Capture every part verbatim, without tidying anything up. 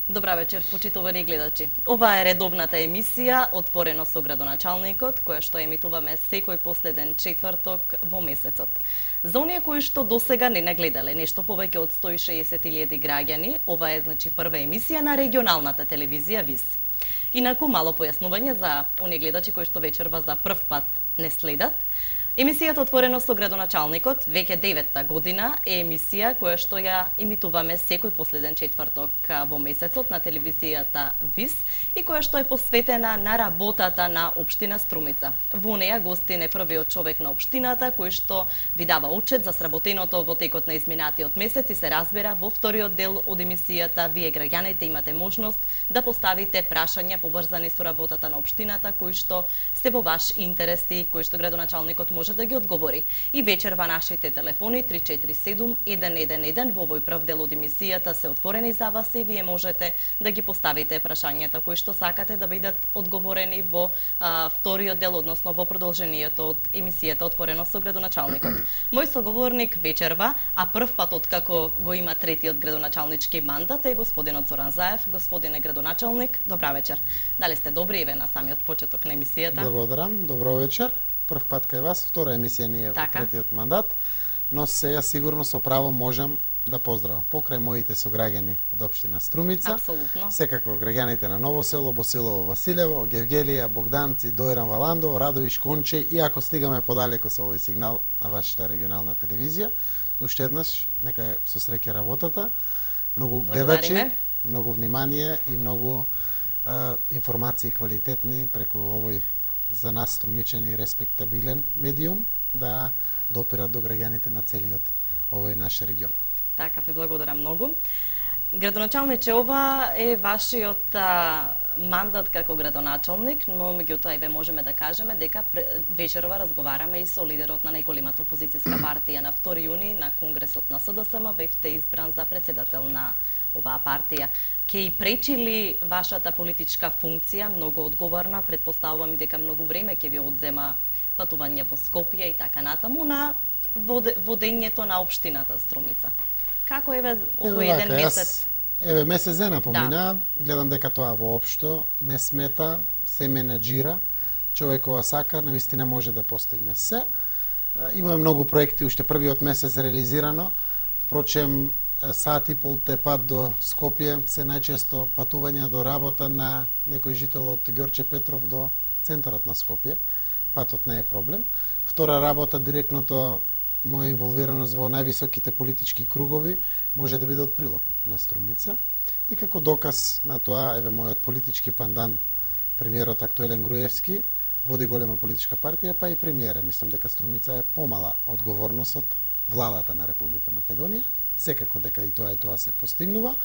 Добра вечер, почитувани гледачи. Ова е редовната емисија Отворено со градоначалникот, која што емитуваме секој последен четврток во месецот. За оние кои што досега не нагледале нешто повеќе од сто и шеесет илјади граѓани, ова е значи прва емисија на регионалната телевизија ВИС. Инаку мало појаснување за оние гледачи кои што вечерва за прв пат не следат. Емисијата Отворено со градоначалникот, веќе деветта година, е емисија која што ја емитуваме секој последен четврток во месецот на телевизијата ВИС и која што е посветена на работата на општина Струмица. Во неја гостин е првиот човек на општината кој што ви дава отчет за сработеното во текот на изминатиот месец и се разбира во вториот дел од емисијата вие граѓаните имате можност да поставите прашања поврзани со работата на општината кои што се во ваш интерес и кои што градоначалникот може да ги одговори. И вечерва нашите телефони три четири седум еден еден еден во овој прв дел од емисијата се отворени за вас и вие можете да ги поставите прашањата кои што сакате да бидат одговорени во а, вториот дел, односно во продолжението од емисијата Отворено со градоначалникот. Мој соговорник вечерва, а прв пат откако го има третиот градоначалнички мандат е господинот Зоран Заев. Господине градоначалник, добра вечер. Дали сте добри еве на самиот почеток на емисијата? Благодарам, добро вечер. Прв пат кај вас, втора емисија ние во третиот мандат, но сега сигурно со право можам да поздравам покрај моите сограѓани од општина Струмица. Апсолутно. Секако граѓаните на Ново село, Босилово, Василево, Гевгелија, Богданци, Дојран Валандово, Радовиш, Конче и ако стигаме подалеку со овој сигнал на вашата регионална телевизија, уште еднаш нека со среќа работата, многу гледачи, многу внимание и многу а, информации квалитетни преку овој за нас струмичани респектабилен медиум да допират до граѓаните на целиот овој наш регион. Така, ви благодарам многу. Градоначалниче, ова е вашиот а, мандат како градоначалник, но меѓутоа еве можеме да кажеме дека вечерва разговараме и со лидерот на најголемата опозицијска партија на втори јуни на конгресот на СДСМ, бевте избран за председател на оваа партија. Ке и пречи ли вашата политичка функција, многу одговорна, предпоставувам и дека многу време ќе ви одзема патување во Скопје и така натаму на водењето на општината Струмица? Како еве овој еден месец? Еве месец дена помина, да. Гледам дека тоа воопшто не смета, се менеджира, човекова сака, навистина може да постигне се. Имаме многу проекти, уште првиот месец реализирано, впрочем сат и пол те пат до Скопје се најчесто патувања до работа на некој жител од Ѓорче Петров до центарот на Скопје. Патот не е проблем. Втора работа, директното моја инволвираност во највисоките политички кругови може да биде од прилог на Струмица. И како доказ на тоа, еве мојот политички пандан, премиерот актуелен Груевски, води голема политичка партија, па и премиерот. Мислам дека Струмица е помала одговорност од владата на Република Македонија. Секако дека и тоа и тоа се постигнува.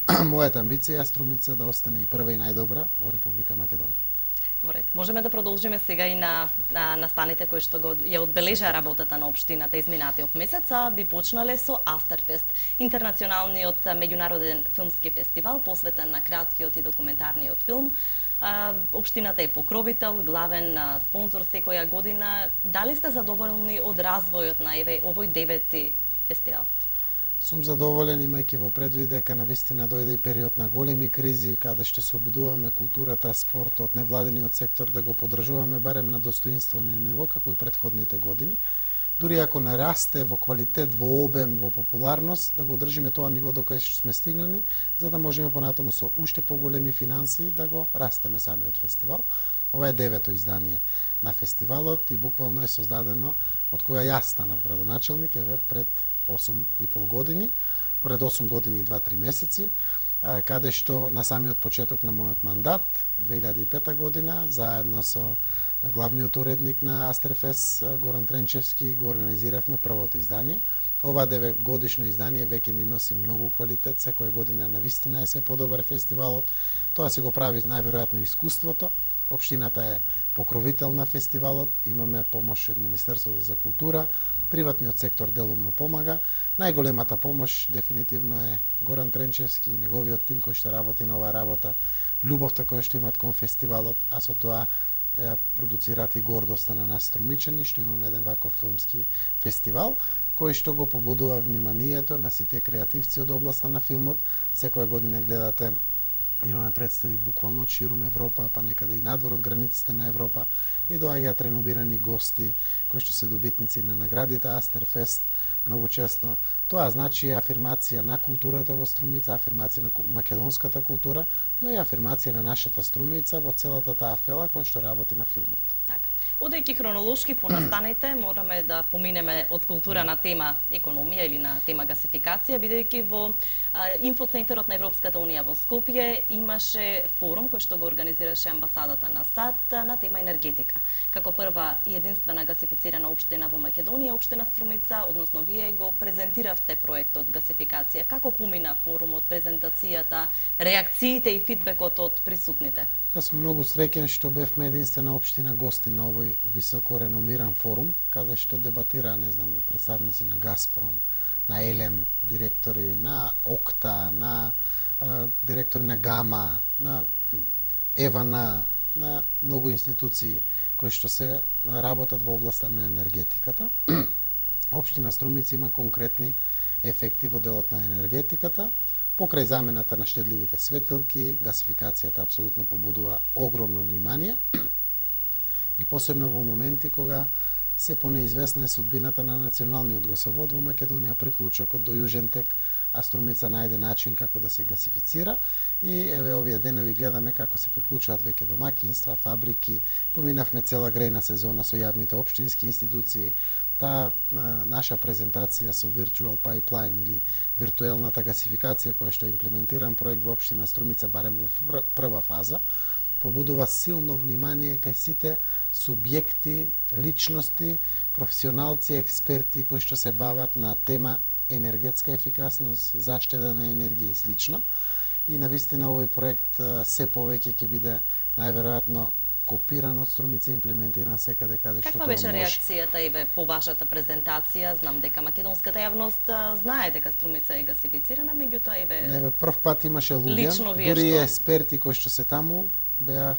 Мојата амбиција е Струмица да остане и прва и најдобра во Република Македонија. Во ред. Можеме да продолжиме сега и на, на настаните кои што го ја одбележа работата на општината изминатиот месец, а би почнале со Астерфест, интернационалниот меѓународен филмски фестивал посветен на краткиот и документарниот филм. Општината е покровител, главен спонзор секоја година. Дали сте задоволни од развојот на еве овој девети фестивал? Сум задоволен, имајќи во предвид дека навистина дојде и период на големи кризи, каде што се обидуваме културата, спортот, невладиниот сектор да го поддржуваме барем на достоинствено ниво, како и претходните години. Дури ако не расте во квалитет, во обем, во популарност, да го одржиме тоа ниво до кај што сме стигнали, за да можеме понатаму со уште поголеми финансии да го растеме самиот фестивал. Ова е девето издание на фестивалот и буквално е создадено од кога јас станав градоначалник, еве пред осум и пол години, пред осум години и два-три месеци, каде што на самиот почеток на мојот мандат, две илјади и пета година, заедно со главниот уредник на Астерфест, Горан Тренчевски, го организиравме првото издание. Ова деветгодишно издание веќе ни носи многу квалитет, секоја година навистина е се подобар фестивалот. Тоа си го прави најверојатно искуството. Општината е покровител на фестивалот, имаме помош од Министерството за култура, приватниот сектор делумно помага. Најголемата помош дефинитивно е Горан Тренчевски, неговиот тим кој што работи на оваа работа, љубовта која што имат кон фестивалот, а со тоа ја продуцираат и гордоста на нас струмичани што имаме еден ваков филмски фестивал кој што го побудува вниманието на сите креативци од областа на филмот. Секоја година гледате Имаме представи буквално од ширум Европа, па некаде и надвор од границите на Европа. Ни доаѓаат реномирани гости кои што се добитници на наградите Астерфест многу често. Тоа значи афирмација на културата во Струмица, афирмација на македонската култура, но и афирмација на нашата Струмица во целата таа фела која што работи на филмот. Така. Одејќи хронолошки понастанете, мораме да поминеме од култура на тема економија или на тема гасификација, бидејќи во а, инфоцентарот на Европската унија во Скопје имаше форум кој што го организираше амбасадата на САД на тема енергетика. Како прва и единствена гасифицирана општина во Македонија, општина Струмица, односно вие го презентиравте проектот гасификација. Како помина форумот, презентацијата, реакциите и фидбекот од присутните? Јас сум многу среќен што бевме единствена општина гости на овој високо реномиран форум, каде што дебатира, не знам, представници на Газпром, на Елем, директори на Окта, на а, директори на Гама, на Евана, на многу институции кои што се работат во областа на енергетиката. Општина Струмица има конкретни ефекти во делот на енергетиката. Покрај замената на штедливите светилки, гасификацијата апсолутно побудува огромно внимание и посебно во моменти кога се понеизвестна е судбината на националниот гасовод во Македонија, приклучокот до Јужен тек, а Струмица најде начин како да се гасифицира и еве овие денови гледаме како се приклучуваат веќе домакинства, фабрики, поминавме цела грејна сезона со јавните општински институции. Таа наша презентација со Virtual Pipeline или виртуелната гасификација која што е имплементиран проект во општина Струмица барем во прва фаза, побудува силно внимание кај сите субјекти, личности, професионалци, експерти кои што се бават на тема енергетска ефикасност, заштеда на енергија и слично. И навистина овој проект се повеќе ќе биде најверојатно копиран од Струмица, имплементиран секаде каде што тоа може. Каква беше реакцијата еве по вашата презентација? Знам дека македонската јавност знае дека Струмица е гасифицирана, меѓутоа еве Еве прв пат имаше луѓе, дури и експерти кои што се таму беа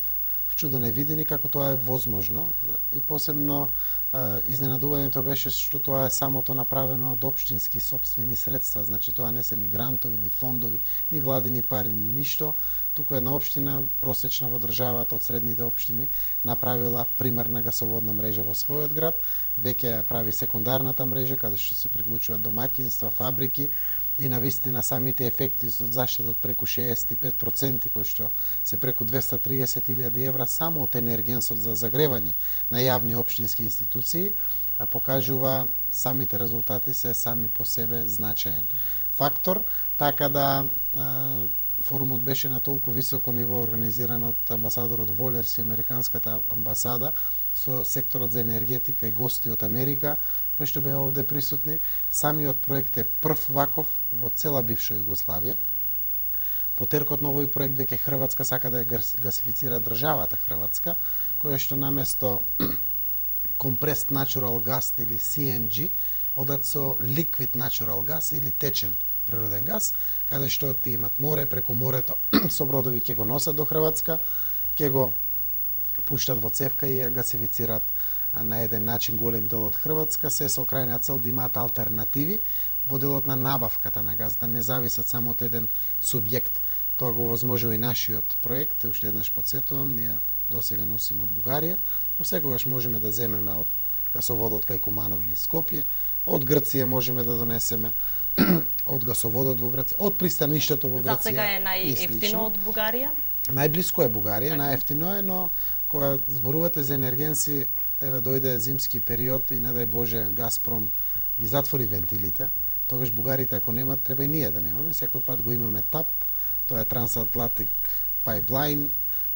вчудено видени како тоа е возможно и посебно а, изненадувањето беше што тоа е самото направено од општински сопствени средства, значи тоа не се ни грантови, ни фондови, ни владини пари, ни ништо. Туку една општина просечна во државата од средните општини направила примарна гасоводна мрежа во својот град, веќе прави секундарната мрежа каде што се приклучуваат домакинства, фабрики и навистина самите ефекти од заштеда од преку шеесет и пет проценти кои што се преку двесте и триесет илјади евра само од енергенсот за загревање на јавни општински институции покажува самите резултати се сами по себе значаен фактор, така да форумот беше на толку високо ниво организиран од амбасадорот Волерс и американската амбасада со секторот за енергетика и гости од Америка кои што беа овде присутни. Самиот проект е прв ваков во цела бивша Југославија. По теркот на овој проект веќе Хрватска сака да ја гасифицира државата Хрватска, која што наместо compressed natural gas или Си Ен Джи одат со liquid natural gas или течен природен газ, каде што ти имат море, преку морето со бродови ќе го носат до Хрватска, ќе го пуштат во цевка и ја гасифицираат на еден начин голем дел од Хрватска, се со крајна цел да имаат алтернативи во делот на набавката на газ, да не зависат само од еден субјект. Тоа го возможува и нашиот проект, уште еднаш подсетувам, ние досега носиме од Бугарија, но секогаш можеме да земеме од гасоводот кај Куманово или Скопје, од Грција можеме да донесеме, од гасоводот во Грција, од пристаништето во Грција. За сега е најефтино од Бугарија? Најблиско е Бугарија, најефтино е, но кога зборувате за енергенци, еве дојде зимски период и не дај Боже Газпром ги затвори вентилите, тогаш бугарите ако немат, треба и ние да немаме. Секој пат го имаме ТАП, тоа е Transatlantic Pipeline,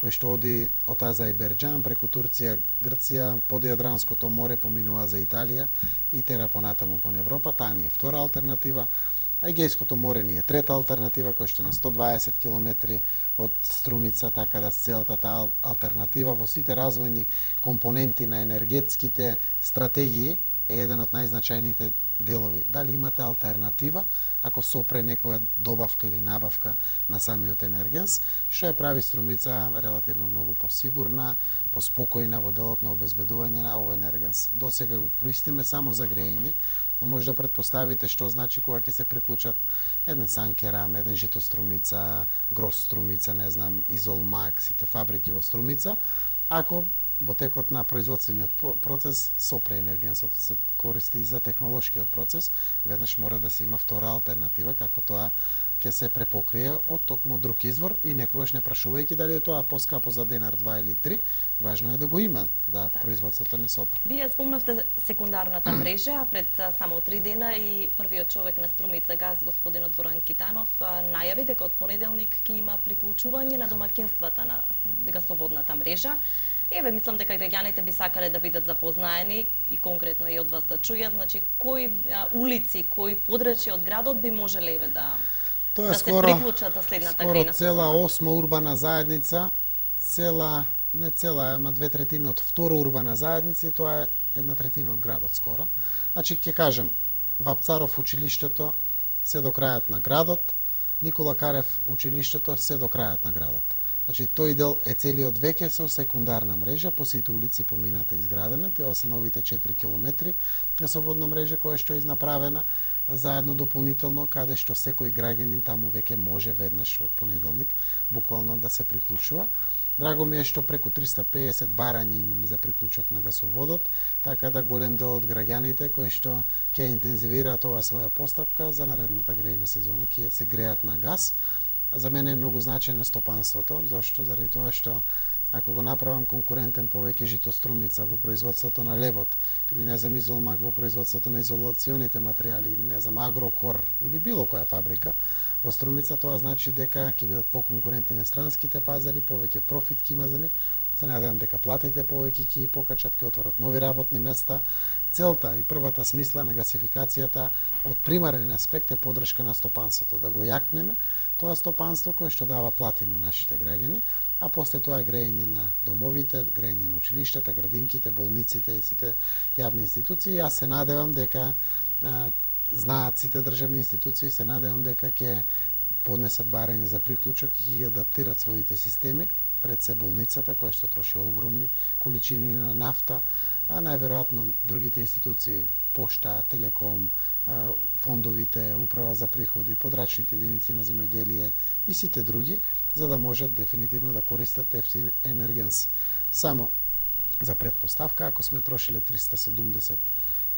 кој што оди од Азербејџан преку Турција, Грција, под Јадранското море поминува за Италија и тера понатаму кон Европа. Таа ни е втора алтернатива. А Егејското море ни е трета алтернатива, која што на сто дваесет километри од Струмица, така да целата таа алтернатива во сите развојни компоненти на енергетските стратегии е еден од најзначајните делови. Дали имате алтернатива ако сопре некоја добавка или набавка на самиот енергенс, што ја прави Струмица релативно многу посигурна, поспокојна во делот на обезбедување на овој енергенс. Досега го користиме само за грејење, но може да претпоставите што значи кога ќе се приклучат еден Санкерам, еден Житострумица, Гросструмица, не знам, Изолмак, сите фабрики во Струмица, ако во текот на производствениот процес сопреенергенсот се користи и за технолошкиот процес, веднаш мора да се има втора алтернатива како тоа ќе се препокрие од токму друг извор и некогаш не прашувајќи дали е тоа поскапо за денар, два или три, важно е да го има, да так. Производството не сопре. Вие спомнавте секундарната мрежа, а пред само три дена и првиот човек на Струмица газ, господинот Зоран Китанов, најави дека од понеделник ќе има приклучување на домаќинствата на гасоводната мрежа. Еве, мислам дека граѓаните би сакале да бидат запознаени и конкретно и од вас да чујат, значи кои а, улици, кои подрачја од градот би можеле еве да Тоа е да скоро, се приклучат за следната скоро грејна цела сезона. осма урбана заедница, цела, не цела, ама две третини од втора урбана заедница и тоа е една третина од градот скоро. Значи, ќе кажем, Вапцаров училиштето се до крајот на градот, Никола Карев училиштето се до крајот на градот. Значи, тој дел е целиот веќе со секундарна мрежа, по сите улици помината изградена, тоа се новите четири километри гасоводна мрежа која што е изнаправена заедно дополнително, каде што секој граѓанин таму веќе може веднаш од понеделник буквално да се приклучува. Драго ми е што преку триста пеесет барања имаме за приклучок на гасоводот, така да голем дел од граѓаните кои што ќе интензивираат оваа своја постапка за наредната грејна сезона ќе се греат на газ. За мене е многу значајно стопанството, зашто? Заради тоа што ако го направам конкурентен повеќе Житострумица во производството на лебот, или не знам Изолмак во производството на изолационите материјали, или не знам Агрокор, или било која фабрика во Струмица, тоа значи дека ќе бидат поконкурентни на странските пазари, повеќе профит ќе има за нив. Се надевам дека платите повеќе ќе покачат, ќе отворат нови работни места. Целта и првата смисла на гасификацијата од примарен аспект е поддршка на стопанството, да го јакнеме тоа стопанство кое што дава плати на нашите граѓани, а после тоа е грејење на домовите, грејење на училиштата, градинките, болниците и сите јавни институции. Јас се надевам дека а, знаат сите државни институции, се надевам дека ќе поднесат барање за приклучок и ќе адаптират своите системи, пред се болницата која што троши огромни количини на нафта, а најверојатно другите институции, пошта, телеком, фондовите, управа за приходи, подрачните единици на земјоделие и сите други, за да можат дефинитивно да користат ефтин енергенс. Само за предпоставка, ако сме трошиле триста седумдесет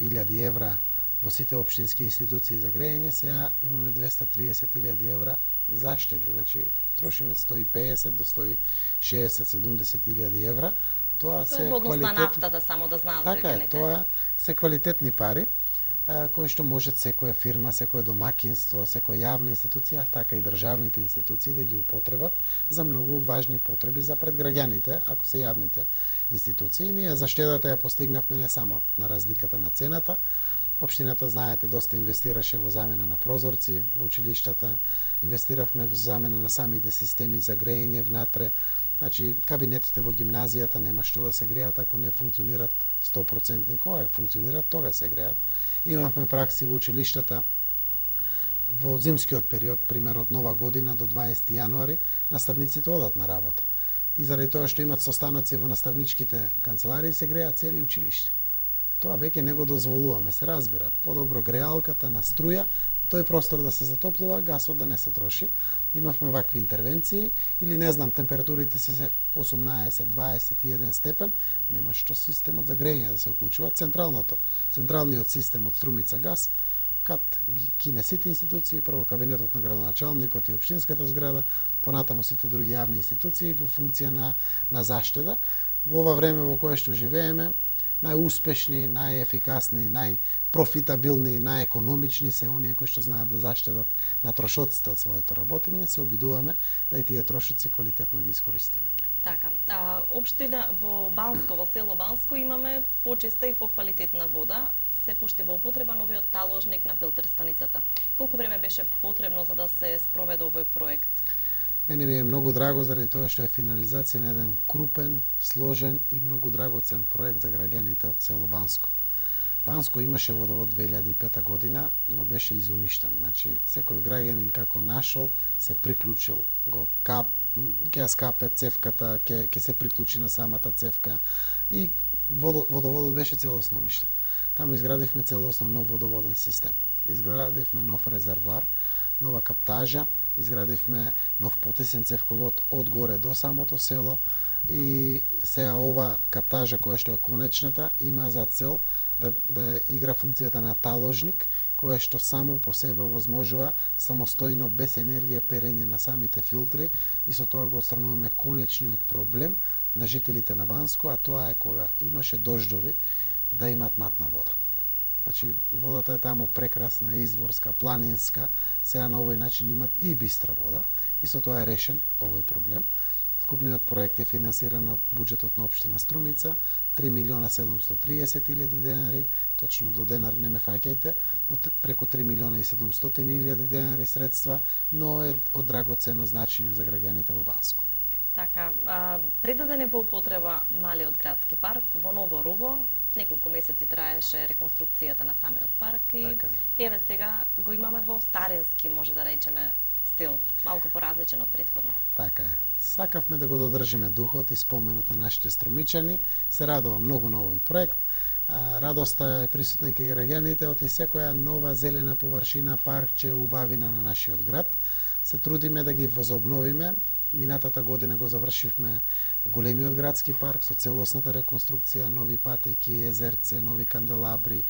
илјади евра во сите општински институции за грејење, сега имаме двеста триесет илјади евра за штеди. Значи, трошиме сто и пеесет до сто и шеесет седумдесет илјади евра. Тоа се тоа е однос на квалитет... нафтата, само да знаат така граѓаните. Така е, тоа се квалитетни пари, кои што можат секоја фирма, секоја домакинство, секоја јавна институција, така и државните институции да ги употребат за многу важни потреби за пред граѓаните, ако се јавните институции. Ние за штедата ја постигнавме не само на разликата на цената. Општината, знаете, доста инвестираше во замена на прозорци во училиштата, инвестиравме во замена на самите системи за грејење внатре. Значи, кабинетите во гимназијата нема што да се греат ако не функционират сто проценти. Кога функционират, тога се греат. Имавме пракси во училиштата во зимскиот период, пример од Нова година до дваесети јануари, наставниците одат на работа. И заради тоа што имат состаноци во наставничките канцеларии, се греат цели училиште. Тоа веќе не го дозволуваме, се разбира. Подобро греалката на струја, тој простор да се затоплува, гасот да не се троши. Имавме вакви интервенции, или не знам, температурите се осумнаесет, дваесет и еден степен, нема што системот за грејење да се уклучува. Централното, централниот систем од Струмица газ, кад ги кине сите институции, прво кабинетот на градоначалникот и општинската зграда, понатаму сите други јавни институции во функција на, на заштеда. Во ова време во кое што живееме, најуспешни, најефикасни, најпрофитабилни, најекономични се оние кои што знаат да заштедат на трошоците од своето работење, се обидуваме да и тие трошоци квалитетно ги искористиме. Така, а, општина во Банско, во село Банско имаме почиста и поквалитетна вода, се пушти во употреба новиот таложник на филтер станицата. Колку време беше потребно за да се спроведе овој проект? Мене ми е многу драго заради тоа што е финализација на еден крупен, сложен и многу драгоцен проект за граѓаните од село Банско. Банско имаше водовод две илјади и пета година, но беше изуништен. Значи, секој граѓанин како нашол се приклучил, го кап, ќе скапе цевката, ќе ќе се приклучи на самата цевка и водо, водоводот беше целосно уништен. Таму изградивме целосно нов водоводен систем. Изградивме нов резервоар, нова каптажа, изградивме нов потисен цевковод од горе до самото село и сега ова каптажа која што е конечната има за цел да, да игра функцијата на таложник, која што само по себе возможува самостојно без енергија перење на самите филтри и со тоа го отстрануваме конечниот проблем на жителите на Банско, а тоа е кога имаше дождови да имаат матна вода. Значи, водата е таму прекрасна, изворска, планинска, сега на овој начин имат и бистра вода и со тоа е решен овој проблем. Вкупниот проект е финансиран од буџетот на општина Струмица, три милиона седумстотини и триесет илјади денари, точно до денар не ме фаќајте, но преку три милиона и седумстотини илјади денари средства, но е од драгоцено значење за граѓаните во Банско. Така, а, предаден е во употреба малиот градски парк во Ново Руво. Неколку месеци траеше реконструкцијата на самиот парк и Така еве сега го имаме во старински, може да речеме, стил, малку поразличен од претходно. Така е. Сакавме да го додржиме духот и споменот на нашите струмичани. Се радувам многу на овој проект. Радоста е присутна и кај граѓаните од секоја нова зелена површина, паркче, убавина на нашиот град. Се трудиме да ги возобновиме. Минатата година го завршивме големиот градски парк со целосната реконструкција, нови патеки, езерце, нови канделабри,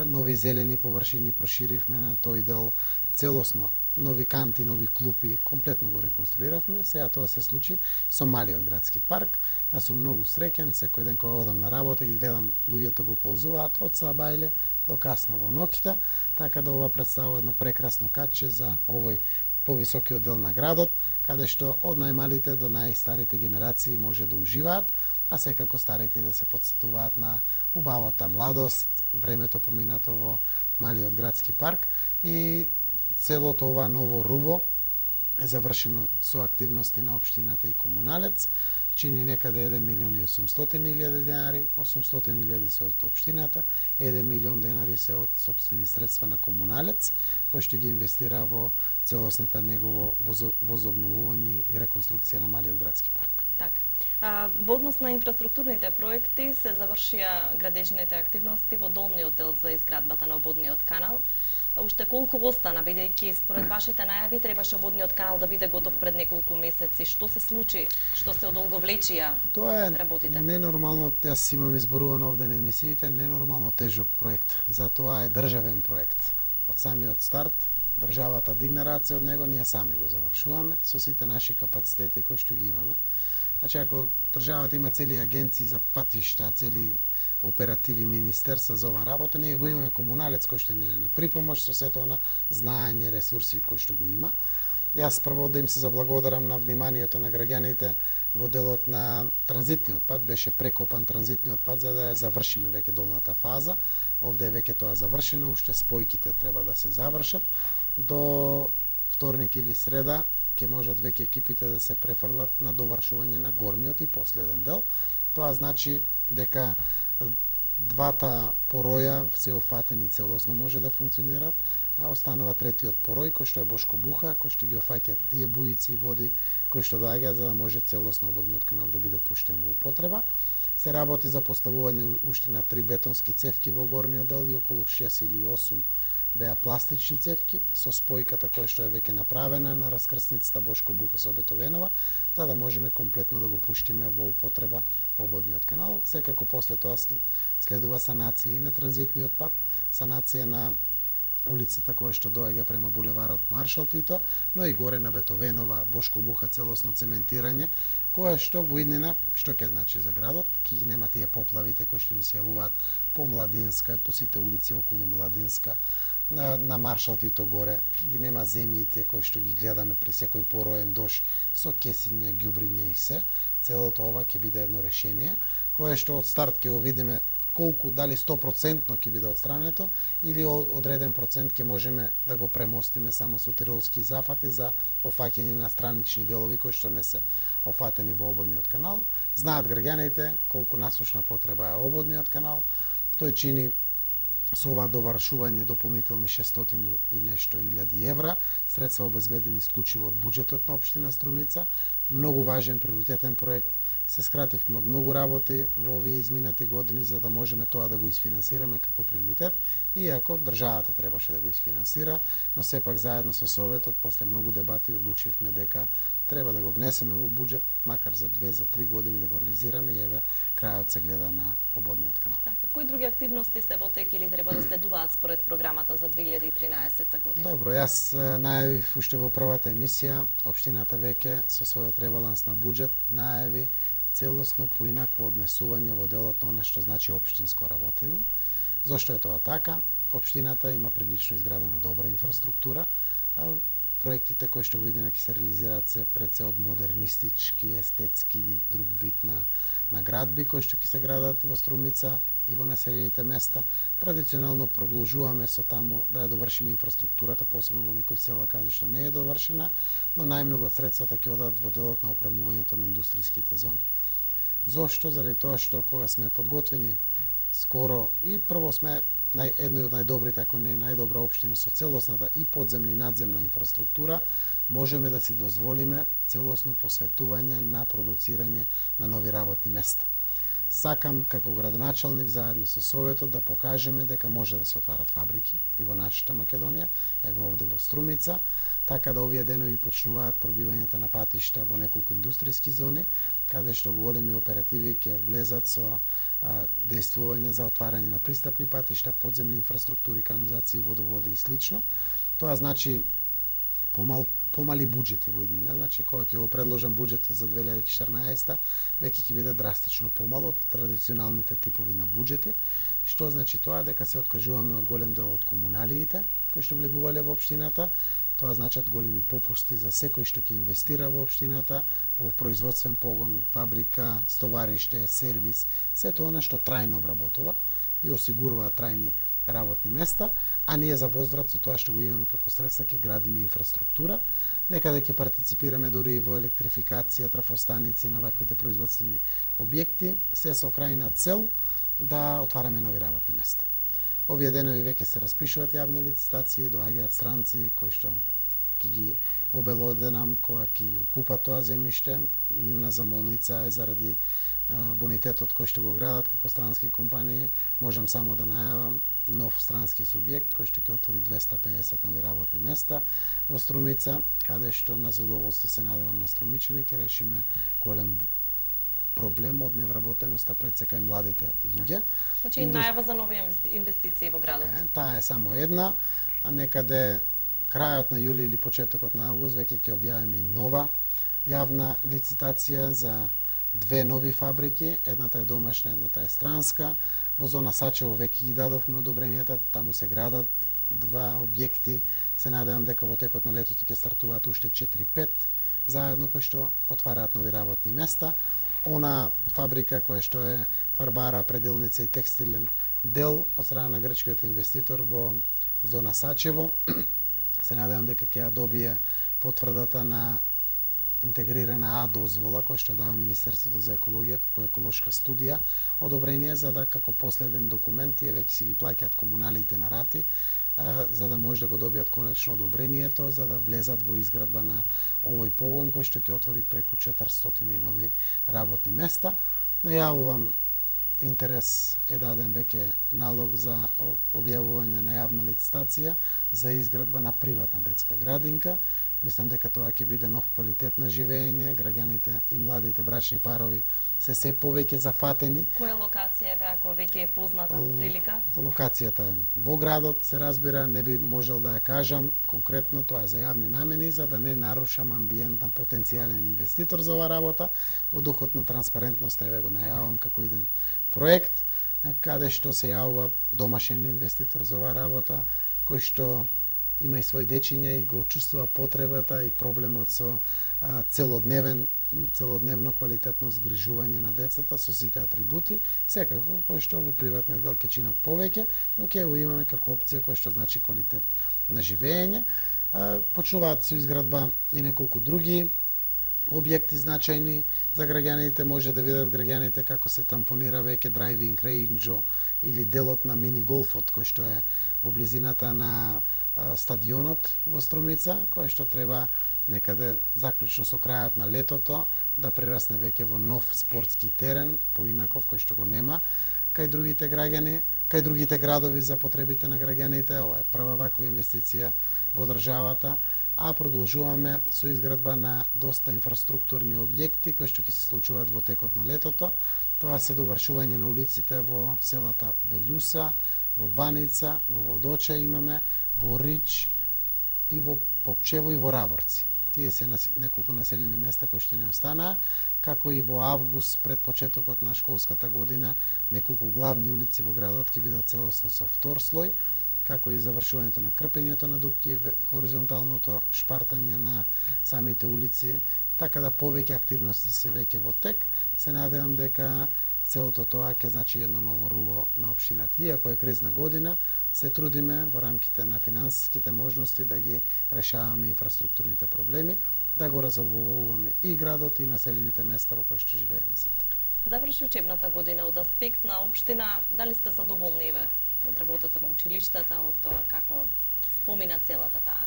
нови зелени површини проширивме на тој дел, целосно нови канти, нови клупи, комплетно го реконструиравме. Сега тоа се случи со малиот градски парк. Јас сум многу среќен, секој ден кога одам на работа ги гледам луѓето го ползуваат од сабајле до касно во ноќта, така да ова представува едно прекрасно каче за овој повисокиот дел на градот, каде што од најмалите до најстарите генерации може да уживаат, а секако старите да се потсетуваат на убавата младост, времето поминато во малиот градски парк и целото ова Ново Руво е завршено со активности на општината и комуналец, чини некаде еден милион и осумстотини илјади денари, осумстотини илјади се од општината, еден милион денари се од сопствени средства на комуналец, кој што ги инвестира во целосната негово возобновување и реконструкција на малиот градски парк. Така. А, во однос на инфраструктурните проекти се завршија градежните активности во долниот дел за изградбата на ободниот канал. Уште колку остана, бидејќи според вашите најави требаше ободниот канал да биде готов пред неколку месеци? Што се случи? Што се одолговлечија Тоа е работите? ненормално, јас имам изборувано овде на емисиите, ненормално тежок проект. Затоа е државен проект. Од самиот старт, државата дигна раце од него, ние сами го завршуваме со сите наши капацитети кои што ги имаме. Значи, ако државата има цели агенции за патишта, цели оперативи министерства за ова работа, ние го имаме комуналец кој што ни е на припомош со сето на знаење, ресурси кои што го има. Јас прво да им се заблагодарам на вниманието на граѓаните во делот на транзитниот пат, беше прекопан транзитниот пат за да ја завршиме веќе долната фаза. Овде е веќе тоа завршено, уште спојките треба да се завршат. До вторник или среда ќе можат веќе екипите да се префрлат на довршување на горниот и последен дел. Тоа значи дека двата пороја се офатени целосно може да функционираат, а останува третиот порој кој што е Бошко Буха, кој што ги офаќа тие буици и води кои што доаѓаат за да може целосно ободниот канал да биде пуштен во употреба. Се работи за поставување уште на три бетонски цевки во горниот дел и околу шест или осум беа пластични цевки со спојката која што е веќе направена на раскрсницата Бошко Буха со Бетовенова, за да можеме комплетно да го пуштиме во употреба ободниот канал. Секако после тоа следува санација и на транзитниот пат, санација на улицата која што доаѓа према булеварот Маршал Тито, но и горе на Бетовенова, Бошко Буха целосно цементирање, која што во иднина, што ќе значи за градот, ќе ги нема тие поплавите кои што ни се јавуваат по Младинска и по сите улици околу Младинска, на, на Маршал Тито горе, ќе ги нема земјите кои што ги гледаме при секој пороен дош со кесиња, ѓубриња и се. Целото ова ќе биде едно решение, кое што од старт ќе го видиме колку, дали сто проценти ќе биде отстрането или одреден процент ќе можеме да го премостиме само со тиролски зафати за офаќање на странични делови кои што не се офатени во ободниот канал. Знаат граѓаните колку насушна потреба е ободниот канал. Тој чини со ова довршување дополнителни шестстотини и нешто илјади евра, средства обезбедени исклучиво од буџетот на општина Струмица. Многу важен приоритетен проект, се скративме од многу работи во овие изминати години за да можеме тоа да го isfinansираме како приоритет, иако државата требаше да го isfinansира, но сепак заедно со Советот, после многу дебати, одлучивме дека треба да го внесеме во буџет, макар за две, за три години да го реализираме и еве крајот се гледа на ободниот канал. Така, кои други активности се во тек или треба да следуваат според програмата за две илјади и тринаесетта година? Добро, јас најавив уште во првата емисија, општината веќе со својот ребаланс на буџет најави целосно поинакво однесување во делот на она што значи општинско работење. Зошто е тоа така? Општината има прилично изградена добра инфраструктура. Проектите кои што во иднина ќе се реализираат се пред се од модернистички, естетски или друг вид на, на градби кои што ќе се градат во Струмица и во населените места. Традиционално продолжуваме со таму да ја довршиме инфраструктурата, посебно во некои села каде што не е довршена, но најмногу од средствата ќе одат во делот на опремувањето на индустријските зони. Зошто? Заради тоа што кога сме подготвени скоро и прво сме нај, едно од најдобрите, ако не најдобра општина со целосната и подземна и надземна инфраструктура, можеме да си дозволиме целосно посветување на продуцирање на нови работни места. Сакам како градоначалник заедно со Советот да покажеме дека може да се отварат фабрики и во нашата Македонија, еве овде во Струмица, така да овие денови почнуваат пробивањето на патишта во неколку индустријски зони, каде што големи оперативи ќе влезат со а, дејствување за отварање на пристапни патишта, подземни инфраструктури, канализации, водоводи и слично. Тоа значи помал, помали буџети во иднина, значи кога ќе го предложам буџетот за две илјади и четирнаесетта, веќе ќе биде драстично помал од традиционалните типови на буџети. Што значи тоа? Дека се откажуваме од голем дел од комуналиите кои што влегувале во општината. Тоа значат големи попусти за секој што ќе инвестира во општината, во производствен погон, фабрика, стовариште, сервис, сето она што трајно вработува и осигурува трајни работни места, а ние за возврат со тоа што го имаме како средства ќе градиме инфраструктура, некаде ќе партиципираме дури и во електрификација, трафостаници на ваквите производствени објекти, се со крајна цел да отвараме нови работни места. Овие денови веќе се распишуваат јавни лицитации, доаѓаат странци кои што ќе ги обелоденам, кога ќе ги купат тоа земјиште. Нивна замолница е заради а, бонитетот кој што го градат како странски компании. Можам само да најавам нов странски субјект кој што ќе отвори двесте и педесет нови работни места во Струмица, каде што на задоволство се надевам на струмичани ќе решиме голем проблем од невработеноста пред сека и младите луѓе. Значи Индус... најава за нови инвестиции во градот. Така, таа е само една, а некаде крајот на јули или почетокот на август веќе ќе објавиме и нова јавна лицитација за две нови фабрики, едната е домашна, едната е странска. Во зона Сачево веќе ги дадовме одобренијата, таму се градат два објекти. Се надевам дека во текот на летото ќе стартуваат уште четири-пет заедно кои што отвараат нови работни места. Она фабрика која што е фарбара, пределница и текстилен дел од страна на грчкиот инвеститор во зона Сачево, се надевам дека ќе ја добие потврдата на интегрирана А дозвола која што дава Министерството за екологија како еколошка студија одобрение, за да како последен документ тие веќе си ги плаќаат комуналиите на рати, а, за да може да го добијат конечно одобрението за да влезат во изградба на овој погон кој што ќе отвори преку четиристотини нови работни места. Најавувам интерес е даден веќе налог за објавување на јавна лицитација за изградба на приватна детска градинка. Мислам дека тоа ќе биде нов квалитет на живење, граѓаните и младите брачни парови се се повеќе зафатени. Која локација е, ако веќе е позната прилика? Локацијата е во градот, се разбира, не би можел да ја кажам конкретно, тоа е за јавни намени, за да не нарушам амбиент на потенцијален инвеститор за оваа работа. Во духот на транспарентност еве го најавам како иден проект, каде што се јавува домашен инвеститор за оваа работа, кој што има и свој дечиња и го чувствува потребата и проблемот со а, целодневен целодневно квалитетно згрижување на децата со сите атрибути, секако кој што во приватниот дел ќе чинат повеќе, но ќе го имаме како опција кој што значи квалитет на живење. А, почнуваат со изградба и неколку други објекти значајни за граѓаните. Може да видат граѓаните како се тампонира веќе драйвинг рейнџо или делот на мини голфот кој што е во близината на стадионот во Струмица, кој што треба некаде заклучно со крајот на летото да прерасне веќе во нов спортски терен, поинаков, кој што го нема кај другите граѓани, кај другите градови за потребите на граѓаните. Ова е прва ваква инвестиција во државата, а продолжуваме со изградба на доста инфраструктурни објекти кои што ќе се случуваат во текот на летото. Тоа се довршување на улиците во селата Велјуса, во Баница, во Водоча имаме, во Рич и во Попчево и во Раборци. Тие се неколку населени места кои што не останаа, како и во август пред почетокот на школската година неколку главни улици во градот ќе бидат целосно со втор слој, како и завршувањето на крпењето на дупки и хоризонталното шпартање на самите улици, така да повеќе активности се веќе во тек. Се надевам дека целото тоа ќе значи едно ново руво на општината. Иако е кризна година, се трудиме во рамките на финансиските можности да ги решаваме инфраструктурните проблеми, да го разобуваме и градот и населените места во кои што живееме сите. Заврши учебната година. Од аспект на општина, дали сте задоволни ве од работата на училиштата, од тоа како спомина целата таа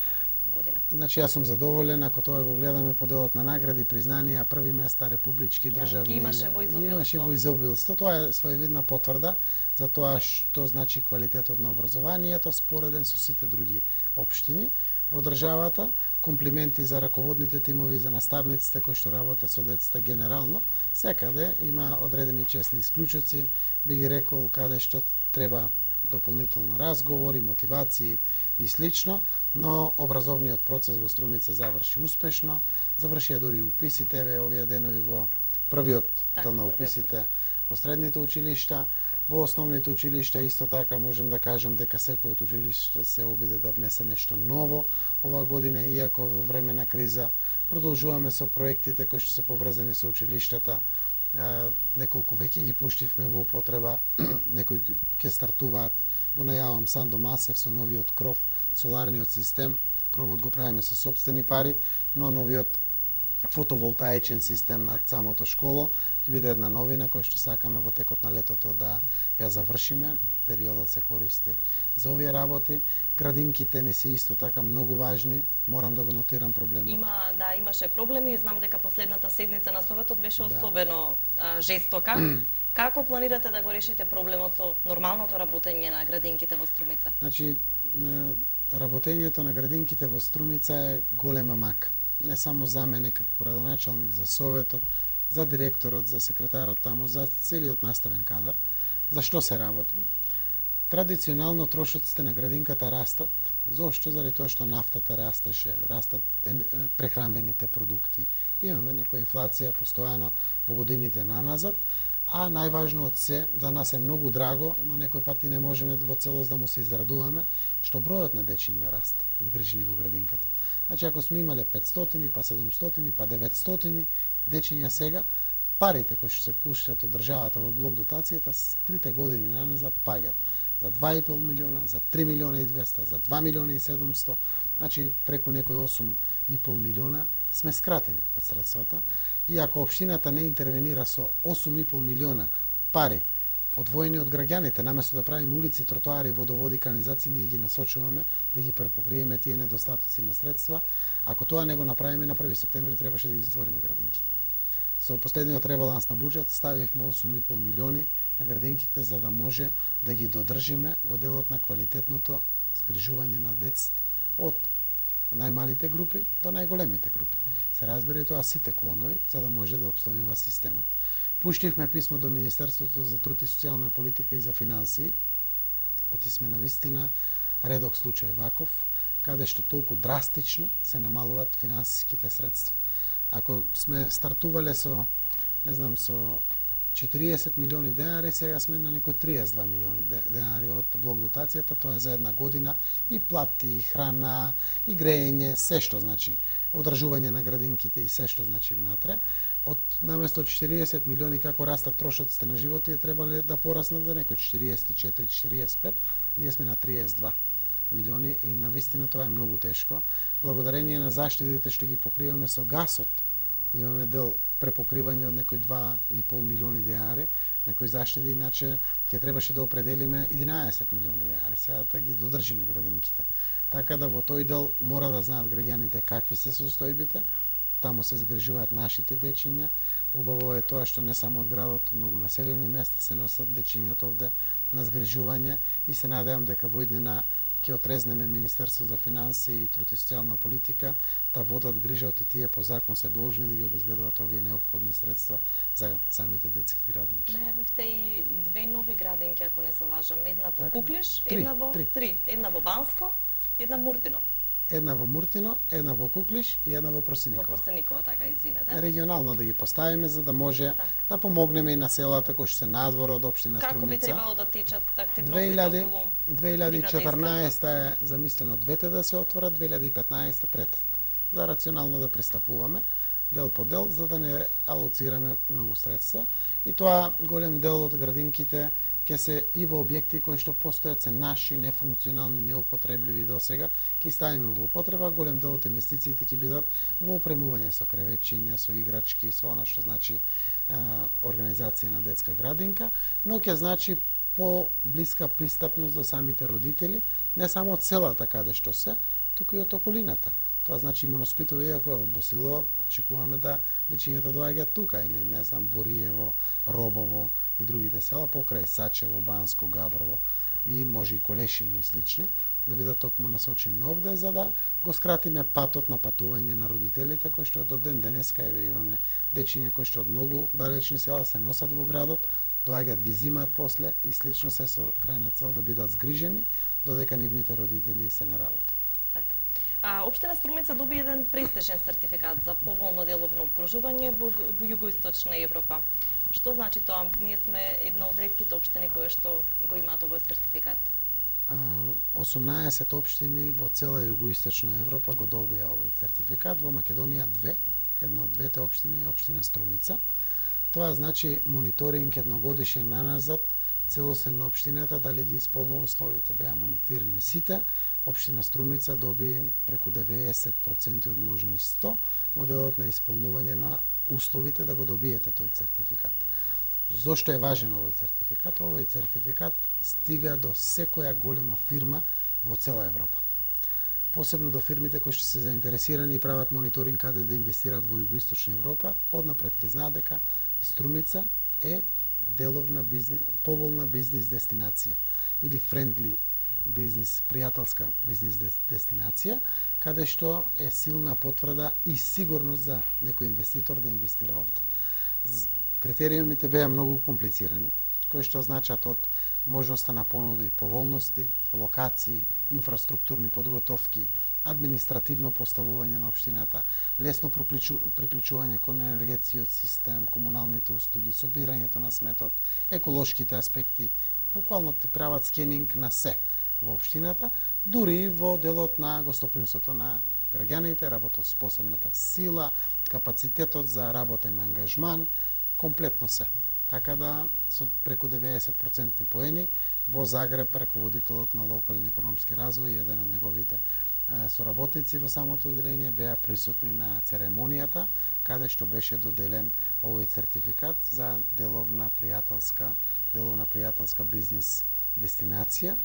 година? Значи, јас сум задоволен, ако тоа го гледаме по делот на награди, признанија, први места, републички, државни, имаше во изобилство. Имаше во изобилство. Тоа е своевидна потврда за тоа што значи квалитетот на образованието спореден со сите други општини во државата. Комплименти за раководните тимови, за наставниците кои што работат со децата генерално. Секаде има одредени честни исклучоци, би ги рекол, каде што треба дополнително разговори, мотивации и слично, но образовниот процес во Струмица заврши успешно. Завршија дури уписите еве овие денови во првиот дел на уписите во средните училишта. Во основните училишта исто така можем да кажем дека секој од училишта се обиде да внесе нешто ново оваа година, иако во време на криза продолжуваме со проектите кои што се поврзани со училиштата. Неколку веќе ги пуштивме во употреба, некои ќе стартуваат, го најавам Сандо Масев со новиот кров, соларниот систем. Кровот го правиме со сопствени пари, но новиот фотоволтаичен систем на самото школо ќе биде една новина која што сакаме во текот на летото да ја завршиме. Периодот се користи за овие работи. Градинките не се исто така многу важни. Морам да го нотирам проблемот. Има, да, имаше проблеми. Знам дека последната седница на Советот беше да. особено а, жестока. Како планирате да го решите проблемот со нормалното работење на градинките во Струмица? Значи, работењето на градинките во Струмица е голема мака. Не само за мене како градоначалник, за Советот, за директорот, за секретарот таму, за целиот наставен кадар. За што се работи? Традиционално трошоците на градинката растат. Зошто? Заради тоа што нафтата растеше, растат прехранбените продукти. Имаме некоја инфлација постојано во годините наназад, а најважно од се, за нас е многу драго, но некој пати не можеме во целост да му се израдуваме, што бројот на дечиња расте, згрижени во градинката. Значи, ако сме имале петстотини, па седумстотини, па деветстотини дечиња сега, парите кои што се пуштат од државата во блок дотацијата, с трите години наназад паѓат за два и пол милиона, за три милиона и двеста, за два милиона и седумсто, значи преку некои осум и пол милиона сме скратени од средствата. И ако општината не интервенира со осум и пол милиона пари одвоени од граѓаните, наместо да правиме улици, тротоари, водоводи, канализации, ние ги насочуваме да ги препокриеме тие недостатоци на средства. Ако тоа не го направиме, на први септември требаше да ги затвориме градинките. Со последниот ребаланс на буџет ставивме осум и пол милиони на градинките за да може да ги додржиме во делот на квалитетното згрижување на децата од најмалите групи до најголемите групи. Се разбира и тоа сите клонови за да може да обстојува системот. Пуштивме писмо до Министерството за труд и социјална политика и за финансии. Отисме на вистина редок случај ваков, каде што толку драстично се намалуваат финансиските средства. Ако сме стартувале со, не знам, со четириесет милиони денари, сега сме на некои триесет и два милиони денари од блок дотацијата, тоа е за една година и плати, и храна, и грејење, се што значи одржување на градинките и се што значи внатре. Од наместо четириесет милиони како растат трошоците на живот, е требале да пораснат за некои четириесет и четири до четириесет и пет, ние сме на триесет и два милиони и навистина тоа е многу тешко. Благодарение на заштедите што ги покриваме со гасот, имаме дел препокривање од некои два и пол милиони денари, некои заштеди, иначе ќе требаше да определиме единаесет милиони денари, сега да ги додржиме градинките. Така да во тој дел мора да знаат граѓаните какви се состојбите, таму се згрижуваат нашите дечиња. Убаво е тоа што не само од градот, многу населени места се носат дечињата овде на згрижување и се надевам дека во иднина ќе отрезнеме Министерство за финансии и труд и социјална политика да водат грижа од тие по закон се должни да ги обезбедуваат овие неопходни средства за самите детски градинки. Најавивте и две нови градинки, ако не се лажам, една во така. Куклиш, Три, една во три. три, една во Банско, една Муртино. Една во Муртино, една во Куклиш и една во Просеникова. Во Просеникова, така, извинете. Регионално да ги поставиме за да може так. да помогнеме и на селата кои што се надвор од општина Како Струмица. би требало да течат активностите две илјади околу две илјади и четрнаесетта е замислено двете да се отворат, две илјади и петнаесетта третата. За рационално да пристапуваме дел по дел за да не алоцираме многу средства и тоа голем дел од градинките ќе се и во објекти кои што постојат се наши, нефункционални, неупотребливи досега, ќе ставиме во употреба, голем дел од инвестициите ќе бидат во опремување со креветчиња, со играчки, со она што значи е, организација на детска градинка, но ќе значи по-блиска пристапност до самите родители, не само од селата каде што се, туку и од околината. Тоа значи Моноспитово, иако е од Босилово, очекуваме да дечињата доаѓаат тука, или не знам, Бориево, Робово и другите села, покрај Сачево, Банско, Габрово и може и Колешино и слични, да бидат токму насочени овде, за да го скратиме патот на патување на родителите, кои што до ден денеска еве имаме дечиња кои што од многу далечни села се носат во градот, доаѓаат ги зимаат после и слично се со крајна цел да бидат згрижени додека нивните родители се на работа. А, Општина Струмица доби еден престижен сертификат за поволно деловно обкружување во, во југоисточна Европа. Што значи тоа? Ние сме една од ретките општини кои што го имаат овој сертификат. осумнаесет општини во цела југоисточна Европа го добија овој сертификат, во Македонија две, една од двете општини е општина Струмица. Тоа значи мониторинг едногодишен наназад, целосен на општината дали ги исполнува условите. Беа мониторирани сите. Општина Струмица доби преку деветдесет проценти од можни сто моделот на исполнување на условите да го добиете тој сертификат. Зошто е важен овој сертификат? Овој сертификат стига до секоја голема фирма во цела Европа. Посебно до фирмите кои што се заинтересирани и прават мониторинг каде да инвестираат во југоисточна Европа, однапред ќе знаат дека Струмица е деловна бизнес, поволна бизнис дестинација или friendly бизнис, пријателска бизнис дестинација, каде што е силна потврда и сигурност за некој инвеститор да инвестира овде. Критериумите беа многу комплицирани, кои што значат од можноста на понуди и поволности, локации, инфраструктурни подготовки, административно поставување на општината, лесно приклучување кон енергетскиот систем, комуналните услуги, собирањето на сметот, еколошките аспекти, буквално ти прават скенинг на се во општината, дури во делот на гостопримството на граѓаните, работоспособната сила, капацитетот за работен ангажман, комплетно се. Така да, со преку деветдесет проценти поени, во Загреб, раководителот на локален економски развој, еден од неговите е, соработници во самото одделение, беа присутни на церемонијата, каде што беше доделен овој сертификат за деловна пријателска, деловна пријателска бизнис дестинација.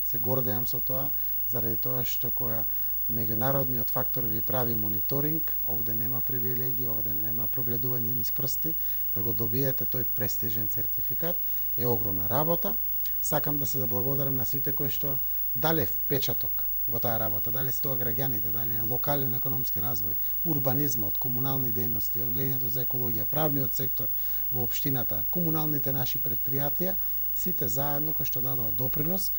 Се гордеам со тоа, заради тоа што која меѓународниот фактор ви прави мониторинг, овде нема привилегии, овде нема прогледување низ прсти, да го добиете тој престижен сертификат е огромна работа. Сакам да се заблагодарам на сите кои што дале впечаток во таа работа, дали се тоа граѓаните, дали е локален економски развој, урбанизмот, комунални дејности, одделението за екологија, правниот сектор во општината, комуналните наши предпријатија, сите заедно кои што дадоа допринос,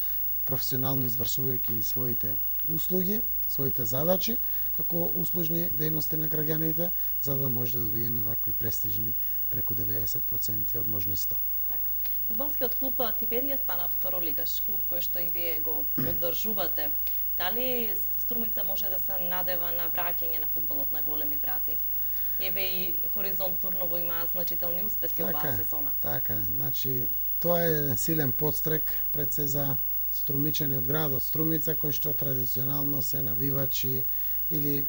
професионално извршувајќи своите услуги, своите задачи, како услужни дејности на граѓаните, за да може да добиеме вакви престижни преку деветдесет проценти од можни сто. Така. Фудбалскиот клуб Типерија стана второлигаш, клуб кој што и вие го поддржувате. Дали Струмица може да се надева на враќање на фудбалот на големи брати? Еве и Хоризонт Турново има значителни успеси така, оваа сезона. Така, значи тоа е силен подстрек пред се за струмичани од градот Струмица, кои што традиционално се навивачи или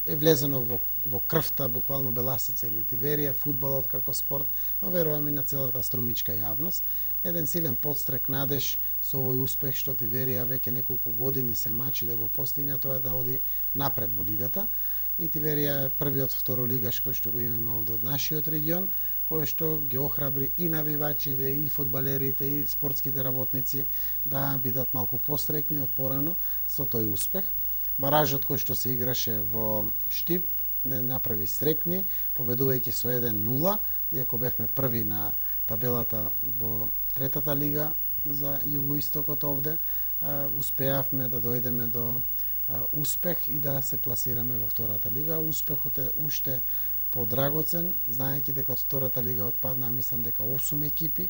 е влезено во, во крвта, буквално Беласица или Тиверија, фудбалот како спорт, но верувам и на целата струмичка јавност. Еден силен подстрек, надеж со овој успех што Тиверија веќе неколку години се мачи да го постигне, тоа е да оди напред во лигата. И Тиверија е првиот второлигаш кој што го имаме овде од нашиот регион, кој што ги охрабри и навивачите, и фудбалерите, и спортските работници да бидат малку пострекни од порано со тој успех. Баражот кој што се играше во Штип не направи стрекни, победувајќи со еден нула, иако бевме први на табелата во третата лига за југоистокот овде, успеавме да дојдеме до успех и да се пласираме во втората лига. Успехот е уште подрагоцен, знаејќи дека од втората лига отпаднаа, мислам дека осум екипи,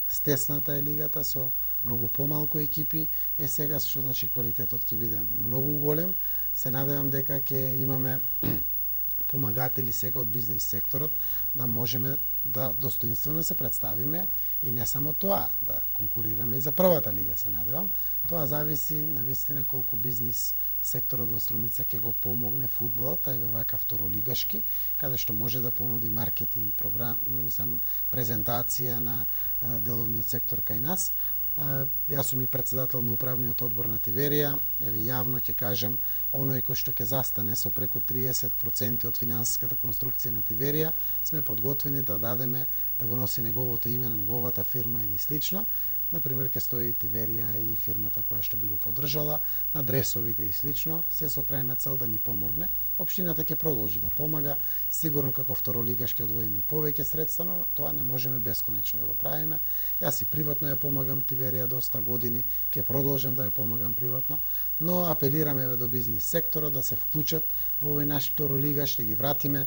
стесната е лигата со многу помалку екипи, е сега што значи квалитетот ќе биде многу голем. Се надевам дека ќе имаме помагатели сега од бизнис секторот да можеме да достоинствено се представиме и не само тоа, да конкурираме и за првата лига, се надевам. Тоа зависи навистина колку бизнис секторот во Струмица ќе го помогне фудбалот, а еве вака второлигашки, каде што може да понуди маркетинг, програм, мислам, презентација на деловниот сектор кај нас. Јас сум и председател на управниот одбор на Тиверија, еве јавно ќе кажам, оној кој што ќе застане со преку триесет проценти од финансиската конструкција на Тиверија, сме подготвени да дадеме да го носи неговото име на неговата фирма или слично. Например, ќе стои Тиверија и фирмата која што би го поддржала, на дресовите и слично, се со крајна цел да ни помогне. Општината ќе продолжи да помага, сигурно како второлигаш ќе одвоиме повеќе средства, но тоа не можеме бесконечно да го правиме. Јас и приватно ја помагам Тиверија доста години, ќе продолжам да ја помагам приватно, но апелираме до бизнис секторот да се вклучат во овој наш второлигаш, да ги вратиме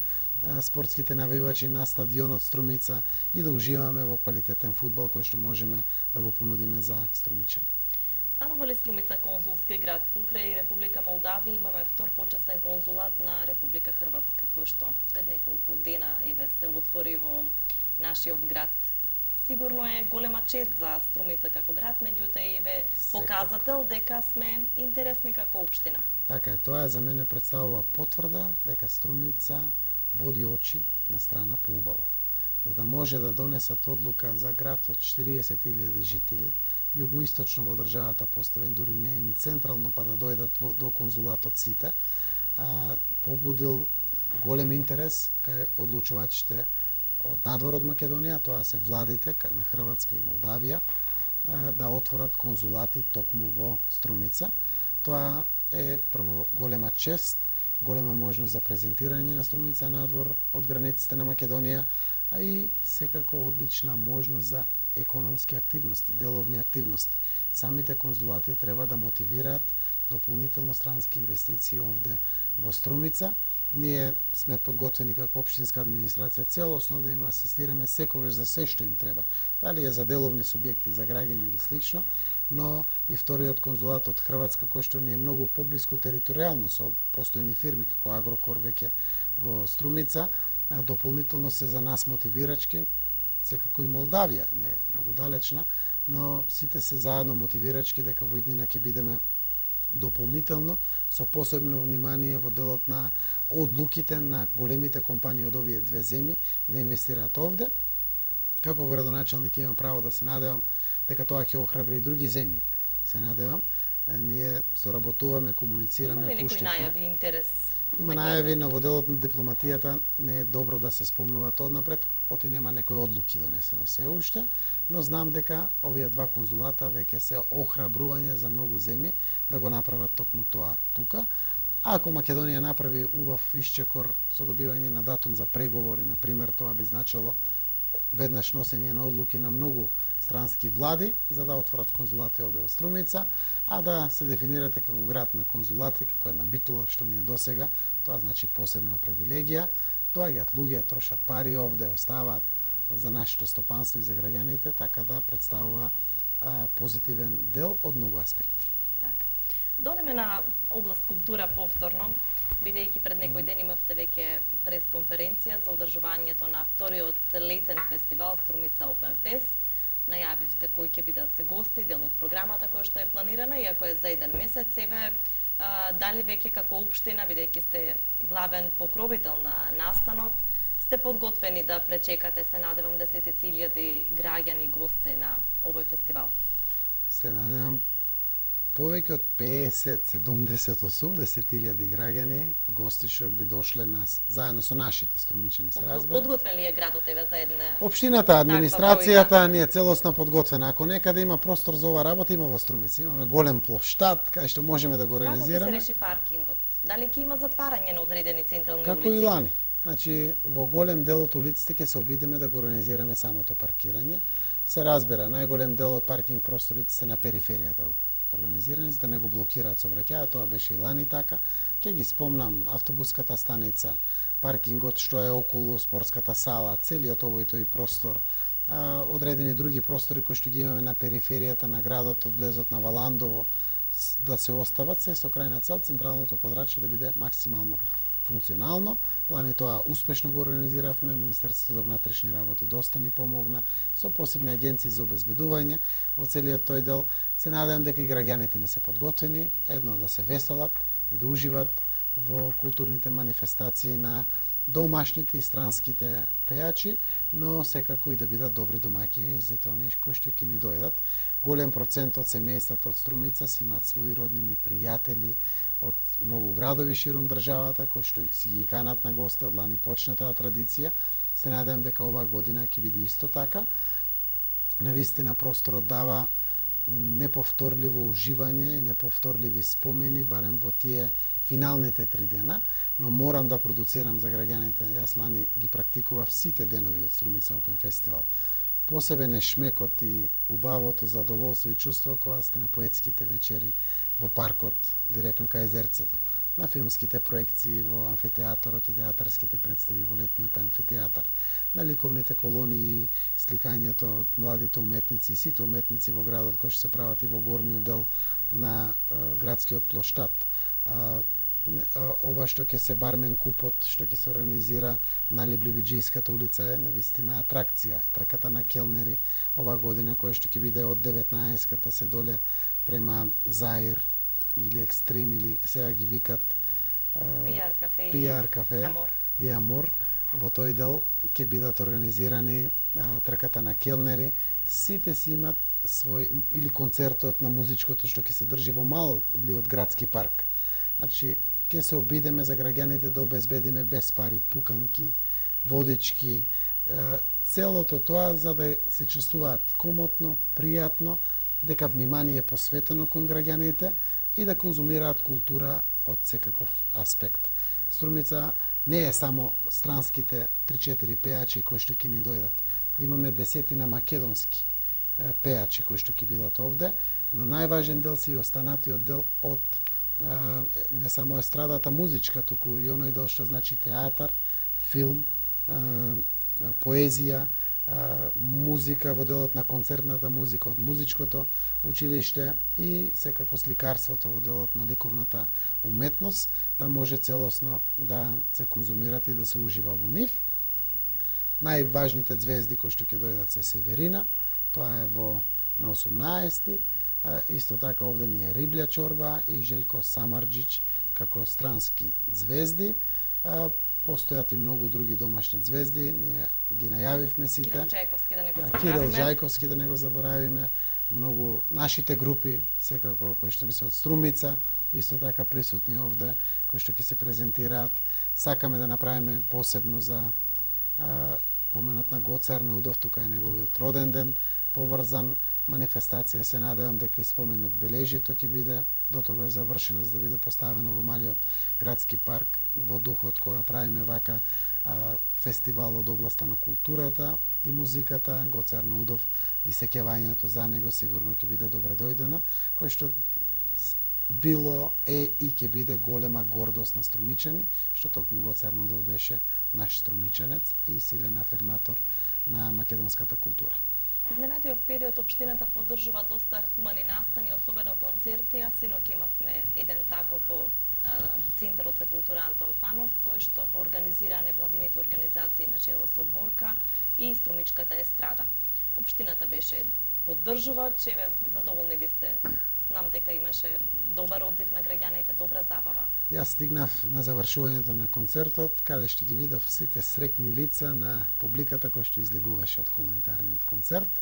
спортските навивачи на стадионот Струмица и да уживаме во квалитетен фудбал кој што можеме да го понудиме за струмичани. Станува ли Струмица конзулски град? Покрај Република Молдавија имаме втор почесен конзулат на Република Хрватска, кој што пред неколку дена еве се отвори во нашиот град. Сигурно е голема чест за Струмица како град, меѓутоа еве показател дека сме интересни како општина. Така е, тоа за мене представува потврда дека Струмица боди очи на страна поубаво. За да може да донесат одлука за град од четириесет илјади жители, југоисточно во државата поставен, дури не е ни централно, па да дојдат во, до конзулатот сите, а, побудил голем интерес кај одлучувачите од надвор од Македонија, тоа се владите на Хрватска и Молдавија, а, да отворат конзулати токму во Струмица. Тоа е прво голема чест, голема можност за презентирање на Струмица надвор од границите на Македонија, а и секако одлична можност за економски активности, деловни активности. Самите конзулати треба да мотивираат дополнително странски инвестиции овде во Струмица. Ние сме подготвени како општинска администрација целосно да им асистираме секогаш за се што им треба. Дали е за деловни субјекти, за граѓани или слично, но и вториот конзулат од Хрватска, кој што ни е многу поблиску територијално со постојни фирми како Агрокор веќе во Струмица, дополнително се за нас мотивирачки, секако и Молдавија не е многу далечна, но сите се заедно мотивирачки дека во иднина ќе бидеме дополнително со посебно внимание во делот на одлуките на големите компании од овие две земји да инвестираат овде. Како градоначалник имам право да се надевам дека тоа ќе охрабри и други земји. Се надевам, ние соработуваме, комуницираме, пуштивме. Има ли некои најави, интерес? Има најави, но во делот на дипломатијата не е добро да се спомнуваат однапред, оти нема некои одлуки донесено се уште, но знам дека овие два конзулата веќе се охрабрување за многу земји да го направат токму тоа тука. А ако Македонија направи убав исчекор со добивање на датум за преговори, на пример, тоа би значило веднаш носење на одлуки на многу странски влади за да отворат конзулати овде во Струмица, а да се дефинирате како град на конзулати, како една Битола што не е досега, тоа значи посебна привилегија. Доаѓаат луѓе, трошат пари овде, оставаат за нашето стопанство и за граѓаните, така да представува а, позитивен дел од многу аспекти. Така. Додеме на област култура повторно, бидејќи пред некој ден имавте веќе пресконференција за одржувањето на вториот летен фестивал Струмица Open Fest. Најавивте кои ќе бидат гости, дел од програмата која што е планирана, иако е за еден месец, еве а, дали веќе како општина, бидејќи сте главен покровител на настанот, сте подготвени да пречекате, се надевам, десетици илјади граѓани гости на овој фестивал? Се надевам повеќе од песет, седумдесет, осумдесет илјади граѓани, гости што би дошле нас, заедно со нашите струмичани, се разбира. Подготвен ли е градот еве за една? Општината, администрацијата ни е целосно подготвена. Ако некаде има простор за ова работа, има во Струмица. Имаме голем плоштад кај што можеме да го организираме. Како ќе се реши паркингот? Дали ќе има затварање на одредени централни улици? Како и лани. Значи, во голем дел од улиците ќе се обидеме да го организираме самото паркирање. Се разбира, најголем дел од паркинг просторите се на периферијата организирани, за да не го блокираат сообраќајот. Тоа беше и лани така. Ќе ги спомнам автобуската станица, паркингот што е околу спортската сала, целиот овој тој простор, а, одредени други простори кои што ги имаме на периферијата на градот, од влезот на Валандово, да се остават се со крајна цел централното подрачје да биде максимално функционално. Лани тоа успешно го организиравме, Министерството за внатрешни работи доста ни помогна со посебни агенции за обезбедување во целиот тој дел. Се надевам дека и граѓаните не се подготвени, едно да се веселат и да уживат во културните манифестации на домашните и странските пејачи, но секако и да бидат добри домаќини за оние кои што ќе ни дојдат. Голем процент од семејствата од Струмица си имаат своји роднини, пријатели од многу градови ширум државата кои што си ги канат на гости, од лани почна таа традиција. Се надевам дека оваа година ќе биде исто така. Навистина просторот дава неповторливо уживање и неповторливи спомени, барем во тие финалните три дена, но морам да продуцирам за граѓаните. Јас лани ги практикував сите денови од Струмица Open Festival. Посебен е шмекот и убавото задоволство и чувство кога сте на поетските вечери во паркот, директно кај езерцето, на филмските проекции во амфитеатарот и театарските представи во летниот амфитеатар, на ликовните колонии, сликањето од младите уметници и сите уметници во градот кои што се прават и во горниот дел на е, градскиот плоштад. А, ова што ќе се бармен купот, што ќе се организира на Лебливиџијската улица е навистина атракција. Трката на келнери ова година, која што ќе биде од деветнаесеттата се доле према Заир или Екстрим, или сега ги викат Пиар кафе, Пиар кафе Амор. и Амор. Во тој дел ќе бидат организирани а, трката на келнери. Сите си имат свој, или концертот на музичкото што ќе се држи во мал или од градски парк. Значи, ќе се обидеме за граѓаните да обезбедиме без пари пуканки, водички, целото тоа за да се чувствуваат комотно, пријатно, дека внимание е посветено кон граѓаните и да конзумираат култура од секаков аспект. Струмица не е само странските три-четири пејачи кои што ќе ни дојдат. Имаме десетина македонски пејачи кои што ќе бидат овде, но најважен дел се и останатиот дел од не само естрадата музичка, туку и оној дел што значи театар, филм, поезија, музика во делот на концертната музика од музичкото училиште и секако сликарството во делот на ликовната уметност, да може целосно да се конзумират и да се ужива во нив. Најважните звезди кои што ќе дојдат се Северина, тоа е во на осумнаесети. Исто така овде ни е Риблја Чорба и Желко Самарџич како странски звезди. Постојат и многу други домашни звезди, ние ги најавивме сите. Кирил Џајковски да не го заборавиме. Кирил Џајковски да не го заборавиме. Многу нашите групи, секако кои што не се од Струмица, исто така присутни овде, кои што ќе се презентираат. Сакаме да направиме посебно за а, поменот на Гоце Арнаудов, тука е неговиот роден ден, поврзан манифестација. Се надевам дека и споменот бележито ќе биде до тогаш завршено, за да биде поставено во малиот градски парк во духот кога правиме вака а, фестивал од областа на културата и музиката. Гоце Арнаудов и сеќавањето за него сигурно ќе биде добре дојдено, кој што било е и ќе биде голема гордост на струмичани, што токму Гоце Арнаудов беше наш струмичанец и силен афирматор на македонската култура. Изминатиот период општината поддржува доста хумани настани, особено концерти, а синоќ имавме еден таков во Центарот за култура Антон Панов, кој што го организира невладините организации на чело со Борка и Струмичката естрада. Општината беше поддржувач, еве задоволни ли сте Знам дека имаше добар одзив на граѓаните, добра забава. Јас стигнав на завршувањето на концертот, каде што ги видов сите срекни лица на публиката која што излегуваше од хуманитарниот концерт.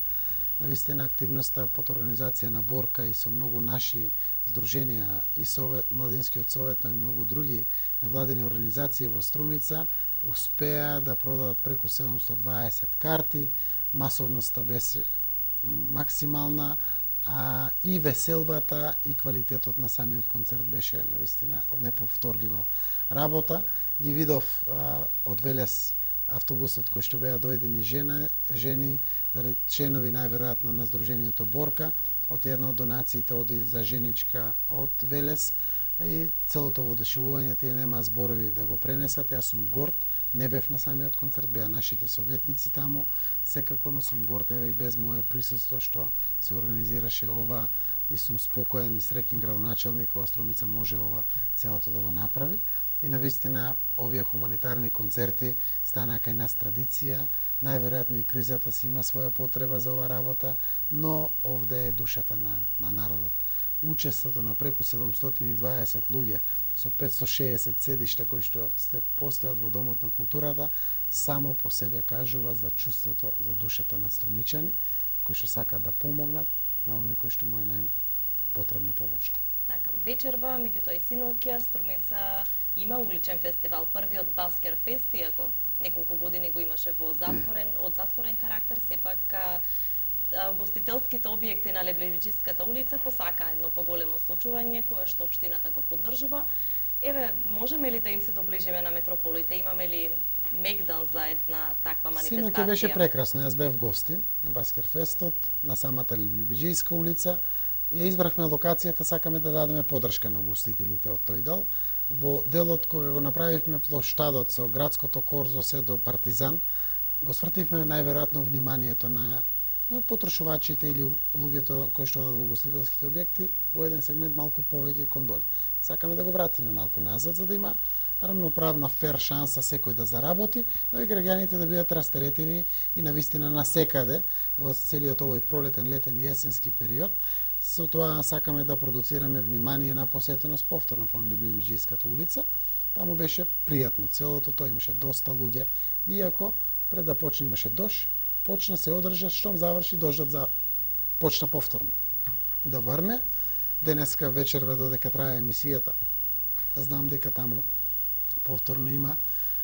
Навистина активноста под организација на Борка и со многу наши здруженија и Совет, Младинскиот совет, но и многу други невладени организации во Струмица успеа да продадат преку седумстотини и дваесет карти, масовноста беше максимална, а и веселбата и квалитетот на самиот концерт беше навистина од неповторлива работа. Ги видов а, од Велес автобусот кој што беа дојдени жена, жени, членови најверојатно на Сдруженијето Борка, од една од донациите оди за женичка од Велес и целото воодушевување, тие нема зборови да го пренесат. Јас сум горд, не бев на самиот концерт, беа нашите советници таму, секако, но сум горд еве и без мое присуство што се организираше ова и сум спокоен и среќен градоначелник, ова Струмица може ова целото да го направи. И навистина овие хуманитарни концерти станаа кај нас традиција, најверојатно и кризата си има своја потреба за оваа работа, но овде е душата на, на народот. Учеството на преку седумстотини и дваесет луѓе со петстотини и шеесет седишта кои што сте постојат во Домот на културата, само по себе кажува за чувството, за душата на струмичани, кои што сакаат да помогнат на оној кој што му е најпотребна помош. Така, вечерва, меѓутоа и синоќа, Струмица има уличен фестивал, првиот Баскер фест, иако неколку години го имаше во затворен, од затворен карактер, сепак а, а, гостителските објекти на Леблевиџиската улица посакаа едно поголемо случување кое што општината го поддржува. Еве, можеме ли да им се доближиме на метрополите? Имаме ли мегдан за една таква манифестација? Синоќа беше прекрасно. Јас бев гости на Баскер фестот, на самата Леблевиџиска улица. Ја избрахме локацијата, сакаме да дадеме поддршка на гостителите од тој дел. Во делот кога го направивме плоштадот со градското корзо се до Партизан, го свртивме најверојатно вниманието на потрошувачите или луѓето кои што одат во гостителските објекти во еден сегмент малку повеќе кон доле. Сакаме да го вратиме малку назад за да има рамноправна фер шанса секој да заработи, но и граѓаните да бидат растеретени и навистина насекаде во целиот овој пролетен, летен и есенски период. Со тоа сакаме да продуцираме внимание на посетеност повторно кон Леблевиџиската улица. Таму беше пријатно целото, тоа имаше доста луѓе, иако пред да почне имаше дожд, почна се одржа, штом заврши дождот за почна повторно да врне. Денеска вечерва додека трае емисијата, знам дека таму повторно има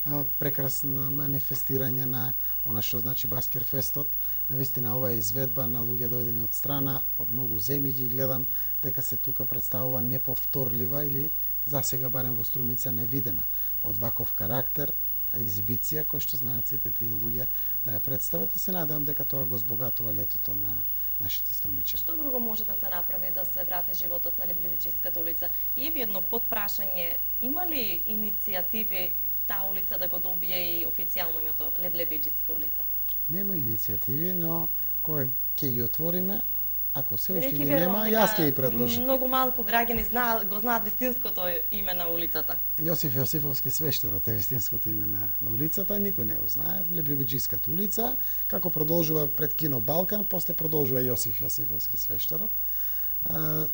а, прекрасно манифестирање на она што значи Баскер фестот. Навистина ова е изведба на луѓе дојдени од страна, од многу земји ги гледам дека се тука представува неповторлива или засега барем во Струмица невидена од ваков карактер екзибиција која што знаат сите тие луѓе да ја представат и се надевам дека тоа го збогатува летото на нашите струмичани. Што друго може да се направи да се врати животот на Леблевиџиската улица? И еве едно подпрашање, има ли иницијативи таа улица да го добие и официјално името Леблевиџиска улица? Нема иницијативи, но кога ќе ги отвориме, ако се уште Бидејќи ги верувам нема, дека јас ќе ги предложам. Многу малку граѓани знаат, го знаат вистинското име на улицата. Јосиф Јосифовски свештерот е вистинското име на, на улицата, никој не го знае. Леблевиџиската улица, како продолжува пред кино Балкан, после продолжува Јосиф Јосифовски свештерот. А,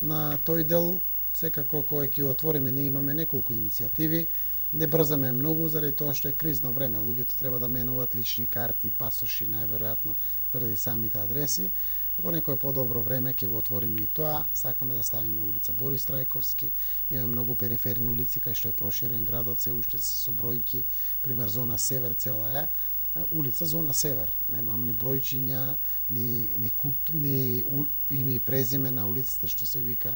на тој дел, секако кога ќе отвориме, ние имаме неколку иницијативи. Не брзаме многу заради тоа што е кризно време. Луѓето треба да менуваат лични карти, пасоши, најверојатно заради самите адреси. Во некое подобро време ќе го отвориме и тоа. Сакаме да ставиме улица Борис Трајковски. Имаме многу периферни улици кај што е проширен градот, се уште се со бројки. Пример зона Север цела е улица зона Север. Немам ни бројчиња, ни ни, кук, ни у, име и презиме на улицата што се вика.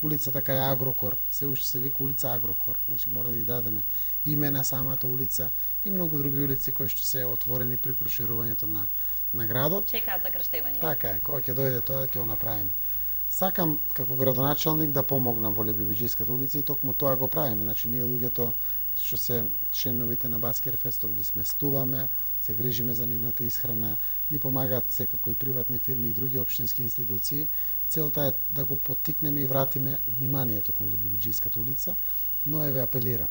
Улицата кај Агрокор, се уште се вика улица Агрокор, значи мора да ја дадеме име на самата улица и многу други улици кои што се отворени при проширувањето на на градот. Чекаат за крштевање. Така е, кога ќе дојде тоа ќе го направиме. Сакам како градоначалник да помогнам во Леблевиџиската улица и токму тоа го правиме. Значи ние луѓето што се членовите на Баскер фестот ги сместуваме, се грижиме за нивната исхрана, ни помагаат секако и приватни фирми и други општински институции. Целта е да го поттикнеме и вратиме вниманието кон Леблевиџиската улица, но еве апелирам,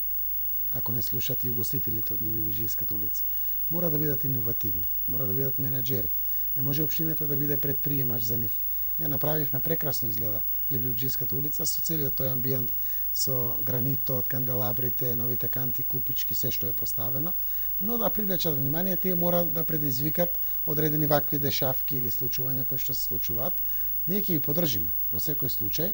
ако не слушат и угостителите од Леблевиџиската улица, мора да бидат иновативни, мора да бидат менаџери. Не може општината да биде предприемач за нив. ја направивме прекрасно изгледа Либливџиската улица со целиот тој амбиент, со гранитот, канделабрите, новите канти, клупички, се што е поставено, но да привлечат внимание, тие мора да предизвикат одредени вакви дешавки или случувања кои што се случуваат. Ние ќе ги подржиме во секој случај.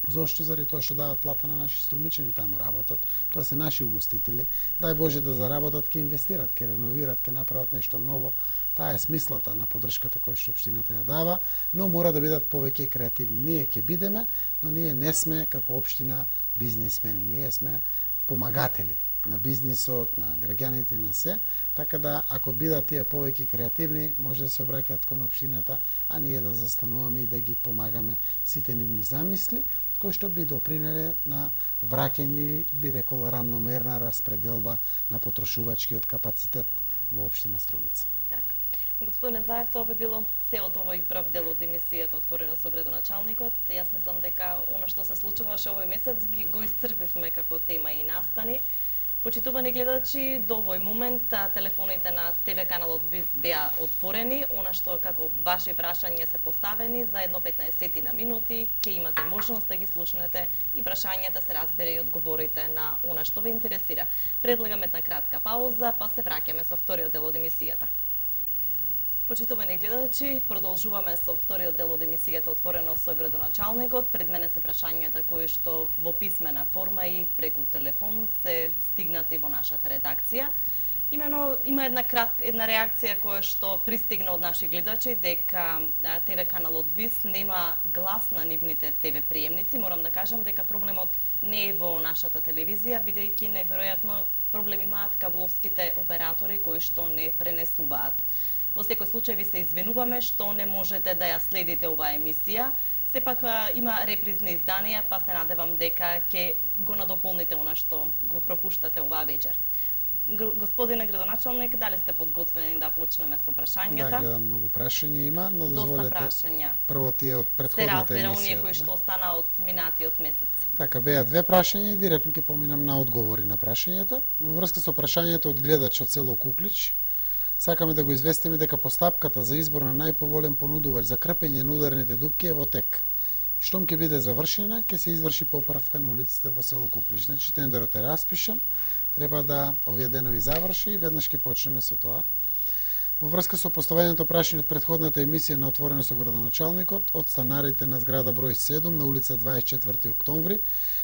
Зошто? Заради тоа што дават плата на наши струмичани, таму работат. Тоа се наши угостители. Дај Боже да заработат, ќе инвестират, ќе реновират, ќе направат нешто ново. Таа е смислата на поддршката која што општината ја дава, но мора да бидат повеќе креативни. Ние ќе бидеме, но ние не сме како општина бизнисмени. Ние сме помагатели на бизнисот, на граѓаните, на се. Така да, ако бидат тие повеќе креативни, може да се обраќаат кон општината, а ние да застануваме и да ги помагаме сите нивни замисли, кои што би допринеле на враќање или би рекол рамномерна распределба на потрошувачкиот капацитет во општина Струмица. Така. Господине Заев, тоа би било се од овој прв дел од емисијата Отворено со градоначалникот. Јас мислам дека она што се случуваше овој месец го исцрпивме како тема и настани. Почитувани гледачи, до овој момент телефоните на ТВ каналот БИС беа отворени, она што како ваши прашања се поставени за едно петнаесет на минути, ќе имате можност да ги слушнете и прашањата се разбере и одговорите на она што ве интересира. Предлагам една кратка пауза, па се враќаме со вториот дел од емисијата. Почитувани гледачи, продолжуваме со вториот дел од емисијата Отворено со градоначалникот. Пред мене се прашањата кои што во писмена форма и преку телефон се стигнати во нашата редакција. Имено има една кратка една реакција која што пристигна од наши гледачи дека ТВ каналот ВИС нема глас на нивните ТВ приемници. Морам да кажам дека проблемот не е во нашата телевизија, бидејќи најверојатно проблем имаат кабловските оператори кои што не пренесуваат. Во секој случај ви се извинуваме што не можете да ја следите оваа емисија. Сепак има репризни изданија, па се надевам дека ќе го надополните она што го пропуштате оваа вечер. Господине градоначалник, дали сте подготвени да почнеме со прашањата? Да, гледам многу прашања има, но дозволете прашања. Прво тие од претходната емисија. Се разбира оние кои што остана од минатиот месец. Така, беа две прашања и директно ќе поминам на одговори на прашањата. Во врска со прашањето од гледач од село Куклич, сакаме да го известиме дека постапката за избор на најповолен понудувач за крпење на ударните дупки е во тек. Штом ќе биде завршена, ќе се изврши поправка на улиците во село Куклич. Значи, тендерот е распишан, треба да овие денови заврши и веднаш ќе почнеме со тоа. Во врска со поставеното прашање од претходната емисија на Отворено со градоначалникот, од станарите на зграда број седум на улица дваесет и четврти октомври,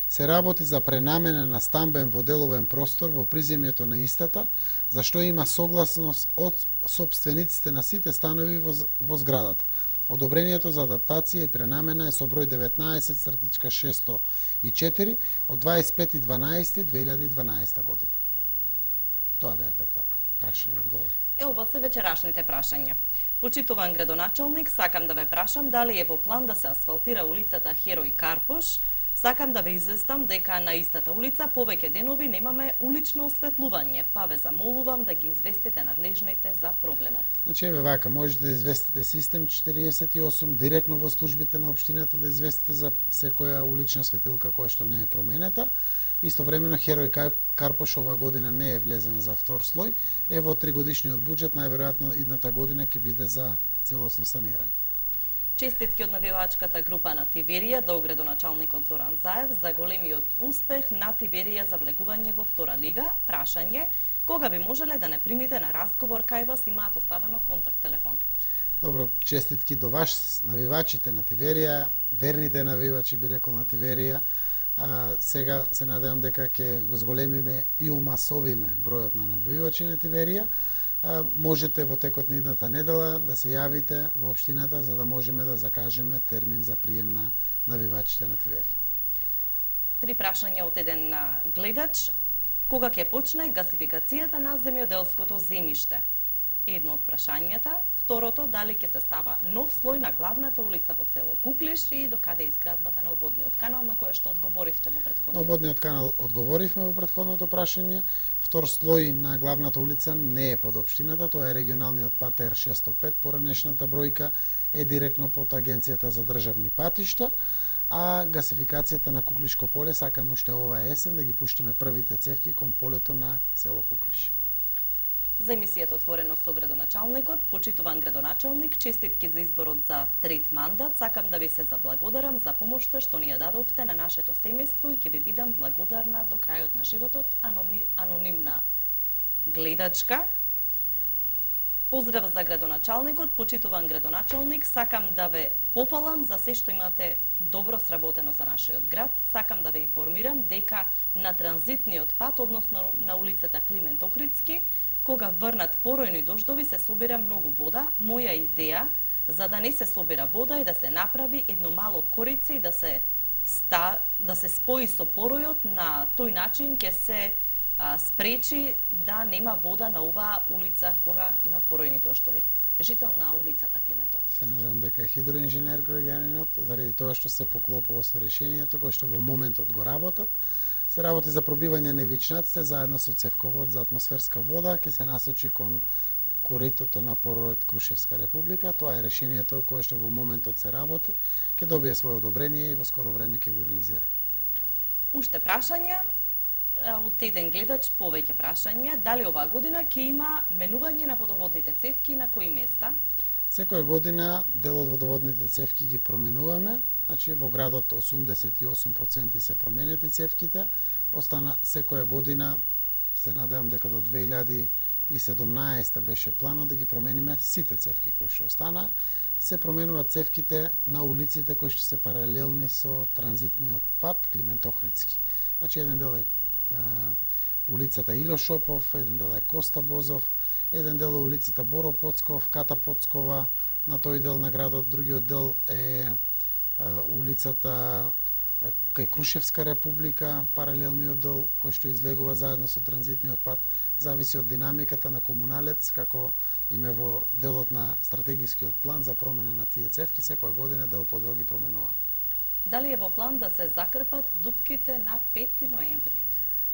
се работи за пренамена на стамбен во деловен простор во приземјето на истата, за што има согласност од сопствениците на сите станови во, во зградата. Одобрението за адаптација и пренамена е со број деветнаесет шестsto и четири од дваесет и пети дванаесети две илјади и дванаесета година. Тоа беа двете прашања и одговори. Е, ова се вечерашните прашања. Почитуван градоначалник, сакам да ве прашам дали е во план да се асфалтира улицата Херој Карпош. Сакам да ве известам дека на истата улица повеќе денови немаме улично осветлување, па ве замолувам да ги известите надлежните за проблемот. Значи, еве вака, можете да известите систем четириесет и осум директно во службите на општината да известите за секоја улична светилка која што не е променета. Истовремено Херој Карпош ова година не е влезен за втор слој, е во тригодишниот буџет, најверојатно идната година ќе биде за целосно санирање. Честитки од навивачката група на Тиверија до градоначалникот Зоран Заев за големиот успех на Тиверија за влегување во втора лига. Прашање, кога би можеле да не примите на разговор кај вас, имаат оставено контакт телефон? Добро, честитки до вас, навивачите на Тиверија, верните навивачи би рекол на Тиверија. А, сега се надевам дека ќе го зголемиме и умасовиме бројот на навивачи на Тиверија. Можете во текот на идната недела да се јавите во општината за да можеме да закажеме термин за прием на навивачите на Тиверија. Три прашања од еден гледач. Кога ќе почне гасификацијата на земјоделското земјиште? Едно од прашањата. Второто, дали ќе се става нов слој на главната улица во село Куклиш и докаде е изградбата на ободниот канал, на кое што одговоривте во претходниот? На ободниот канал одговоривме во претходното прашање. Втор слој на главната улица не е под општината, тоа е регионалниот пат Р шестsto пет, поранешната бројка е директно под Агенцијата за државни патишта, а гасификацијата на Куклишко поле сакаме уште оваа есен да ги пуштиме првите цевки кон полето на село Куклиш. За емисијата Отворено со градоначалникот, почитуван градоначалник, честитки за изборот за трет мандат, сакам да ви се заблагодарам за помошта што ни ја дадовте на нашето семејство и ќе ви бидам благодарна до крајот на животот, анонимна гледачка. Поздрав за градоначалникот, почитуван градоначалник, сакам да ве пофалам за се што имате добро сработено за нашиот град. Сакам да ве информирам дека на транзитниот пат, односно на улицата Климент Охридски, кога врнат поројни дождови, се собира многу вода. Моја идеја за да не се собира вода е да се направи едно мало корице и да се ста, да се спои со поројот, на тој начин ќе се а, спречи да нема вода на оваа улица кога има поројни дождови. Жител на улицата Климент Охридски. Се надевам дека е хидроинженер граѓанинот, заради тоа што се поклопува со решението кој што во моментот го работат. Се работи за пробивање на ивичнаците заедно со цевковод за атмосферска вода, ќе се насочи кон коритото на поројот Крушевска република. Тоа е решението кое што во моментот се работи, ќе добие свое одобрение и во скоро време ќе го реализира. Уште прашања од еден гледач, повеќе прашања, дали оваа година ќе има менување на водоводните цевки, на кои места? Секоја година дел од водоводните цевки ги променуваме. Значи во градот осумдесет и осум проценти се променети цевките, остана секоја година, се надевам дека до две илјади и седумнаесета беше планот да ги промениме сите цевки кои што остана. Се променуваат цевките на улиците кои што се паралелни со транзитниот пат Климент Охридски. Значи еден дел е а, улицата Ило Шопов, еден дел е Коста Бозов, еден дел е улицата Боро Поцков, Ката Поцкова, на тој дел на градот, другиот дел е улицата кај Крушевска република, паралелниот дел кој што излегува заедно со транзитниот пат, зависи од динамиката на комуналец, како име во делот на стратегискиот план за промена на тие цевки, секоја година дел по дел ги променува. Дали е во план да се закрпат дупките на пети ноември?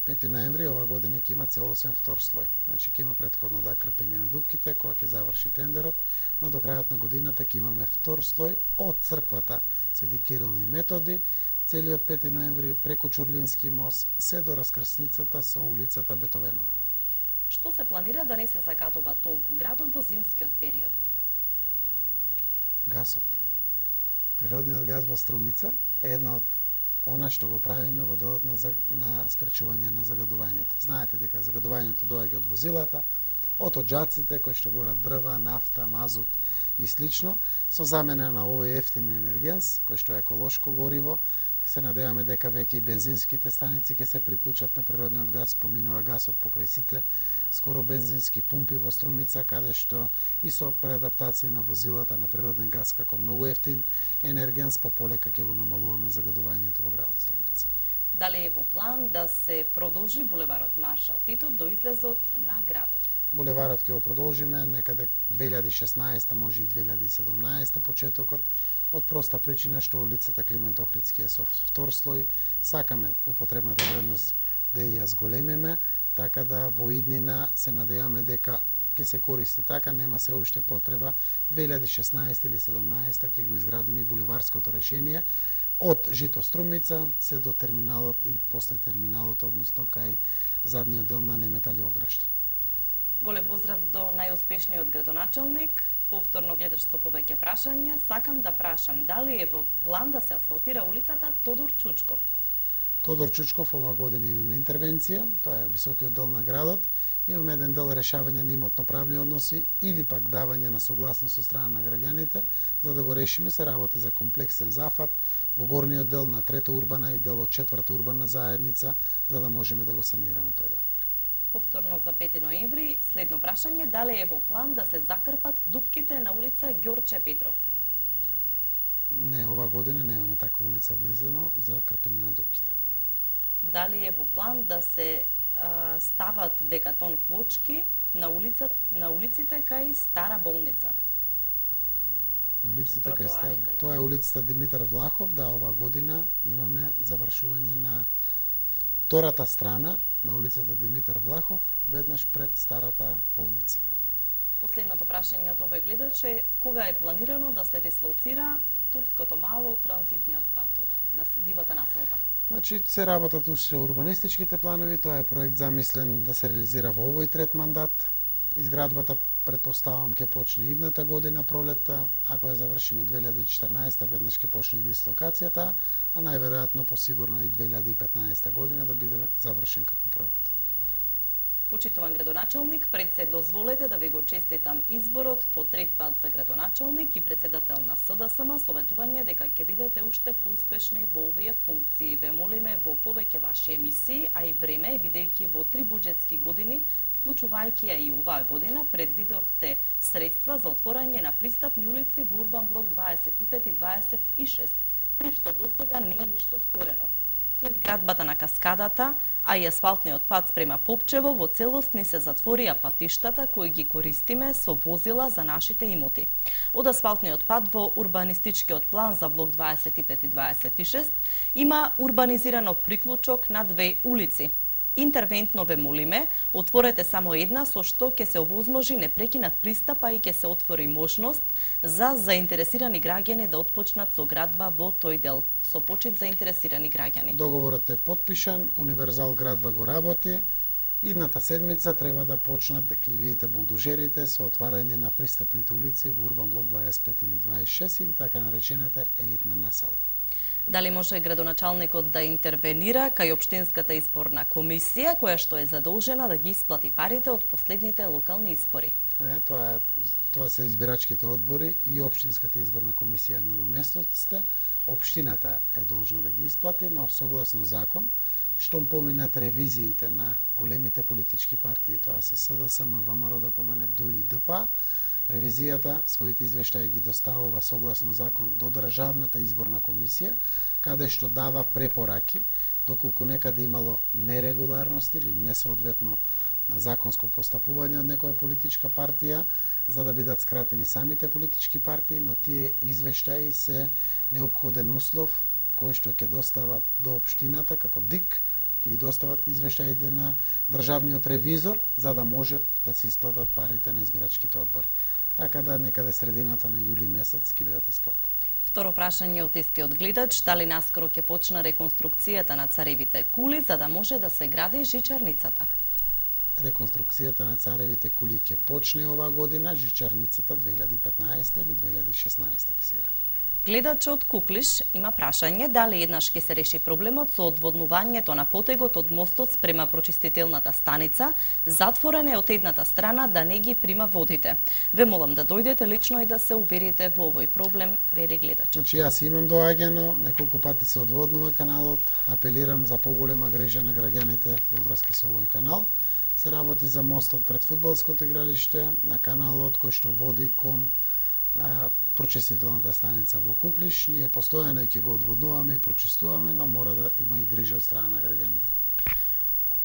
пети ноември ова година ќе има целосен втор слој. Значи ќе има претходно да крпење на дупките кога ќе заврши тендерот, но до крајот на годината ќе имаме втор слој од црквата Свети Кирил и Методи, целиот пети ноември преку Чурлински мост, се до раскрсницата со улицата Бетовенова. Што се планира да не се загадува толку градот во зимскиот период? Гасот. Природниот газ во Струмица е една од она што го правиме во делот на, на спречување на загадувањето. Знаете дека загадувањето доаѓа од возилата, од оджаците кои што горат дрва, нафта, мазут и слично, со замена на овој ефтин енергенс, кој што е еколошко гориво. Се надеваме дека веќе и бензинските станици ќе се приклучат на природниот газ, поминува гасот покрај сите скоро бензински пумпи во Струмица, каде што и со преадаптација на возилата на природен газ како многу ефтин енергенс, пополека ќе го намалуваме загадувањето во градот Струмица. Дали е во план да се продолжи булеварот Маршал Тито до излезот на градот? Булеварот ќе го продолжиме некаде две илјади и шеснаесета, може и две илјади и седумнаесета почетокот, од проста причина што улицата Климент Охридски е со втор слој. Сакаме употребната вредност да ја зголемиме, така да во иднина се надеваме дека ќе се користи така, нема се уште потреба. две илјади и шеснаесета или седумнаесета ќе го изградиме и булеварското решение од Жито Струмица се до терминалот и после терминалот, односно кај задниот дел на Неметали Ограште. Голем поздрав до најуспешниот градоначалник. Повторно гледаш со повеќе прашања. Сакам да прашам, дали е во план да се асфалтира улицата Тодор Чучков? Тодор Чучков ова година имаме интервенција, тоа е високиот дел на градот. Имаме еден дел решавање на имотно-правни односи или пак давање на согласност со страна на граѓаните. За да го решиме се работи за комплексен зафат во горниот дел на трета урбана и дел од четврта урбана заедница, за да можеме да го санираме тој дел. Повторно за пети ноември, следно прашање, дали е во план да се закрпат дупките на улица Ѓорче Петров? Не, ова година немаме таква улица влезено за крпење на дупките. Дали е во план да се а, стават бекатон плочки на улица на улиците кај Стара болница? На улиците кај Стара, тоа е улицата Димитар Влахов, да, ова година имаме завршување на втората страна на улицата Димитар Влахов, веднаш пред Старата болница. Последното прашање од овој гледач е кога е планирано да се дислоцира Турското мало транзитниот пат на дивата населба? Значи, се работат уште урбанистичките планови, тоа е проект замислен да се реализира во овој трет мандат. Изградбата претпоставам ќе почне идната година пролетта, ако ја завршиме две илјади и четрнаесета, веднаш ќе почне и дислокацијата, а најверојатно посигурно и две илјади и петнаесета година да биде завршен како проект. Почитуван градоначалник, пред се дозволете да ви го честитам изборот по трет пат за градоначалник и председател на С Д С М, советување дека ќе бидете уште поуспешни во овие функции. Ве молиме во повеќе ваши емисии, а и време, бидејќи во три буџетски години, вклучувајќи ја и оваа година, предвидовте средства за отворање на пристапни улици во Урбан блок дваесет и пет и дваесет и шест, при што досега не е ништо сторено. Со изградбата на каскадата, а и асфалтниот пат спрема Попчево, во целост ни се затворија патиштата кои ги користиме со возила за нашите имоти. Од асфалтниот пат во урбанистичкиот план за блок дваесет и пет и дваесет и шест има урбанизирано приклучок на две улици. Интервентно ве молиме, отворете само една со што ќе се овозможи непрекинат пристап, а и ќе се отвори можност за заинтересирани граѓани да отпочнат со градба во тој дел. Со почит заинтересирани граѓани. Договорот е потпишан, Универзал градба го работи. Идната седмица треба да почнат, ќе видите булдожерите со отварање на пристапните улици во Урбан блок дваесет и пет или дваесет и шест или така наречената елитна населба. Дали може градоначалникот да интервенира кај општинската изборна комисија, која што е задолжена да ги исплати парите од последните локални избори? Не, тоа е тоа се избирачките одбори и општинската изборна комисија на доместоците. Општината е должна да ги исплати, но согласно закон, штом поминат ревизиите на големите политички партии, тоа се С Д С М, В М Р, да помене Д У и Д П А, ревизијата своите извештаи ги доставува согласно закон до Државната изборна комисија, каде што дава препораки, доколку некаде имало нерегуларности или несоодветно законско постапување од некоја политичка партија, за да бидат скратени самите политички партии, но тие извештаи се неопходен услов кој што ќе достават до општината како Д И К, ќе ги достават извештаите на државниот ревизор, за да можат да се исплатат парите на избирачките одбори. Така да некаде средината на јули месец ќе бидат исплатени. Второ прашање од истиот гледач, дали наскоро ќе почне реконструкцијата на Царевите кули за да може да се гради жичарницата? Реконструкцијата на Царевите кули ќе почне оваа година, жичарницата две илјади и петнаесета или две илјади и шеснаесета ќе се гради. Гледачот Куклиш има прашање дали еднаш ќе се реши проблемот со одводнувањето на потегот од мостот спрема прочистителната станица, затворен е од едната страна да не ги прима водите. Ве молам да дојдете лично и да се уверите во овој проблем, вели гледачот. Значи јас имам доаѓано, неколку пати се одводнува каналот, апелирам за поголема грижа на граѓаните во врска со овој канал. Се работи за мостот пред фудбалското игралиште, на каналот кој што води кон а, прочистителната станица во Куклиш. Ние постојано ќе го одводнуваме и прочистуваме, но мора да има и грижа од страна на граѓаните.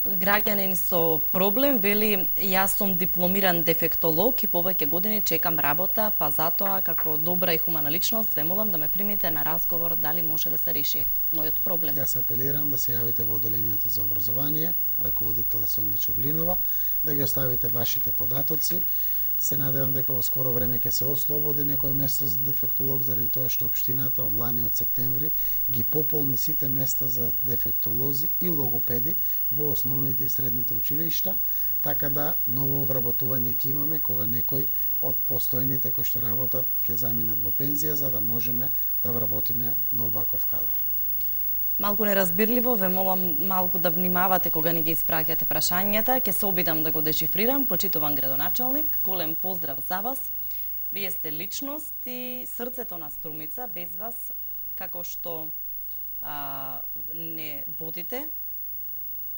Граѓанин со проблем вели, јас сум дипломиран дефектолог и повеќе години чекам работа, па затоа како добра и хумана личност ве молам да ме примите на разговор дали може да се реши мојот проблем. Јас апелирам да се јавите во оделението за образование, раководител е Сонја Чурлинова, да ги оставите вашите податоци. Се надевам дека во скоро време ќе се ослободи некој место за дефектолог, заради тоа што општината од лани од септември ги пополни сите места за дефектолози и логопеди во основните и средните училишта, така да ново вработување ќе имаме кога некој од постојните кои што работат ќе заминат во пензија, за да можеме да вработиме нов ваков кадар. Малку неразбирливо, ве молам малку да внимавате кога ни ги испраќате прашањата. Ќе се обидам да го дешифрирам. Почитуван градоначалник, голем поздрав за вас. Вие сте личност и срцето на Струмица. Без вас, како што а, не водите,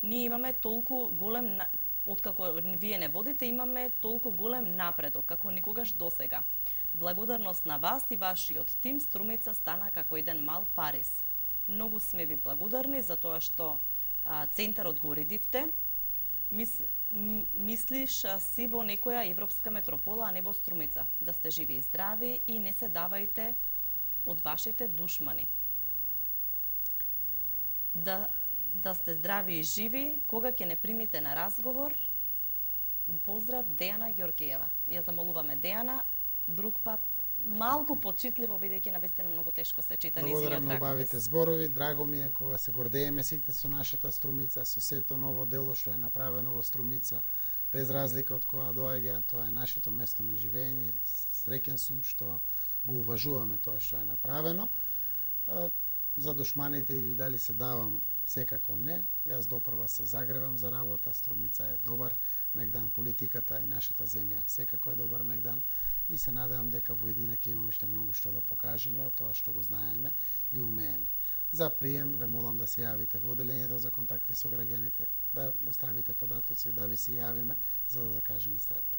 ние имаме толку голем, откако вие не водите, имаме толку голем напредок, како никогаш досега. Благодарност на вас и вашиот тим, Струмица стана како еден мал Париз. Многу сме ви благодарни за тоа што а, центарот го уредивте. Мис, м, мислиш а, си во некоја европска метропола, а не во Струмица. Да сте живи и здрави и не се давајте од вашите душмани. Да, да сте здрави и живи, кога ќе не примите на разговор. Поздрав, Дејана Ѓоргиева. Ја замолуваме Дејана, друг пат малку почитливо, бидејќи навистина многу тешко се чита низиниот Благодарам на раковис. убавите зборови, драго ми е кога се гордееме сите со нашата Струмица, со сето ново дело што е направено во Струмица, без разлика од која доаѓа, тоа е нашето место на живење. Среќен сум што го уважуваме тоа што е направено. За душманите или дали се давам, секако не. Јас допрва се загревам за работа, Струмица е добар мегдан, политиката и нашата земја секако е добар мегдан и се надевам дека во иднина ќе имаме уште многу што да покажеме од тоа што го знаеме и умееме. За прием ве молам да се јавите во оделењето за контакти со граѓаните, да оставите податоци, да ви се јавиме за да закажеме средба.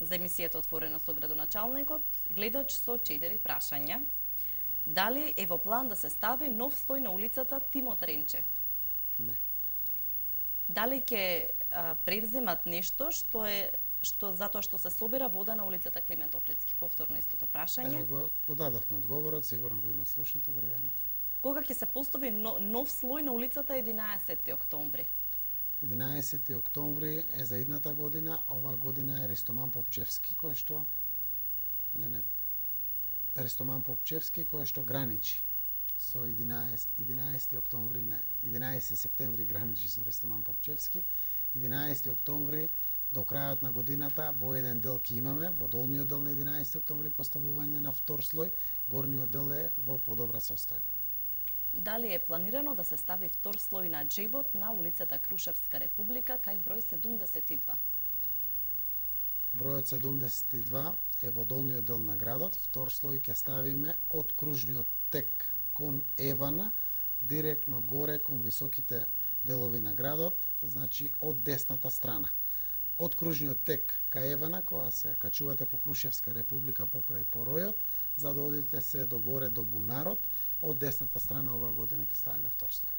За емисијата Отворено со градоначалникот, гледач со четири прашања. Дали е во план да се стави нов слој на улицата Тимо Тренчев? Не. Дали ќе превземат нешто што е што затоа што се собира вода на улицата Климент Охридски? Повторно истото прашање. Ево го, го дадовме одговорот, сигурно го има слушнато граѓаните. Кога ќе се постави нов слој на улицата единаесети октомври? единаесети октомври е за идната година, оваа година е Ристоман Попчевски, кој што не не Ристоман Попчевски кој што граничи со единаесети октомври, не, единаесети септември граничи со Ристоман Попчевски. единаесети октомври до крајот на годината во еден дел ќе имаме, во долниот дел на единаесети октомври поставување на втор слој, горниот дел е во подобра состојба. Дали е планирано да се стави втор слој на џебот на улицата Крушевска република кај број седумдесет и два? Бројот седумдесет и два е во долниот дел на градот, втор слој ќе ставиме од кружниот тек кон Евана, директно горе кон високите делови на градот, значи од десната страна. Од кружниот тек кај Евана, кога се качувате по Крушевска република покрај Поројот, за да одите се до горе до Бунарот, од десната страна оваа година ќе ставиме втор слој.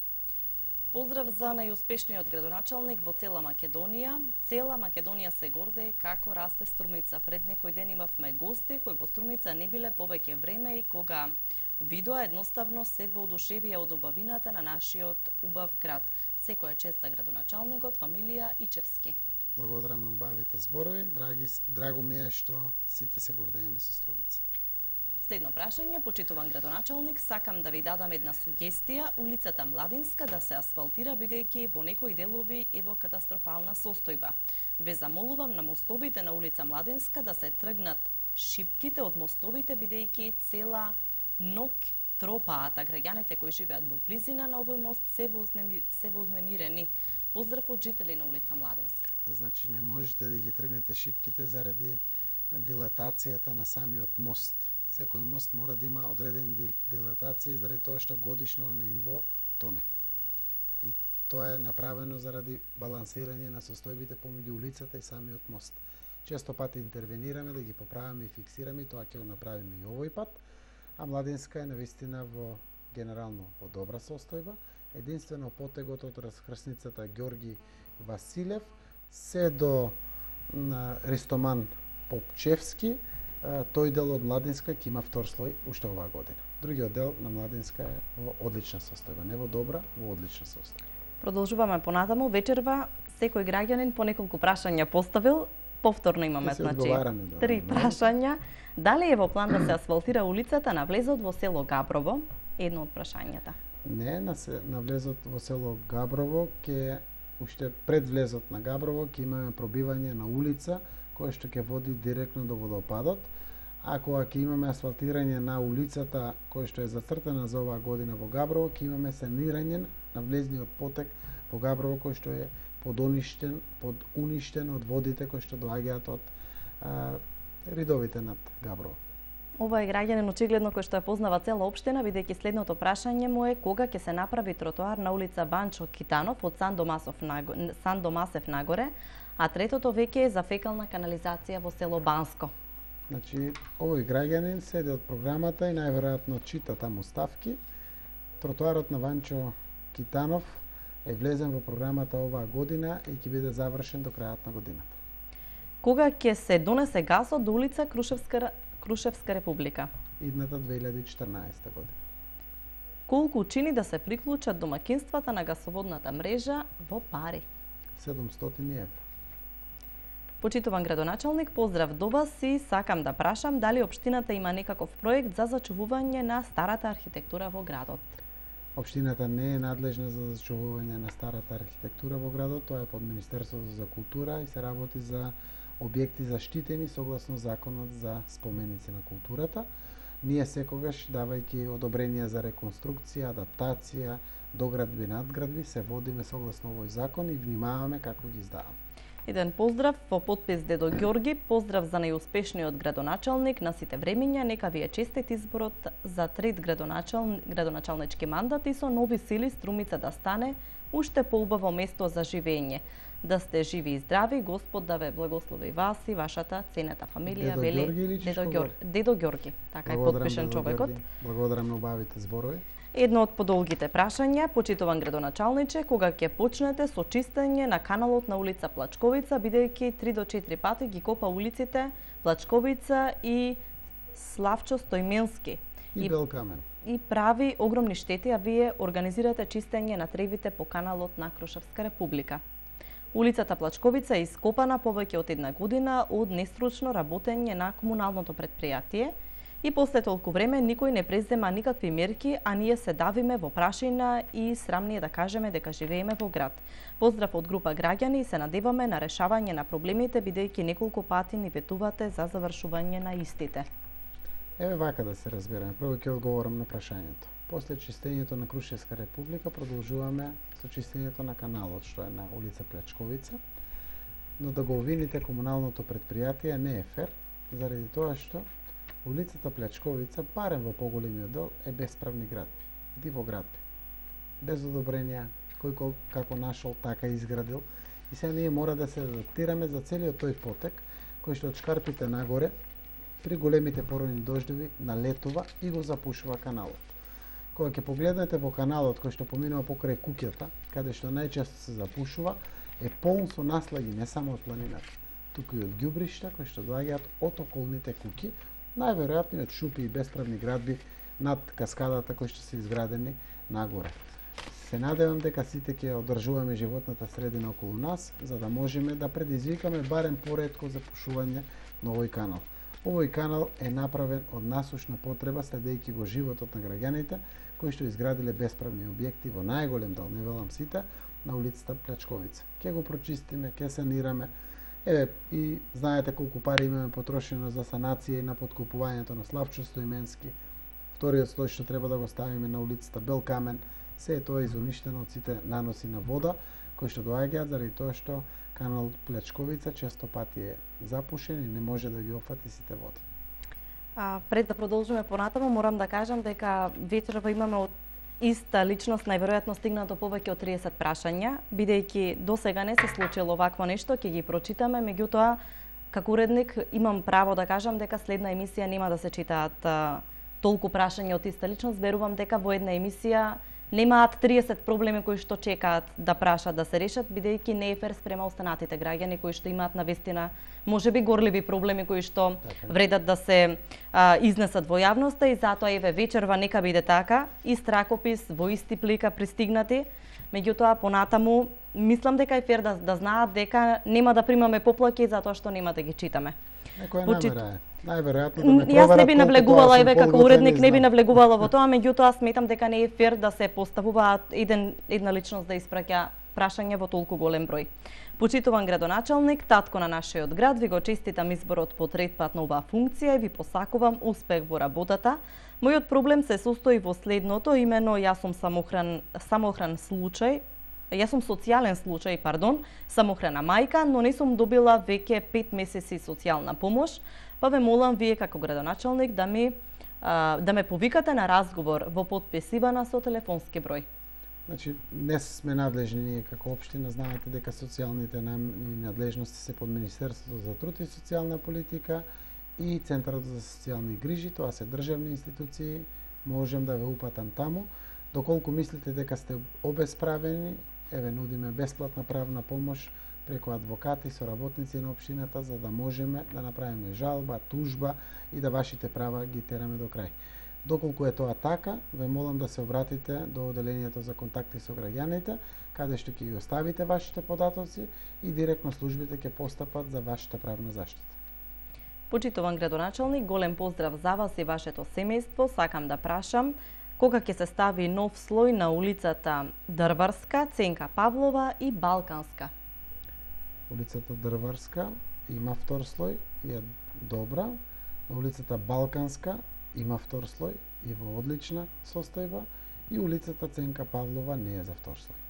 Поздрав за најуспешниот градоначалник во цела Македонија. Цела Македонија се гордее како расте Струмица. Пред некој ден имавме гости кои во Струмица не биле повеќе време и кога видоа едноставно се воодушевија од убавината на нашиот убав град. Секоја чест за градоначалникот Фамилија Ичевски. Благодарам на убавите зборови. Драги, драго ми е што сите се гордееме со Струмица. Следно прашање, почитуван градоначалник, сакам да ви дадам една сугестија, улицата Младинска да се асфалтира бидејќи во некои делови е во катастрофална состојба. Ве замолувам на мостовите на улица Младинска да се тргнат шипките од мостовите бидејќи цела ног тропаат, а граѓаните кои живеат во близина на овој мост се вознеми, се вознемирени. Поздрав од жители на улица Младинска. Значи не можете да ги тргнете шипките заради дилатацијата на самиот мост. Секој мост мора да има одредени дилатации заради тоа што годишно на ниво тоне. И тоа е направено заради балансирање на состојбите помеѓу улицата и самиот мост. Често пати интервенираме да ги поправиме и фиксираме, тоа ќе го направиме и овој пат, а Младинска е навистина во генерално во добра состојба. Единствено потегот од расхрсницата Ѓорги Василев се до на Ристоман Попчевски, тој дел од Младинска ќе има втор слој уште оваа година. Другиот дел на Младинска е во одлична состојба, не во добра, во одлична состојба. Продолжуваме понатаму. Вечерва секој граѓанин по неколку прашања поставил. Повторно имаме, значи, три прашања. Дали е во план да се асфалтира улицата на влезот во село Габрово? Едно од прашањата. Не, на, се, на влезот во село Габрово ќе уште пред влезот на Габрово ќе имаме пробивање на улица кој што ќе води директно до водопадот, а кога ќе имаме асфалтирање на улицата кој што е зацртана за оваа година во Габрово, ќе имаме санирање на влезниот потек во Габрово кој што е подоништен, подуништен од водите кои што доаѓаат од а, ридовите над Габрово. Ова е граѓанин очигледно кој што ја познава цела општина, бидејќи следното прашање му е кога ќе се направи тротоар на улица Ванчо Китанов од Сан Домасов нагоре, Сан Домасев нагоре, а третото веќе е за фекална канализација во село Банско. Значи, овој граѓанин седи од програмата и најверојатно чита таму ставки. Тротоарот на Ванчо Китанов е влезен во програмата оваа година и ќе биде завршен до крајот на годината. Кога ќе се донесе гасот до улица Крушевска Крушевска република? Идната две илјади и четрнаесета година. Колку чини да се приклучат домакинствата на гасоводната мрежа во пари? седумстотини евра. Почитуван градоначалник, поздрав до вас и сакам да прашам дали општината има некаков проект за зачувување на старата архитектура во градот. Општината не е надлежна за зачувување на старата архитектура во градот, тоа е под Министерството за култура и се работи за објекти заштитени согласно законот за споменици на културата. Ние секогаш, давајќи одобренија за реконструкција, адаптација, доградби, надградби, се водиме согласно овој закон и внимаваме како ги издаваме. Еден поздрав во подпис Дедо Ѓорги, поздрав за најуспешниот градоначалник на сите времиња, нека ви е честит изборот за трет градоначал... градоначалнички мандат и со нови сили Струмица да стане уште поубаво место за живење. Да сте живи и здрави, Господ да ве благослови вас и вашата ценета фамилија, Дедо вели Ѓорги или Дедо, Чичко Ѓор... Дедо Ѓорги. Така е подпишан човекот. Благодарам на убавите зборови. Едно од подолгите прашања, почитуван градоначалниче, кога ќе почнете со чистење на каналот на улица Плачковица, бидејќи три до четири пати ги копа улиците Плачковица и Славчо Стојменски. И, и Белкамен. И прави огромни штети, а вие организирате чистење на тревите по каналот на Крушевска република. Улицата Плачковица е ископана повеќе од една година од нестручно работење на комуналното предпријатие и после толку време никој не презема никакви мерки, а ние се давиме во прашина и срамни е да кажеме дека живееме во град. Поздрав од група граѓани и се надеваме на решавање на проблемите, бидејќи неколку пати ни ветувате за завршување на истите. Еве вака да се разбереме. Прво ќе одговорам на прашањето. После чистењето на Крушевска република продолжуваме со чистењето на каналот што е на улица Плачковица, но да го обвините комуналното предпријатие не е фер, заради тоа што улицата Плачковица, барем во поголемиот дел, е бесправни градби, диво градби, без одобренија, кој како нашол, така изградил, и сега ние мора да се адаптираме за целиот тој потек, кој што од шкарпите нагоре, при големите поройни дождови, налетува и го запушува каналот. Кога ќе погледнете во каналот кој што поминува покрај куќата, каде што најчесто се запушува, е полн со наслаги не само од планината, туку и од ѓубришта кои што доаѓаат од околните куќи, најверојатно од шупи и бесправни градби над каскадата кои што се изградени нагоре. Се надевам дека сите ќе одржуваме животната средина околу нас, за да можеме да предизвикаме барем поретко запушување на овој канал. Овој канал е направен од насушна потреба, следејќи го животот на граѓаните кои што изградиле бесправни објекти во најголем дел, не велам сите, на улицата Плачковица. Ке го прочистиме, ке санираме. Еве, и знаете колку пари имаме потрошено за санација и на подкупувањето на Славчо Стојменски. Вториот слој што треба да го ставиме на улицата Белкамен, се е тоа изуништено од сите наноси на вода, кои што доаѓаат заради тоа што канал Плачковица често пати е запушен и не може да ги опфати сите води. А, пред да продолжиме понатаму, морам да кажам дека вечерва имаме од иста личност најверојатно стигнато повеќе од триесет прашања, бидејќи досега не се случило вакво нешто, ќе ги прочитаме, меѓутоа како уредник имам право да кажам дека следна емисија нема да се читаат а, толку прашања од иста личност, верувам дека во една емисија немаат триесет проблеми кои што чекаат да прашат да се решат, бидејќи не е фер спрема останатите граѓани кои што имаат навистина можеби горливи проблеми кои што вредат да се а, изнесат во јавноста и затоа еве вечерва нека биде така, и стракопис во исти плика пристигнати, меѓутоа понатаму мислам дека е фер да, да знаат дека нема да примаме поплаки затоа што нема да ги читаме. Некоја Почит... намера е. Најверојатно да ме проверат. Јас не би навлегувала, еве како уредник не би навлегувала во тоа, меѓутоа сметам дека не е фер да се поставуваат еден една личност да испраќа прашање во толку голем број. Почитуван градоначалник, татко на нашиот град, ви го честитам изборот по трет пат на оваа функција и ви посакувам успех во работата. Мојот проблем се состои во следното, имено јас сум самохран самохран случај, Јас сум социјален случај, пардон, самохрана мајка, но не сум добила веќе пет месеци социјална помош, па ве молам вие како градоначалник да ми а, да ме повикате на разговор во подпис Ивана со телефонски број. Значи, не сме надлежни ние како општина, знаете дека социјалните надлежности се под Министерството за труд и социјална политика и Центарот за социјални грижи, тоа се државни институции, можем да ве упатам таму. Доколку мислите дека сте обесправени, еве нудиме бесплатна правна помош преку адвокати, соработници на општината, за да можеме да направиме жалба, тужба и да вашите права ги тераме до крај. Доколку е тоа така, ве молам да се обратите до оделението за контакти со граѓаните, каде што ќе ги оставите вашите податоци и директно службите ќе постапат за вашата правна заштита. Почитуван градоначалник, голем поздрав за вас и вашето семејство. Сакам да прашам кога ќе се стави нов слој на улицата Дрварска, Ценка Павлова и Балканска? Улицата Дрварска има втор слој и е добра. На улицата Балканска има втор слој и во одлична состојба, и улицата Ценка Павлова не е за втор слој.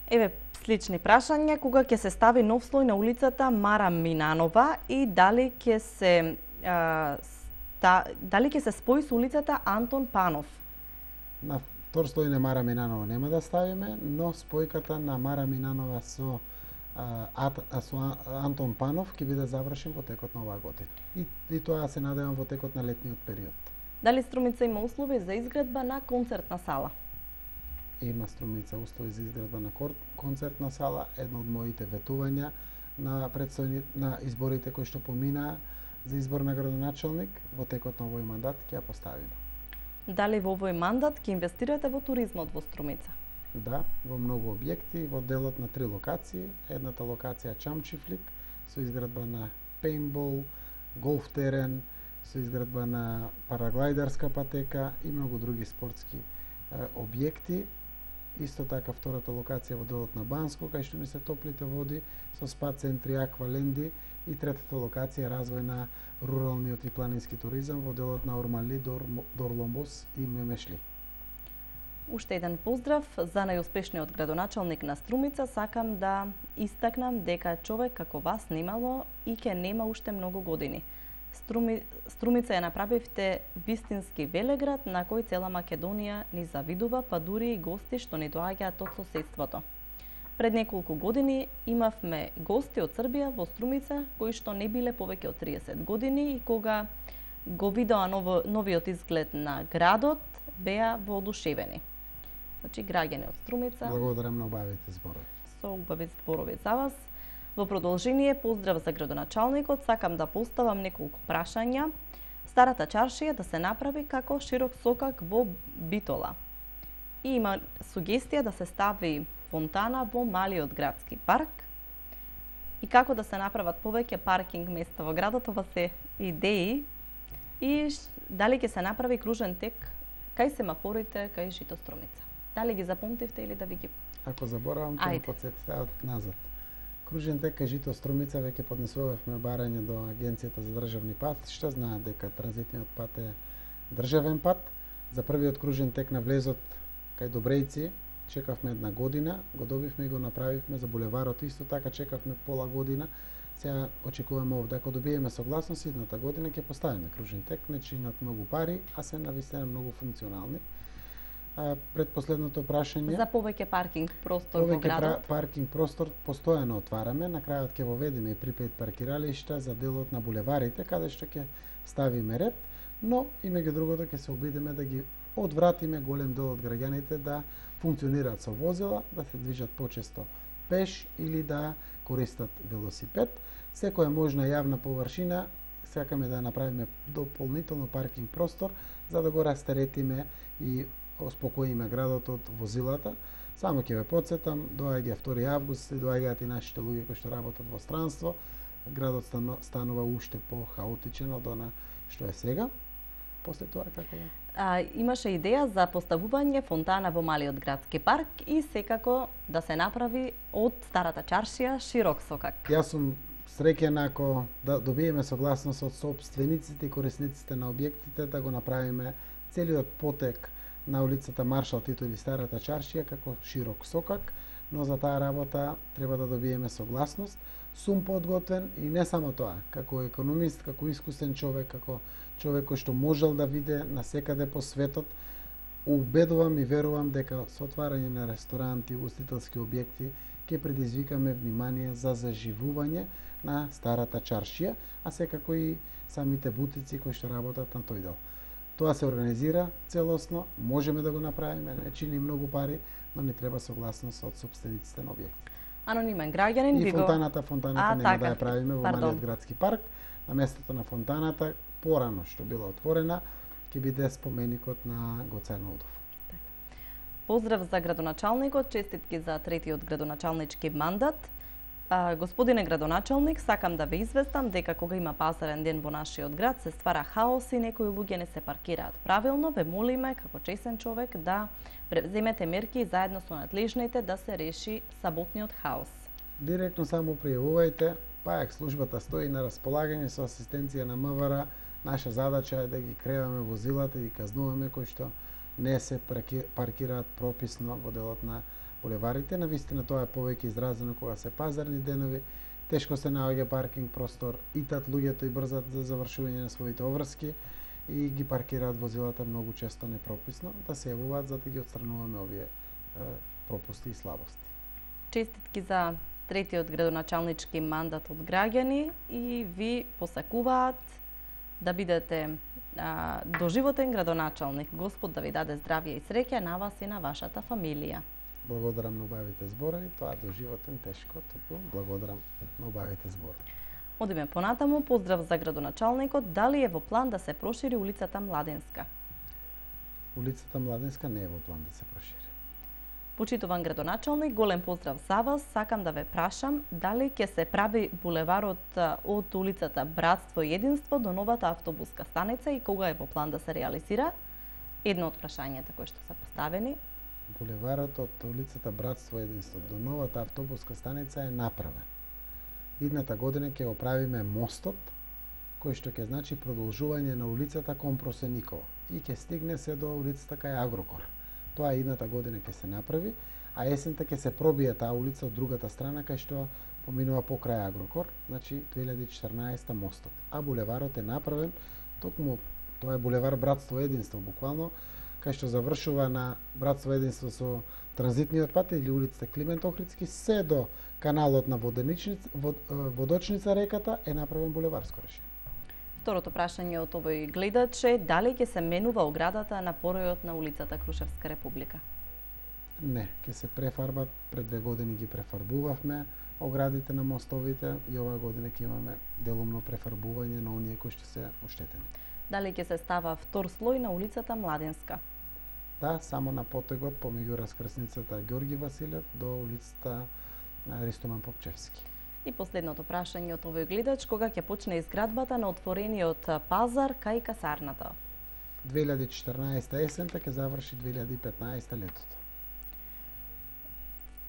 Еве слични прашања, кога ќе се стави нов слој на улицата Мара Минанова и дали ќе се а, ста, дали ќе се спои со улицата Антон Панов? На втор слој на Мара Минанова нема да ставиме, но спојката на Мара Минанова со а, а, со Антон Панов ќе биде завршен во текот на оваа година. И, и тоа се надевам во текот на летниот период. Дали Струмица има услови за изградба на концертна сала? Има Струмица услови за изградба на концертна сала. Едно од моите ветувања на предстојни на изборите кои што поминаа за избор на градоначалник во текот на овој мандат ќе ја поставиме. Дали во овој мандат ќе инвестирате во туризмот во Струмица? Да, во многу објекти, во делот на три локации. Едната локација Чамчифлик со изградба на пейнтбол, голф терен, со изградба на параглајдарска патека и многу други спортски е, објекти. Исто така втората локација во делот на Банско, кај што ми се топлите води, со спа центри, акваленди, и третата локација развој на руралниот и планински туризам во делот на Ормали, Дор, Дорломбос и Мемешли. Уште еден поздрав за најуспешниот градоначалник на Струмица. Сакам да истакнам дека човек како вас немало и ќе нема уште многу години. Струми, Струмица ја направивте вистински велеград на кој цела Македонија ни завидува, па дури и гости што ни доаѓаат од соседството. Пред неколку години имавме гости од Србија во Струмица кои што не биле повеќе од триесет години и кога го видоа ново, новиот изглед на градот, беа воодушевени. Значи, граѓани од Струмица. Благодарам на убавите зборови. Со убави зборови за вас. Во продолжение, поздрав за градоначалникот, сакам да поставам неколку прашања. Старата чаршија да се направи како широк сокак во Битола. И има сугестија да се стави фонтана во малиот градски парк. И како да се направат повеќе паркинг места во градот, ова се идеи. И дали ќе се направи кружен тек кај семафорите кај Жито Струмица. Дали ги запомтивте или да ви ги... Ако заборавам, ќе ме потсетите од назад. Кружен тек кај Жито Струмица веќе поднесувавме барање до Агенцијата за државни патишта, знаат дека транзитниот пат е државен пат. За првиот кружен тек на влезот кај Добрејци чекавме една година, го добивме и го направивме. За булеварот исто така чекавме пола година. Сега очекуваме овде, ако добиеме согласност, идната година ќе поставиме кружен тек, не чинат многу пари, а се навистина многу функционални. А, пред последното прашање за повеќе паркинг простор повеќе во градот. Повеќе паркинг простор постојано отвараме, на крајот ќе воведеме и припет паркиралишта за делот на булеварите, каде што ќе ставиме ред, но и меѓу другото ќе се обидеме да ги одвратиме голем дел од граѓаните да функционираат со возила, да се движат почесто пеш или да користат велосипед. Секоја можна јавна површина сакаме да направиме дополнително паркинг простор за да го растеретиме и оспокоиме градот од возилата. Само ќе ве потсетам, доаѓа втори август и доаѓаат и нашите луѓе кои што работат во странство. Градот станува уште по-хаотичен од она што е сега. После тоа како е? А, имаше идеја за поставување фонтана во малиот градски парк и секако да се направи од старата чаршија широк сокак. Јас сум среќен ако да добиеме согласност од сопствениците и корисниците на објектите да го направиме целиот потек на улицата Маршал Тито или старата чаршија како широк сокак, но за таа работа треба да добиеме согласност. Сум подготвен и не само тоа, како економист, како искусен човек, како човек кој што можел да виде насекаде по светот, убедувам и верувам дека со отварање на ресторанти и ugostителски објекти ќе предизвикаме внимание за заживување на старата чаршија, а секако и самите бутици кои што работат на тој дел. Тоа се организира целосно, можеме да го направиме, не чини многу пари, но ни треба согласност од собствениците на објекти. Анонимен граѓанин и би го... фонтаната, фонтаната а, нема така, да ја правиме во пардон. малиот градски парк. На местото на фонтаната, порано што била отворена, ќе биде споменикот на Гоце Арнаудов. Поздрав за градоначалникот, честитки за третиот градоначалнички мандат. А, господине градоначалник, сакам да ве известам дека кога има пазарен ден во нашиот град се ствара хаос и некои луѓе не се паркираат правилно. Ве молиме како честен човек да преземете мерки и заедно со надлежните да се реши саботниот хаос. Директно само пријавувајте, ПАЕК службата стои на располагање со асистенција на МВР. Наша задача е да ги креваме возилата и ги казнуваме кои што не се паркираат прописно во делот на булеварите. Навистина тоа е повеќе изразено кога се пазарни денови, тешко се наоѓа паркинг простор, итат луѓето и брзат за завршување на своите обврски и ги паркираат возилата многу често непрописно, да се јавуваат за да ги отстрануваме овие е, пропусти и слабости. Честитки за третиот градоначалнички мандат од граѓани и ви посакуваат да бидете а, доживотен градоначалник. Господ да ви даде здравје и среќа на вас и на вашата фамилија. Благодарам на убавите зборови, тоа доживотен тешко, туку благодарам на убавите зборови. Одиме понатаму, поздрав за градоначалникот. Дали е во план да се прошири улицата Младенска? Улицата Младенска не е во план да се прошири. Почитуван градоначалник, голем поздрав за вас. Сакам да ве прашам дали ќе се прави булеварот од улицата Братство и Единство до новата автобуска станица и кога е во план да се реализира? Едно од прашањата кои што се поставени. Булеварот од улицата Братство и Единство до новата автобуска станица е направен. Идната година ќе оправиме мостот, кој што ќе значи продолжување на улицата кон Просеникова и ќе стигне се до улицата кај Агрокор. Тоа идната година ќе се направи, а есента ќе се пробие таа улица од другата страна кај што поминува покрај Агрокор, значи две илјади и четрнаесета мостот. А булеварот е направен, токму тоа е булевар Братство и Единство, буквално кај што завршува на Братство и Единство со транзитниот пат или улицата Климент Охридски, се до каналот на Воденичница, вод, Водочница реката е направен булеварско решение. Второто прашање од овој гледач е дали ќе се менува оградата на поројот на улицата Крушевска република? Не, ќе се префарбат, пред две години ги префарбувавме оградите на мостовите и оваа година ќе имаме делумно префарбување на оние кои што се оштетени. Дали ќе се става втор слој на улицата Младенска? Да, само на потегот помеѓу раскрсницата Ѓорги Василев до улицата Ристоман Попчевски. И последното прашање од овој гледач, кога ќе почне изградбата на отворениот пазар кај касарната? две илјади и четрнаесета есента ќе заврши две илјади и петнаесета летото.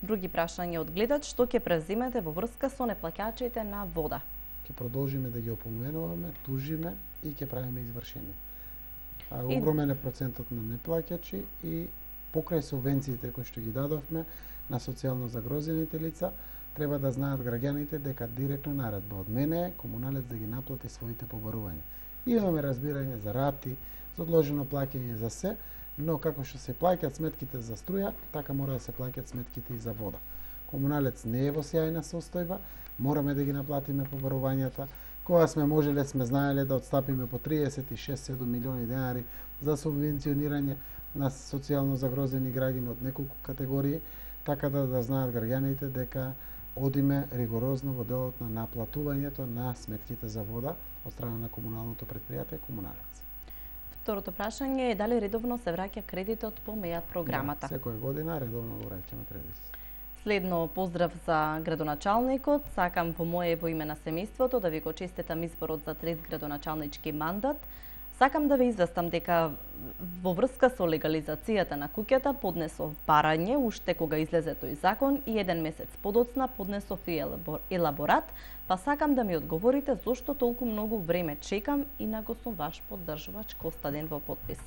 Други прашања од гледач, што ќе превземете во врска со неплаќачите на вода? Ќе продолжиме да ги опоменуваме, тужиме и ќе правиме извршение. А, огромен е процентот на неплаќачи и покрај субвенциите кои што ги дадовме на социјално загрозените лица, треба да знаат граѓаните дека директно наредба од мене е комуналец да ги наплати своите побарувања. Имаме разбирање за рати, за одложено плаќање за се, но како што се плаќаат сметките за струја, така мора да се плаќаат сметките и за вода. Комуналец не е во сјајна состојба, мораме да ги наплатиме побарувањата. Кога сме можеле, сме знаеле да отстапиме по триесет и шест седум милиони денари за субвенционирање на социјално загрозени граѓани од неколку категории, така да да знаат граѓаните дека одиме ригорозно во делот на наплатувањето на сметките за вода од страна на комуналното предпријатие Комуналец. Второто прашање е дали редовно се враќа кредитот по МЕА програмата? Да, секоја година редовно враќаме кредит. Следно поздрав за градоначалникот. Сакам во мое и во име на семејството да ви го честитам изборот за трет градоначалнички мандат. Сакам да ве известам дека во врска со легализацијата на куќата поднесов барање уште кога излезе тој закон и еден месец подоцна поднесов и елаборат, па сакам да ми одговорите зошто толку многу време чекам и на го сум ваш поддржувач Костадин во подпис.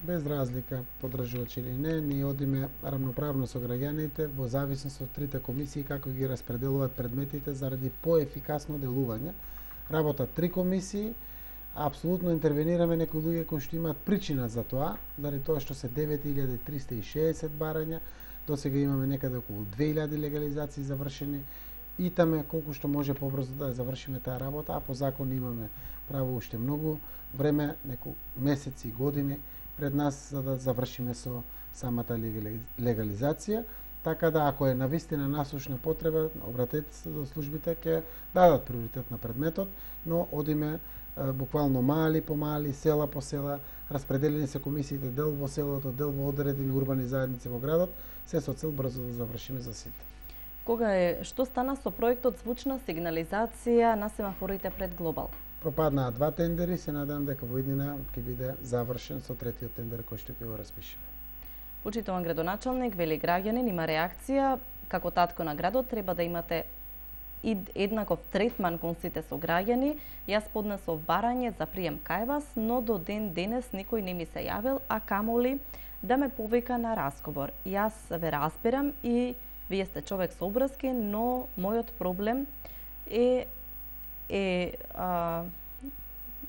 Без разлика поддржувач или не, ние одиме рамноправно со граѓаните во зависност од трите комисии како ги распределуваат предметите заради поефикасно делување. Работат три комисии, апсолутно интервенираме некои луѓе кои што имаат причина за тоа, заради тоа што се девет илјади триста и шеесет барања, досега имаме некаде околу две илјади легализации завршени, итаме колку што може побрзо да завршиме таа работа, а по закон имаме право уште многу време, неколку месеци и години пред нас за да завршиме со самата легализација, така да ако е навистина насушна потреба, обратете се до службите, ќе дадат приоритет на предметот, но одиме буквално мали по мали, села по села, распределени се комисиите дел во селото, дел во одредени урбани заедници во градот, се со цел брзо да завршиме за сите. Кога е што стана со проектот звучна сигнализација на семафорите пред Глобал? Пропаднаа два тендери, се надевам дека во иднина ќе биде завршен со третиот тендер кој што ќе го распишеме. Почитуван градоначалник, вели граѓанин, има реакција, како татко на градот треба да имате еднаков третман кон сите сограѓани. Јас поднесов барање за прием кај вас, но до ден денес никој не ми се јавил, а камоли да ме повика на разговор. Јас ве разбирам и вие сте човек со обврски, но мојот проблем е е а,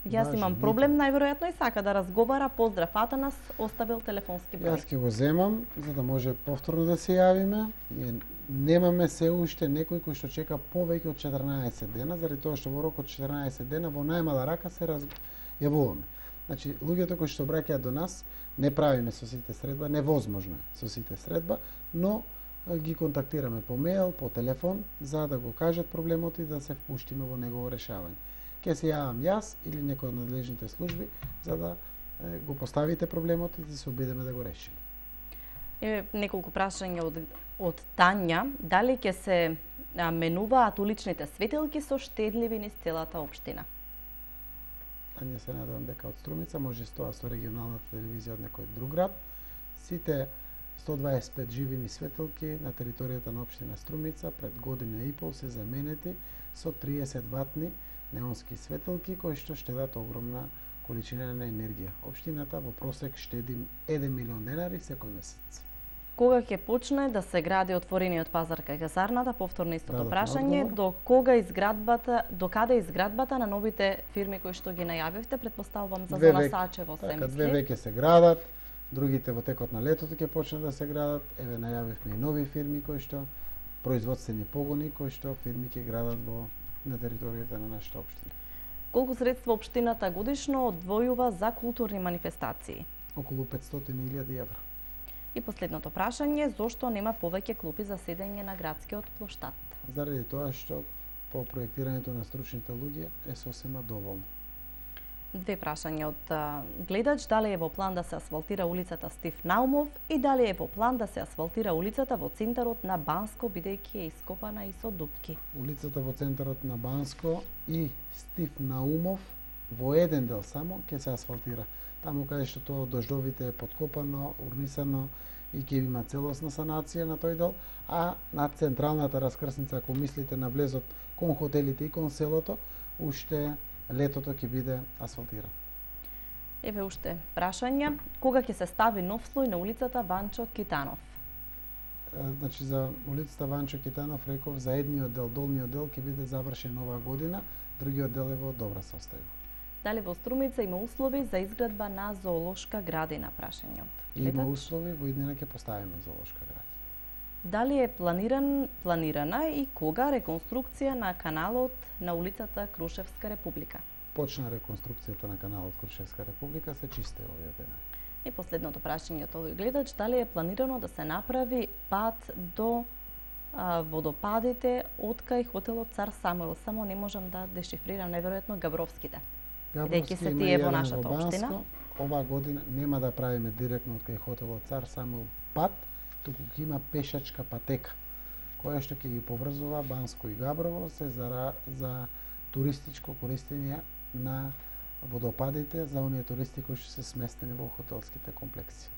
јас Важен, имам проблем, најверојатно и сака да разговара. Поздрав, Атанас, оставил телефонски број. Јас ќе го земам за да може повторно да се јавиме. Ние немаме се уште некој кој што чека повеќе од четрнаесет дена, заради тоа што во рок од четрнаесет дена во најмала рака се раз... јавуваме. Значи, луѓето кои што обраќаат до нас, не правиме со сите средба, невозможно е со сите средба, но ги контактираме по мејл, по телефон, за да го кажат проблемот и да се впуштиме во негово решавање. Ке се јавам јас или некој од надлежните служби за да е, го поставите проблемот и да се обидеме да го решиме. Е, неколку прашања од, од Тања. Дали ќе се а, менуваат уличните светилки со штедливи низ целата општина? Тања, се надевам дека од Струмица, може тоа со регионалната телевизија од некој друг град. Сите сто дваесет и пет живини светилки на територијата на општина Струмица пред година и пол се заменети со триесет ватни неонски светилки кои што штедат огромна количина на енергија. Општината во просек штеди еден милион денари секој месец. Кога ќе почне да се гради отворениот пазар кај казарната? Повторно истото Дадов прашање. одговор. До кога изградбата, до каде изградбата на новите фирми кои што ги најавивте? Претпоставувам за Две зона веќе- Сачево се Така, две мисли. веќе се градат, другите во текот на летото ќе почнат да се градат. Еве најавивме и нови фирми кои што производствени погони кои што фирми ќе градат во на територијата на нашата општина. Колку средства општината годишно одвојува за културни манифестации? Околу петстотини илјади евра. И последното прашање, зошто нема повеќе клупи за седење на градскиот плоштад? Заради тоа што по проектирањето на стручните луѓе е сосема доволно. Две прашања од а, гледач, дали е во план да се асфалтира улицата Стив Наумов и дали е во план да се асфалтира улицата во центарот на Банско, бидејќи е ископана и со дупки. Улицата во центарот на Банско и Стив Наумов во еден дел само ќе се асфалтира. Таму каде што тоа од дождовите е подкопано, урнисано и ќе има целосна санација на тој дел, а на централната раскрсница, ако мислите на влезот кон хотелите и кон селото, уште летото ќе биде асфалтиран. Еве уште прашања, кога ќе се стави нов слој на улицата Ванчо Китанов? Е, Значи за улицата Ванчо Китанов реков за едниот дел, долниот дел ќе биде завршен оваа година, другиот дел е во добра состојба. Дали во Струмица има услови за изградба на зоолошка градина? Прашање од Има гледач. услови, во иднина ќе поставиме зоолошка градина. Дали е планиран, планирана и кога реконструкција на каналот на улицата Крушевска република? Почна реконструкцијата на каналот Крушевска република, се чисте овие денови. И последното прашање од овој гледач, дали е планирано да се направи пат до а, водопадите од кај хотелот Цар Самуил? Само не можам да дешифрирам, неверојатно Габровските. Бидејќи се има тие и во еден нашата Банско. општина. Оваа година нема да правиме директно од кај хотелот Цар Самуил пат, туку ќе има пешачка патека, која што ќе ги поврзува Банско и Габрово, се за, за туристичко користење на водопадите за оние туристи кои што се сместени во хотелските комплекси.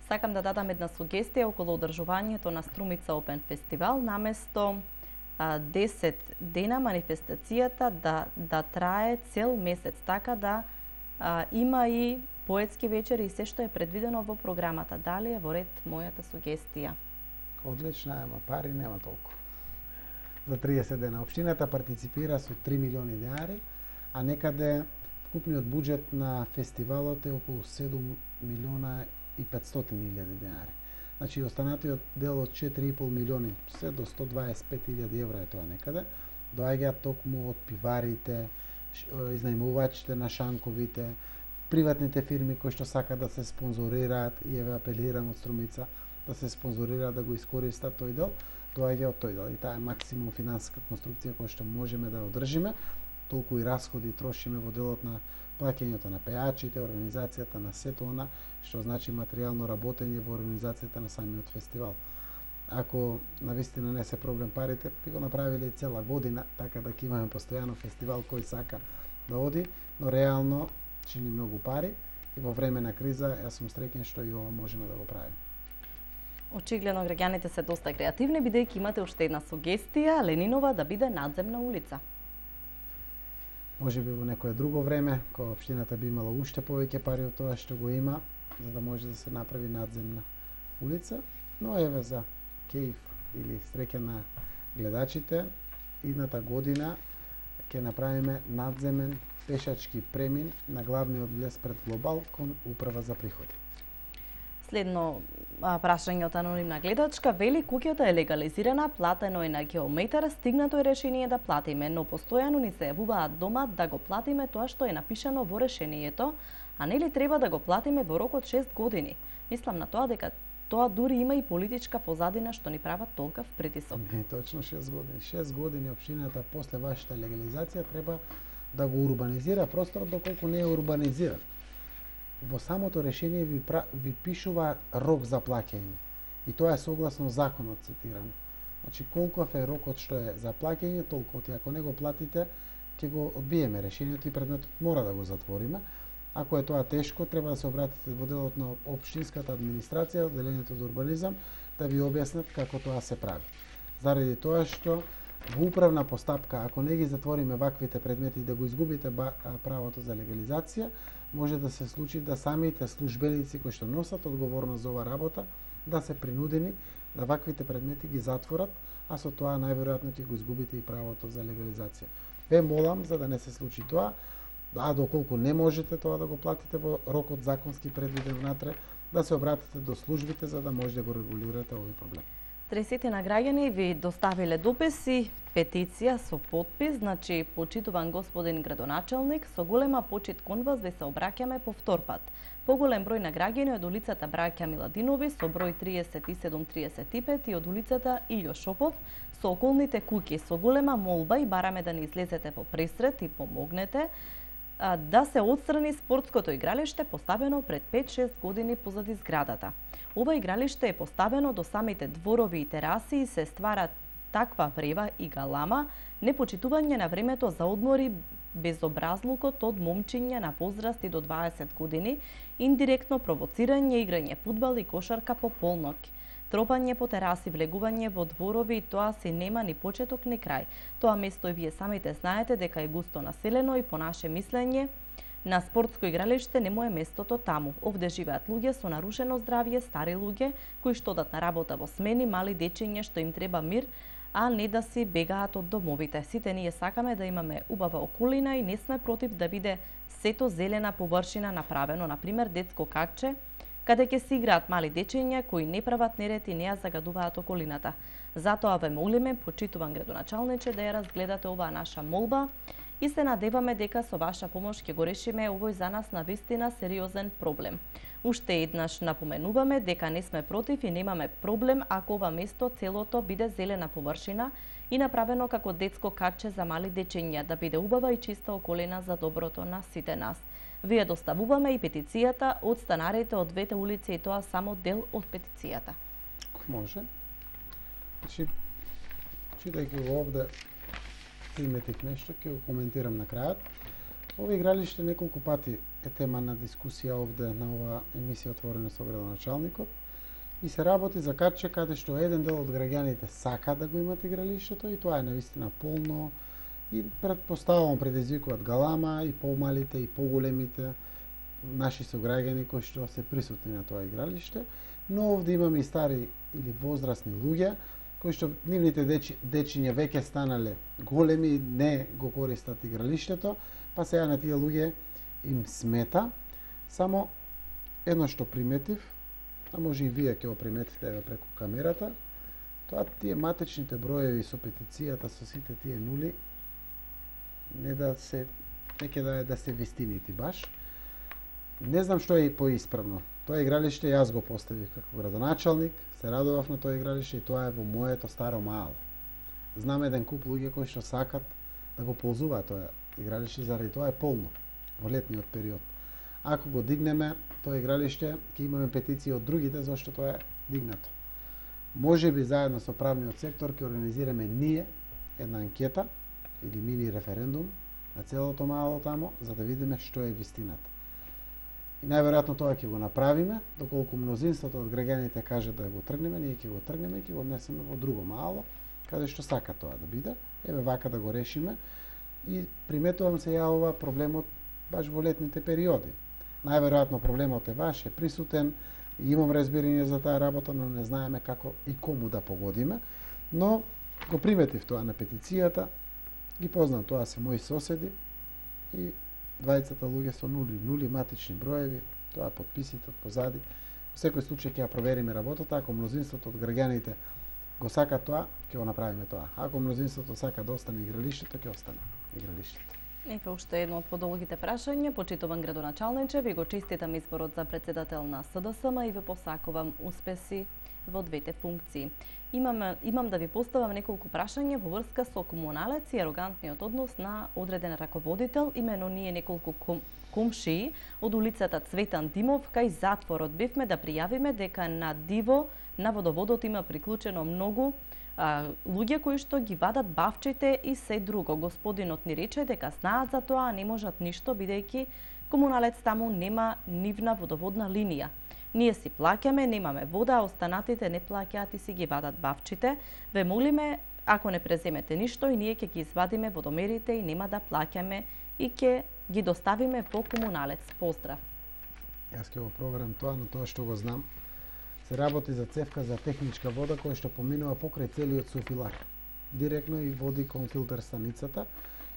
Сакам да дадам една сугестија околу одржувањето на Струмица Опен фестивал, наместо а, десет дена манифестацијата да, да трае цел месец, така да а, има и поетски вечери и се што е предвидено во програмата. Дали е во ред мојата сугестија? Одлична, ама пари нема толку. За триесет дена. Општината партиципира со три милиони денари, а некаде вкупниот буџет на фестивалот е околу седум милиона и петстотини илјади денари. Значи, останатиот дел од четири и пол милиони, се до сто дваесет и пет илјади евра е тоа некаде, доаѓаат токму од пиварите, ш- изнајмувачите на шанковите, приватните фирми кои што сакаат да се спонзорираат, и еве апелирам од Струмица да се спонзорираат да го искористат тој дел, доаѓа од тој дел. И таа е максимум финансиска конструкција која што можеме да одржиме, толку и расходи трошиме во делот на плаќањето на пејачите, организацијата на сето она што значи материјално работење во организацијата на самиот фестивал. ако навистина не се проблем парите, би го направиле цела година, така да ќе имаме постојано фестивал кој сака да оди, но реално чини многу пари и во време на криза јас сум среќен што и ова можеме да го правиме. Очигледно граѓаните се доста креативни, бидејќи имате уште една сугестија, Ленинова да биде надземна улица. Може би во некое друго време, кога општината би имала уште повеќе пари од тоа што го има, за да може да се направи надземна улица, но еве за кејф или среќа на гледачите, идната година ќе направиме надземен пешачки премин на главниот влез пред Глобал кон Управа за приходи. Следно прашање од анонимна гледачка, вели куќата е легализирана, платено е на геометар, стигнато е решение да платиме, но постојано ни се јавуваат дома да го платиме тоа што е напишано во решението, а нели треба да го платиме во рок од шест години. Мислам на тоа дека тоа дури има и политичка позадина што ни прават толкав притисок. Не, точно шест години. шест години општината после вашата легализација треба да го урбанизира просторот доколку не е урбанизиран. Во самото решение ви, пра, ви пишува рок за плаќање. И тоа е согласно законот цитирано. Значи, колков е рокот што е за плаќање, толку. И ако не го платите, ќе го одбиеме решението и предметот мора да го затвориме. Ако е тоа тешко, треба да се обратите во делот на општинската администрација, одделението за урбанизам, да ви објаснат како тоа се прави. Заради тоа што во управна постапка, ако не ги затвориме ваквите предмети и да го изгубите правото за легализација, може да се случи да самите службеници кои што носат одговорност за ова работа да се принудени да ваквите предмети ги затворат, а со тоа најверојатно ќе го изгубите и правото за легализација. Ве молам за да не се случи тоа, а доколку не можете тоа да го платите во рокот законски предвиден внатре, да се обратите до службите за да може да го регулирате овој проблем. тридесетина граѓани ви доставиле дописи, петиција со потпис, значи почитуван господин градоначалник, со голема почит кон вас ви се обраќаме повтор пат. Поголем број на граѓани од улицата Браќа Миладинови со број триесет и седум триесет и пет и од улицата Илјо Шопов со околните куќи, со голема молба и бараме да не излезете во пресрет и помогнете да се отстрани спортското игралиште поставено пред пет-шест години позади зградата. Ова игралиште е поставено до самите дворови и тераси и се ствара таква врева и галама, непочитување на времето за одмори, безобразлукот од момчиња на возраст и до дваесет години, индиректно провоцирање, играње фудбал и кошарка по полноќ, тропање по тераси, влегување во дворови и тоа си нема ни почеток ни крај. Тоа место и вие самите знаете дека е густо населено и по наше мислење на спортско игралиште не му е местото таму. Овде живеат луѓе со нарушено здравје, стари луѓе кои што одат на работа во смени, мали дечиња што им треба мир, а не да си бегаат од домовите. Сите ние сакаме да имаме убава околина и не сме против да биде сето зелена површина направено, например детско качче, каде ќе се играат мали дечиња кои не прават неред и не ја загадуваат околината. Затоа ве молиме, почитуван градоначалниче, да ја разгледате оваа наша молба и се надеваме дека со ваша помош ќе го решиме овој за нас навистина сериозен проблем. Уште еднаш напоменуваме дека не сме против и немаме проблем ако ова место целото биде зелена површина и направено како детско качче за мали дечиња, да биде убава и чиста околина за доброто на сите нас. Вие доставуваме и петицијата од станарите од двете улици и тоа само дел од петицијата. Може. Значи, читајќи го овде, приметив нешто, ќе го коментирам на крајот. Ова игралиште неколку пати е тема на дискусија овде на ова емисија Отворено со градоначалникот и се работи за качче каде што еден дел од граѓаните сака да го имат игралиштето и тоа е навистина полно и предпоставувам предизвикуваат галама и помалите и поголемите наши сограѓани кои што се присутни на тоа игралиште, но овде имаме и стари или возрастни луѓе кои што нивните дечи, дечиња веќе станале големи и не го користат игралиштето, па сега на тие луѓе им смета. Само едно што приметив, а може и вие ќе го приметите еве преку камерата, тоа тие матечните броеви со петицијата со сите тие нули не да се неќе да е да се вистинити баш. Не знам што е поисправно. Тоа игралиште јас го поставив како градоначалник, се радував на тоа игралиште и тоа е во моето старо мало. Знам еден куп луѓе кои што сакат да го ползуваат тоа игралиште, заради тоа е полно во летниот период. Ако го дигнеме тоа игралиште, ќе имаме петиции од другите зашто тоа е дигнато. Може би заедно со правниот сектор ќе организираме ние една анкета или мини референдум на целото мало тамо, за да видиме што е вистината. И најверојатно тоа ќе го направиме, доколку мнозинството од граѓаните каже да го тргнеме, ние ќе го тргнеме и ќе го однесеме во друго мало, каде што сака тоа да биде. Еве вака да го решиме. И приметувам се ја ова проблемот баш во летните периоди. Најверојатно проблемот е ваш, е присутен, и имам разбирање за таа работа, но не знаеме како и кому да погодиме. Но го приметив тоа на петицијата, ги познам, тоа се мои соседи и двајцата луѓе со нули, нули матични броеви, тоа подписите од позади. Во секој случај ќе ја провериме работата, ако мнозинството од граѓаните го сака тоа, ќе го направиме тоа. Ако мнозинството сака да остане игралиштето, ќе остане игралиштето. Еве уште едно од подолгите прашања. Почитуван градоначалниче, ви го честитам изборот за председател на С Д С М и ви посакувам успеси во двете функции. Имам, имам да ви поставам неколку прашања во врска со комуналец и арогантниот однос на одреден раководител. Имено ние неколку ком, комшии од улицата Цветан Димов кај затворот бевме да пријавиме дека на диво на водоводот има приклучено многу а, луѓе кои што ги вадат бавчите и се друго. Господинот ни рече дека знаат за тоа, а не можат ништо бидејќи комуналец таму нема нивна водоводна линија. Ние си плаќаме, немаме вода, а останатите не плаќаат и си ги вадат бавчите. Ве молиме, ако не преземете ништо, и ние ќе ги извадиме водомерите и нема да плаќаме и ќе ги доставиме во комуналец. Поздрав. Јас ќе го проверам тоа, но тоа што го знам, се работи за цевка за техничка вода која што поминува покрај целиот софилар. Директно и води кон филтер станицата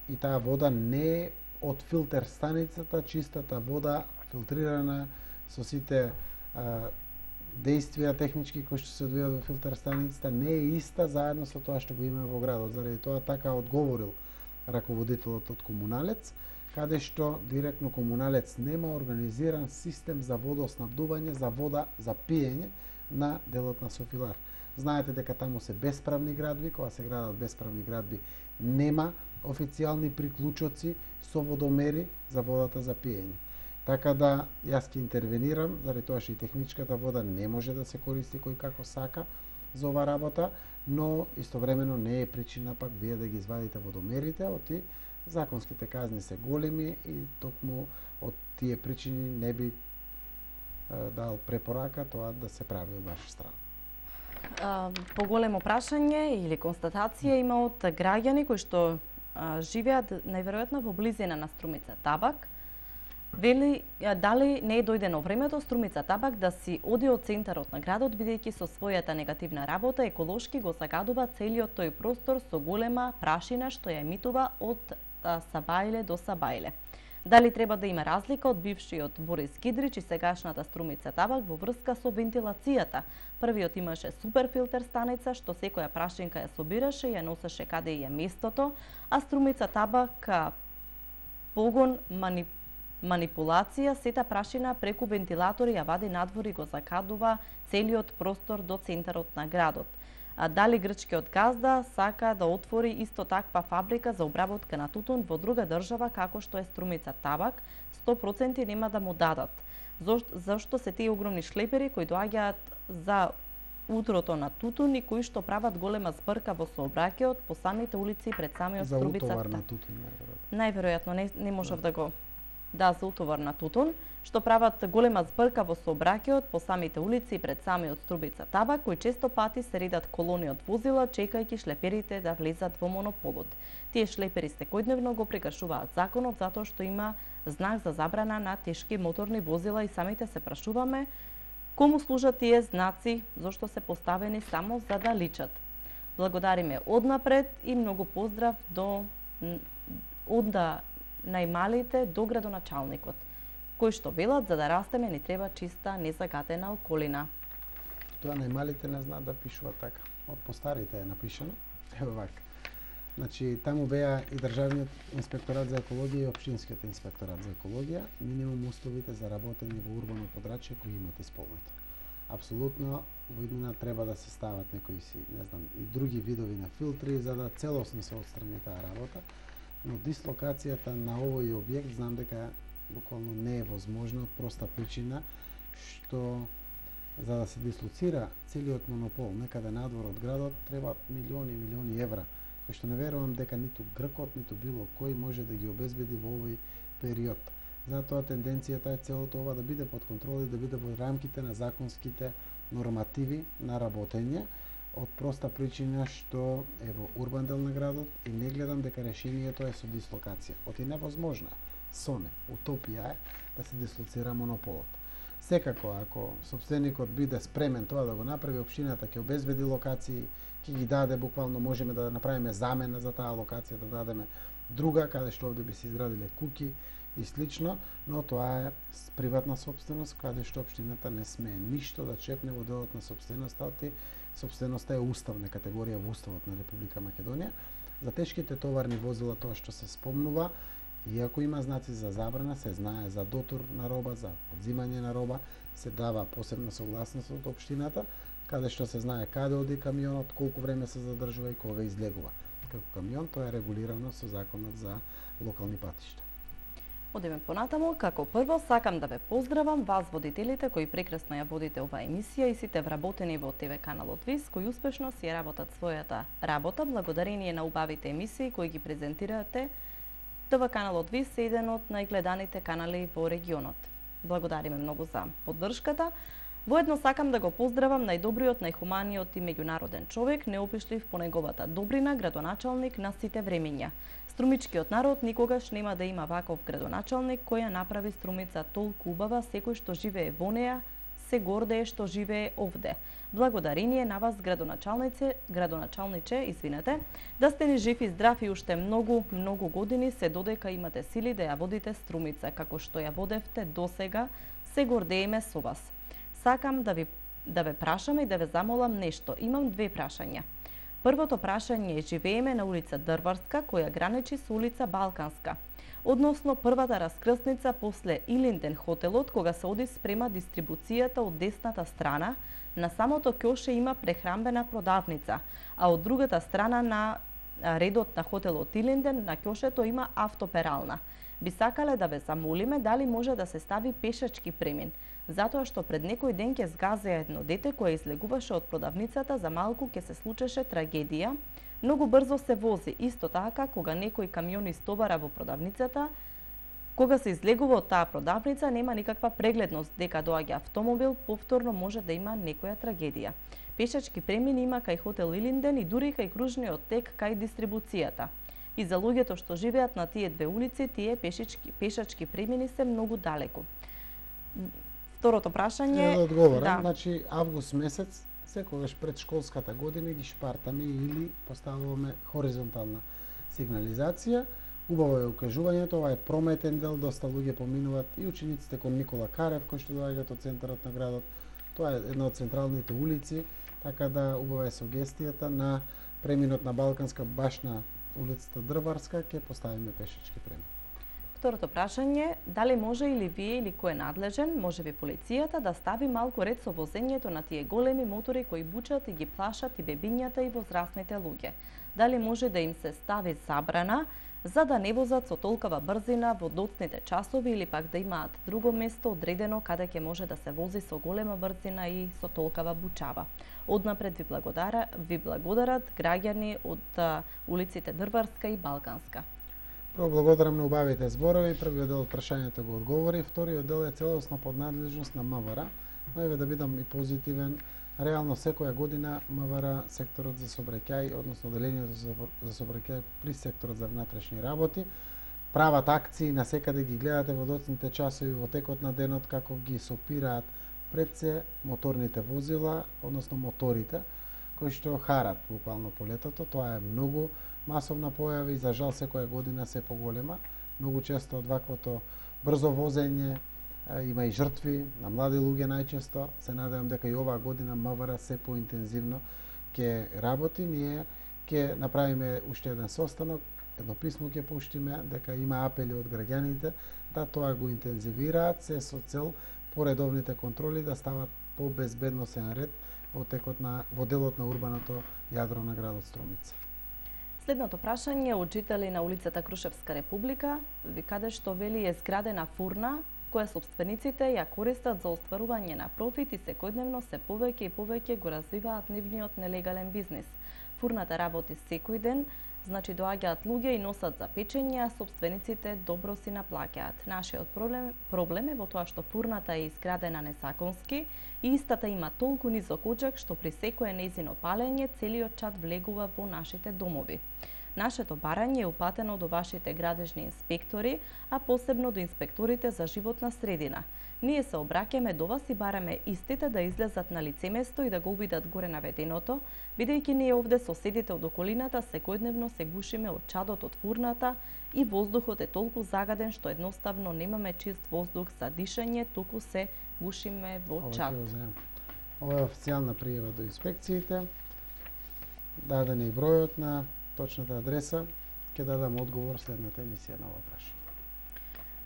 и таа вода не е од филтер станицата, чистата вода филтрирана со сите а, действија технички кои што се одвијат во филтер станицата не е иста заедно со тоа што го има во градот. Заради тоа така одговорил раководителот од комуналец, каде што директно комуналец нема организиран систем за водоснабдување, за вода за пиење на делот на софилар. Знаете дека таму се бесправни градби, кога се градат бесправни градби нема официјални приклучоци со водомери за водата за пиење. Така да јас ќе интервенирам, заради тоа што и техничката вода не може да се користи кој како сака за ова работа, но истовремено не е причина пак вие да ги извадите водомерите, оти законските казни се големи и токму од тие причини не би е, дал препорака тоа да се прави од ваша страна. А, поголемо прашање или констатација има од граѓани кои што а, живеат најверојатно во близина на Струмица Табак. Вели, дали не е дојдено времето Струмица Табак да си оди од центарот на градот, бидејќи со својата негативна работа еколошки го загадува целиот тој простор со голема прашина што ја емитува од а, Сабајле до Сабајле. Дали треба да има разлика од бившиот Борис Кидрич и сегашната Струмица Табак во врска со вентилацијата? Првиот имаше суперфилтер станица што секоја прашинка ја собираше и ја носеше каде и е местото, а Струмица Табак погон манипулација манипулација, сета прашина преку вентилатори ја вади надвор и го закадува целиот простор до центарот на градот. А дали грчкиот газда сака да отвори исто таква фабрика за обработка на тутун во друга држава како што е Струмица Табак, сто проценти нема да му дадат. Зошто, зашто се тие огромни шлепери кои доаѓаат за утрото на тутун и кои што прават голема збрка во сообраќајот по самите улици пред самиот Струмица Табак. За утовар на тутун, најверојатно. Најверојатно, не, не можев да го да за утовар на тутун, што прават голема збрка во сообраќајот по самите улици пред самиот Струмица Табак, кои често пати се редат колони од возила, чекајќи шлеперите да влезат во монополот. Тие шлепери секојдневно го прекршуваат законот затоа што има знак за забрана на тешки моторни возила и самите се прашуваме кому служат тие знаци, зошто се поставени само за да личат. Благодариме однапред и многу поздрав до онда најмалите до градоначалникот, кои што велат за да растеме ни треба чиста незагатена околина. Тоа најмалите не знаат да пишуваат така. Од постарите е напишано. Ево вака. Значи таму беа и државниот инспекторат за екологија и општинскиот инспекторат за екологија, минимум условите за работење во урбано подрачје кои имат исполнето. Апсолутно во иднина треба да се стават некои си, не знам, и други видови на филтри за да целосно се отстрани таа работа. Но дислокацијата на овој објект знам дека буквално не е возможно од проста причина што За да се дислоцира целиот монопол некаде надвор од градот, треба милиони и милиони евра, кои што не верувам дека ниту Гркот, ниту било кој може да ги обезбеди во овој период. Затоа тенденцијата е целото ова да биде под контрола и да биде во рамките на законските нормативи на работење, од проста причина што е во урбан дел на градот и не гледам дека решението е со дислокација. Оти невозможно е, соне, утопија е да се дислоцира монополот. Секако, ако собственикот биде спремен тоа да го направи, општината ќе обезбеди локации, ќе ги даде, буквално можеме да направиме замена за таа локација, да дадеме друга, каде што овде би се изградиле куќи и слично, но тоа е приватна собственост, каде што општината не смее ништо да чепне во делот на собственоста, оти собственоста е уставна категорија во Уставот на Република Македонија. За тешките товарни возила, тоа што се спомнува, иако има знаци за забрана, се знае за дотур на роба, за одзимање на роба, се дава посебна согласност од општината, каде што се знае каде оди камионот, колку време се задржува и кога излегува. Како камион, тоа е регулирано со законот за локални патишта. Одиме понатаму, како прво сакам да ве поздравам вас водителите кои прекрасно ја водите оваа емисија и сите вработени во ТВ каналот ВИС кои успешно си ја работат својата работа благодарение на убавите емисии кои ги презентирате. ТВ каналот ВИС е еден од најгледаните канали во регионот. Благодариме многу за поддршката. Воедно сакам да го поздравам најдобриот, најхуманиот и меѓународен човек, неопишлив по неговата добрина, градоначалник на сите времења. Струмичкиот народ никогаш нема да има ваков градоначалник кој ја направи Струмица толку убава, секој што живее во неа се гордее што живее овде. Благодарение на вас, градоначалнице, градоначалниче, извинете, да сте ни жив и здрав и уште многу, многу години се додека имате сили да ја водите Струмица, како што ја водевте досега, се гордееме со вас. Сакам да ви да ве прашам и да ве замолам нешто. Имам две прашања. Првото прашање е: живееме на улица Дрварска, која граничи со улица Балканска. Односно првата раскрсница после Илинден хотелот, кога се оди спрема дистрибуцијата од десната страна, на самото ќоше има прехрамбена продавница, а од другата страна на редот на хотелот Илинден на ќошето има автоперална. Би сакале да ве замолиме дали може да се стави пешачки премин, затоа што пред некој ден ќе згазеа едно дете кое излегуваше од продавницата, за малку ќе се случеше трагедија. Многу брзо се вози, исто така кога некој камион истовара во продавницата, кога се излегува од таа продавница нема никаква прегледност дека доаѓа автомобил, повторно може да има некоја трагедија. Пешачки премин има кај хотел Илинден и дури кај кружниот тек кај дистрибуцијата. И за луѓето што живеат на тие две улици, тие пешачки, пешачки премини се многу далеку. Второто прашање... Да одговорам, да. Значи август месец, секогаш пред школската година ги шпартаме или поставуваме хоризонтална сигнализација. Убаво е укажувањето, ова е прометен дел, доста луѓе поминуваат и учениците кон Никола Карев, кои што доаѓаат од центарот на градот. Тоа е една од централните улици, така да убава е сугестијата на преминот на Балканска баш на улицата Дрварска, ќе поставиме пешачки премин. Второто прашање, дали може или вие или кој е надлежен, може би полицијата, да стави малку ред со возењето на тие големи мотори кои бучат и ги плашат и бебињата и возрастните луѓе? Дали може да им се стави забрана за да не возат со толкова брзина во доцните часови или пак да имаат друго место одредено каде ќе може да се вози со голема брзина и со толкова бучава? Однапред ви благодара, ви благодарат граѓани од улиците Дрварска и Балканска. Прво благодарам на убавите зборови, првиот дел од прашањето го одговори, вториот дел е целосно под надлежност на МВР, но еве да бидам и позитивен, реално секоја година МВР, секторот за сообраќај, односно делението за сообраќај при секторот за внатрешни работи, прават акции, насекаде ги гледате во доцните часови, во текот на денот, како ги сопираат пред се моторните возила, односно моторите, кои што харат буквално по летото. Тоа е многу масовна појава и за жал секоја година се поголема. Многу често од ваквото брзо возење има и жртви на млади луѓе најчесто. Се надевам дека и оваа година МВР се поинтензивно ќе работи. Ние ќе направиме уште еден состанок, едно писмо ќе пуштиме дека има апели од граѓаните да тоа го интензивираат, се со цел поредовните контроли да стават по безбедносен ред во текот на во делот на урбаното јадро на градот Струмица. Следното прашање од жители на улицата Крушевска Република, ви каде што вели е зградена фурна која собствениците ја користат за остварување на профит и секојдневно се повеќе и повеќе го развиваат нивниот нелегален бизнис. Фурната работи секој ден, значи доаѓаат луѓе и носат за печење, а собствениците добро си наплаќаат. Нашиот проблем, проблем е во тоа што фурната е изградена незаконски и истата има толку низок оџак што при секое нејзино палење целиот чад влегува во нашите домови. Нашето барање е упатено до вашите градежни инспектори, а посебно до инспекторите за животна средина. Ние се обраќаме до вас и бараме истите да излезат на лице место и да го увидат горе наведеното, бидејќи ние овде соседите од околината секојдневно се гушиме од чадот од фурната и воздухот е толку загаден што едноставно немаме чист воздух за дишење, туку се гушиме во чад. Ова е официјална пријава до инспекциите. Даден е и бројот на точната адреса, ќе дадам одговор следната емисија на ова прашање.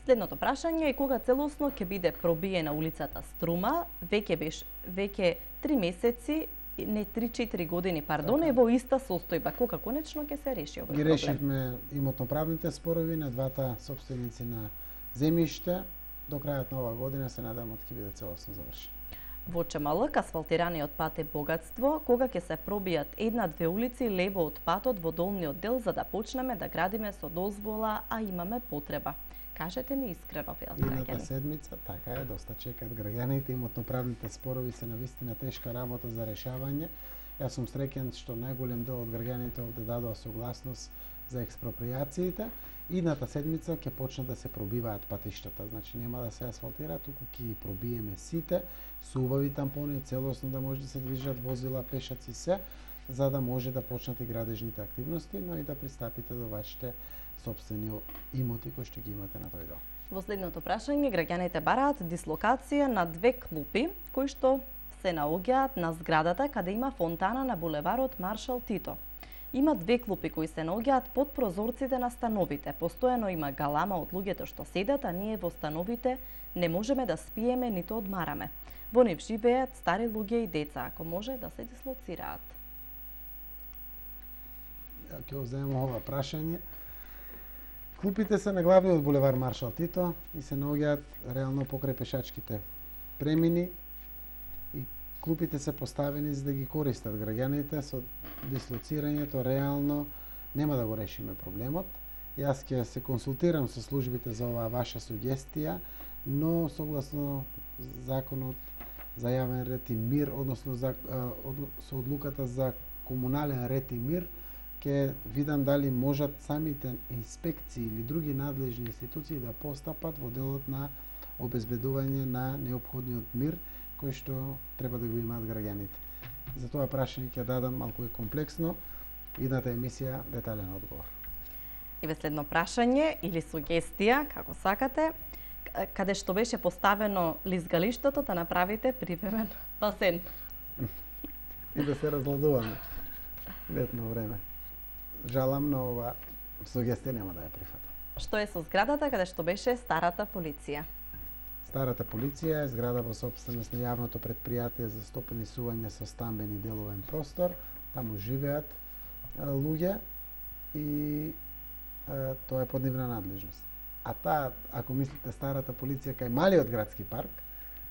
Следното прашање е кога целосно ќе биде пробиена улицата Струма, веќе беше веќе три месеци, не три-четири години, пардон, така. Е во иста состојба. Кога конечно ќе се реши овој проблем? Ги решивме имотно-правните спорови на двата собственици на земјиште. До крајот на оваа година се надевам ќе биде целосно завршен. Во Чемалк асфалтираниот пат е богатство, кога ќе се пробијат една-две улици лево од патот во долниот дел за да почнеме да градиме со дозвола, а имаме потреба. Кажете ни искрено, вел граѓани. Едната седмица, така е, доста чекат граѓаните, имотно-правните спорови се навистина тешка работа за решавање. Јас сум среќен што најголем дел од граѓаните овде дадоа согласност за експроприациите. Идната седмица ќе почнат да се пробиваат патиштата, значи нема да се асфалтира, туку ќе ги пробиеме сите, со убави тампони, целосно да може да се движат возила, пешаци се, за да може да почнат и градежните активности, но и да пристапите до вашите собствени имоти кои што ги имате на тој дел. Во следното прашање граѓаните бараат дислокација на две клупи кои што се наоѓаат на зградата каде има фонтана на булеварот Маршал Тито. Има две клупи кои се наоѓаат под прозорците на становите. Постојано има галама од луѓето што седат, а ние во становите не можеме да спиеме ниту одмараме. Во нив живеат стари луѓе и деца, ако може да се дислоцираат. Ја ќе земам ова прашање. Клупите се на главниот булевар Маршал Тито и се наоѓаат реално покрај пешачките премини и клупите се поставени за да ги користат граѓаните. Со дислоцирањето реално нема да го решиме проблемот. Јас ќе се консултирам со службите за оваа ваша сугестија, но согласно законот за јавен ред и мир, односно за, од, со одлуката за комунален ред и мир, ќе видам дали можат самите инспекции или други надлежни институции да постапат во делот на обезбедување на неопходниот мир кој што треба да го имаат граѓаните. За тоа прашање ќе дадам малку е комплексно, идната емисија детален одговор. И ве следно прашање или сугестија, како сакате, каде што беше поставено лизгалиштото да направите привремен басен. И да се разладуваме летно време. Жалам, но ова сугестија нема да ја прифатам. Што е со зградата каде што беше старата полиција? Старата полиција е зграда во собственост на јавното претпријатие за стопанисување со стамбен и деловен простор. Таму живеат а, луѓе и а, тоа е под нивна надлежност. А таа, ако мислите старата полиција кај малиот градски парк,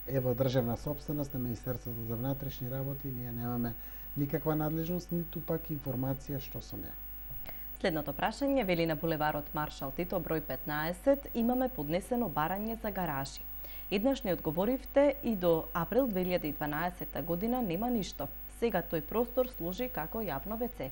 е во државна собственост на Министерството за внатрешни работи, ние немаме никаква надлежност, ниту пак информација што со неа. Следното прашање вели на булеварот Маршал Тито број петнаесет имаме поднесено барање за гаражи. Еднаш не одговоривте и до април две илјади и дванаесетта година нема ништо. Сега тој простор служи како јавно вце.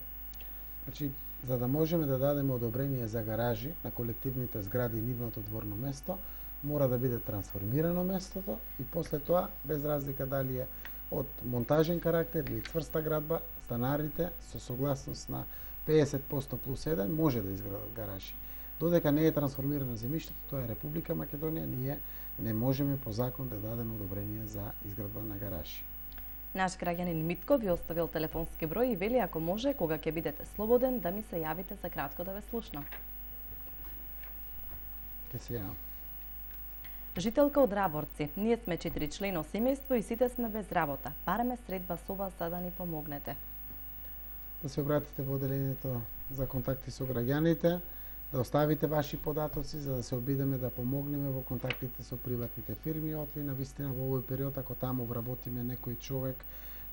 Значи, за да можеме да дадеме одобрение за гаражи на колективните згради и нивното дворно место, мора да биде трансформирано местото и после тоа, без разлика дали е од монтажен карактер или цврста градба, станарите со согласност на педесет проценти плюс еден може да изградат гаражи. Додека не е трансформирано земјиштето, тоа е Република Македонија, ние не можеме по закон да дадеме одобрение за изградба на гаражи. Наш граѓанин Митко ви оставил телефонски број и вели ако може, кога ќе бидете слободен, да ми се јавите за кратко да ве слушнам. Ке се јавам. Жителка од Раборци. Ние сме четири члено семејство и сите сме без работа. Бараме средба со вас за да ни помогнете. Да се обратите во одделението за контакти со граѓаните. да оставите ваши податоци за да се обидеме да помогнеме во контактите со приватните фирми, отли на вистина во овој период ако таму вработиме некој човек,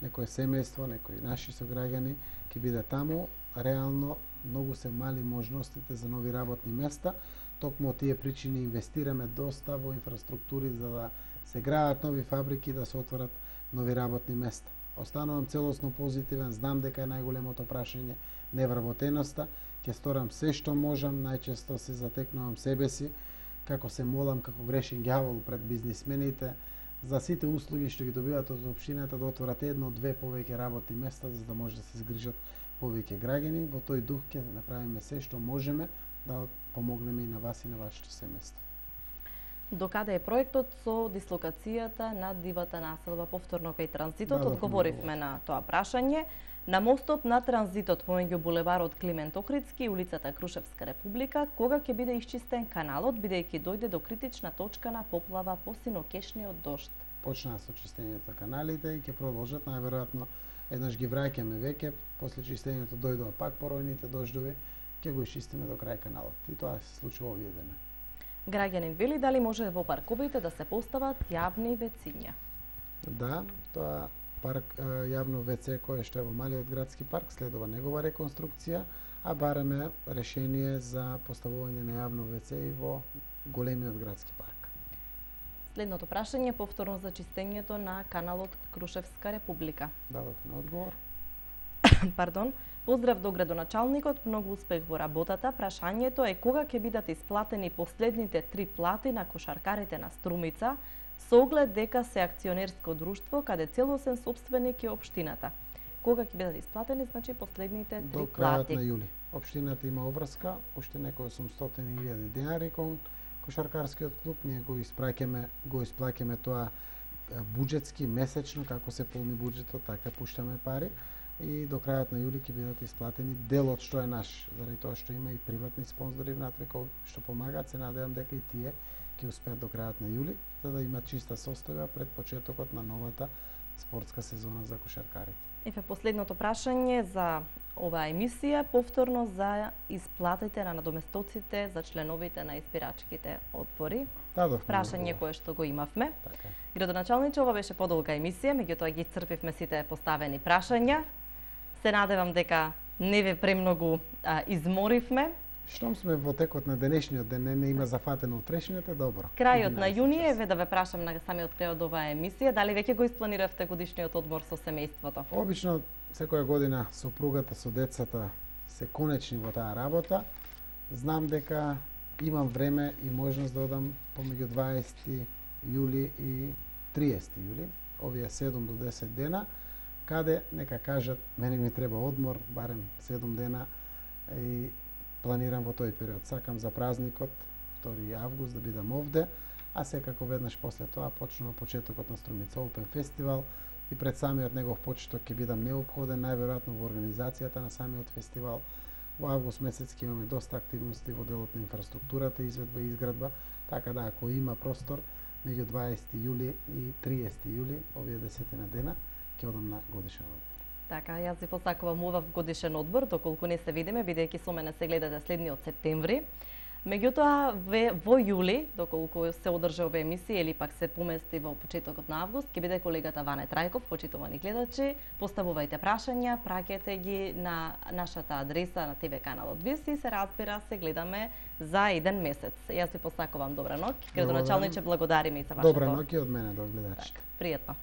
некое семејство, некои наши сограѓани ќе биде таму, реално многу се мали можностите за нови работни места. Токму од тие причини инвестираме доста во инфраструктури за да се граат нови фабрики, да се отворат нови работни места. Останувам целосно позитивен, знам дека е најголемото прашање невработеноста, ќе сторам се што можам, најчесто се затекнувам себе си, како се молам, како грешен ѓавол пред бизнисмените, за сите услуги што ги добиват од општината да отворат едно-две повеќе работни места, за да може да се згрижат повеќе граѓани. Во тој дух ќе направиме се што можеме да помогнеме и на вас и на вашето семејство. Докаде е проектот со дислокацијата на дивата населба повторно кај транзитот? Да, Одговоривме на тоа прашање. На мостот на транзитот помеѓу булеварот Климент Охридски и улицата Крушевска република, кога ќе биде исчистен каналот, бидејќи дојде до критична точка на поплава по синокешниот дожд? Почнаа со чистењето каналите и ќе продолжат, најверојатно еднаш ги враќаме веќе, после чистењето дојдоа пак поројните дождови, ќе го исчистиме до крај каналот. И тоа се случува овие дена. Граѓанин вели дали може во парковите да се постават јавни вециња? Да, тоа парк јавно ВЦ кое што е во малиот градски парк следува негова реконструкција, а бараме решение за поставување на јавно ВЦ и во големиот градски парк. Следното прашање повторно за чистењето на каналот Крушевска република. Дадовме одговор. Пардон. Поздрав до градоначалникот, многу успех во работата. Прашањето е кога ќе бидат исплатени последните три плати на кошаркарите на Струмица, со оглед дека се акционерско друштво каде целосен сопственик е општината. Кога ќе бидат исплатени, значи последните три до плати? До крајот на јули. Општината има обврска, уште некои осумстотини илјади денари кон кошаркарскиот клуб. Ние го испраќаме, го исплаќаме тоа буџетски месечно, како се полни буџетот, така пуштаме пари. И до крајот на јули ќе бидат исплатени делот што е наш, заради тоа што има и приватни спонзори внатре кои што помагаат. Се надевам дека и тие ќе успеат до крајот на јули, за да имат чиста состојба пред почетокот на новата спортска сезона за кошаркарите. Еве последното прашање за оваа емисија, повторно за исплатите на надоместоците за членовите на избирачките одбори. Дадовме прашање кое што го имавме. Така. Градоначалниче, ова беше подолга емисија, меѓутоа ги исцрпивме сите поставени прашања. Се надевам дека не ве премногу а, изморивме. Штом сме во текот на денешниот ден, не, не има зафатено утрешниот, е добро. Крајот на јуни, еве да ве прашам на самиот крај од оваа емисија, дали веќе го испланиравте годишниот одмор со семејството? Обично секоја година сопругата со децата се конечни во таа работа. Знам дека имам време и можност да одам помеѓу дваесети јули и триесети јули, овие седум до десет дена, каде нека кажат мене ми треба одмор, барем седум дена и планирам во тој период. Сакам за празникот втори август да бидам овде, а секако веднаш после тоа почнува почетокот на Струмица Open фестивал и пред самиот негов почеток ќе бидам неопходен, најверојатно во организацијата на самиот фестивал. Во август месец ќе имаме доста активности во делот на инфраструктурата, изведба и изградба, така да ако има простор меѓу дваесети јули и триесети јули, овие десетина дена, ќе одам на годишен одмор. Така, јас ви посакувам убав годишен одмор, доколку не се видиме, бидејќи со мене се гледате следниот септември. Меѓутоа, во јули, доколку се одржа оваа емисија или пак се помести во почетокот на август, ќе биде колегата Ване Трајков, почитувани гледачи. Поставувајте прашања, праќајте ги на нашата адреса на ТВ каналот Вис и се разбира, се гледаме за еден месец. Јас ви посакувам добра ноќ. Градоначалниче, благодариме и за вашето. Добра ноќ и од мене до гледачите. Так, пријатно.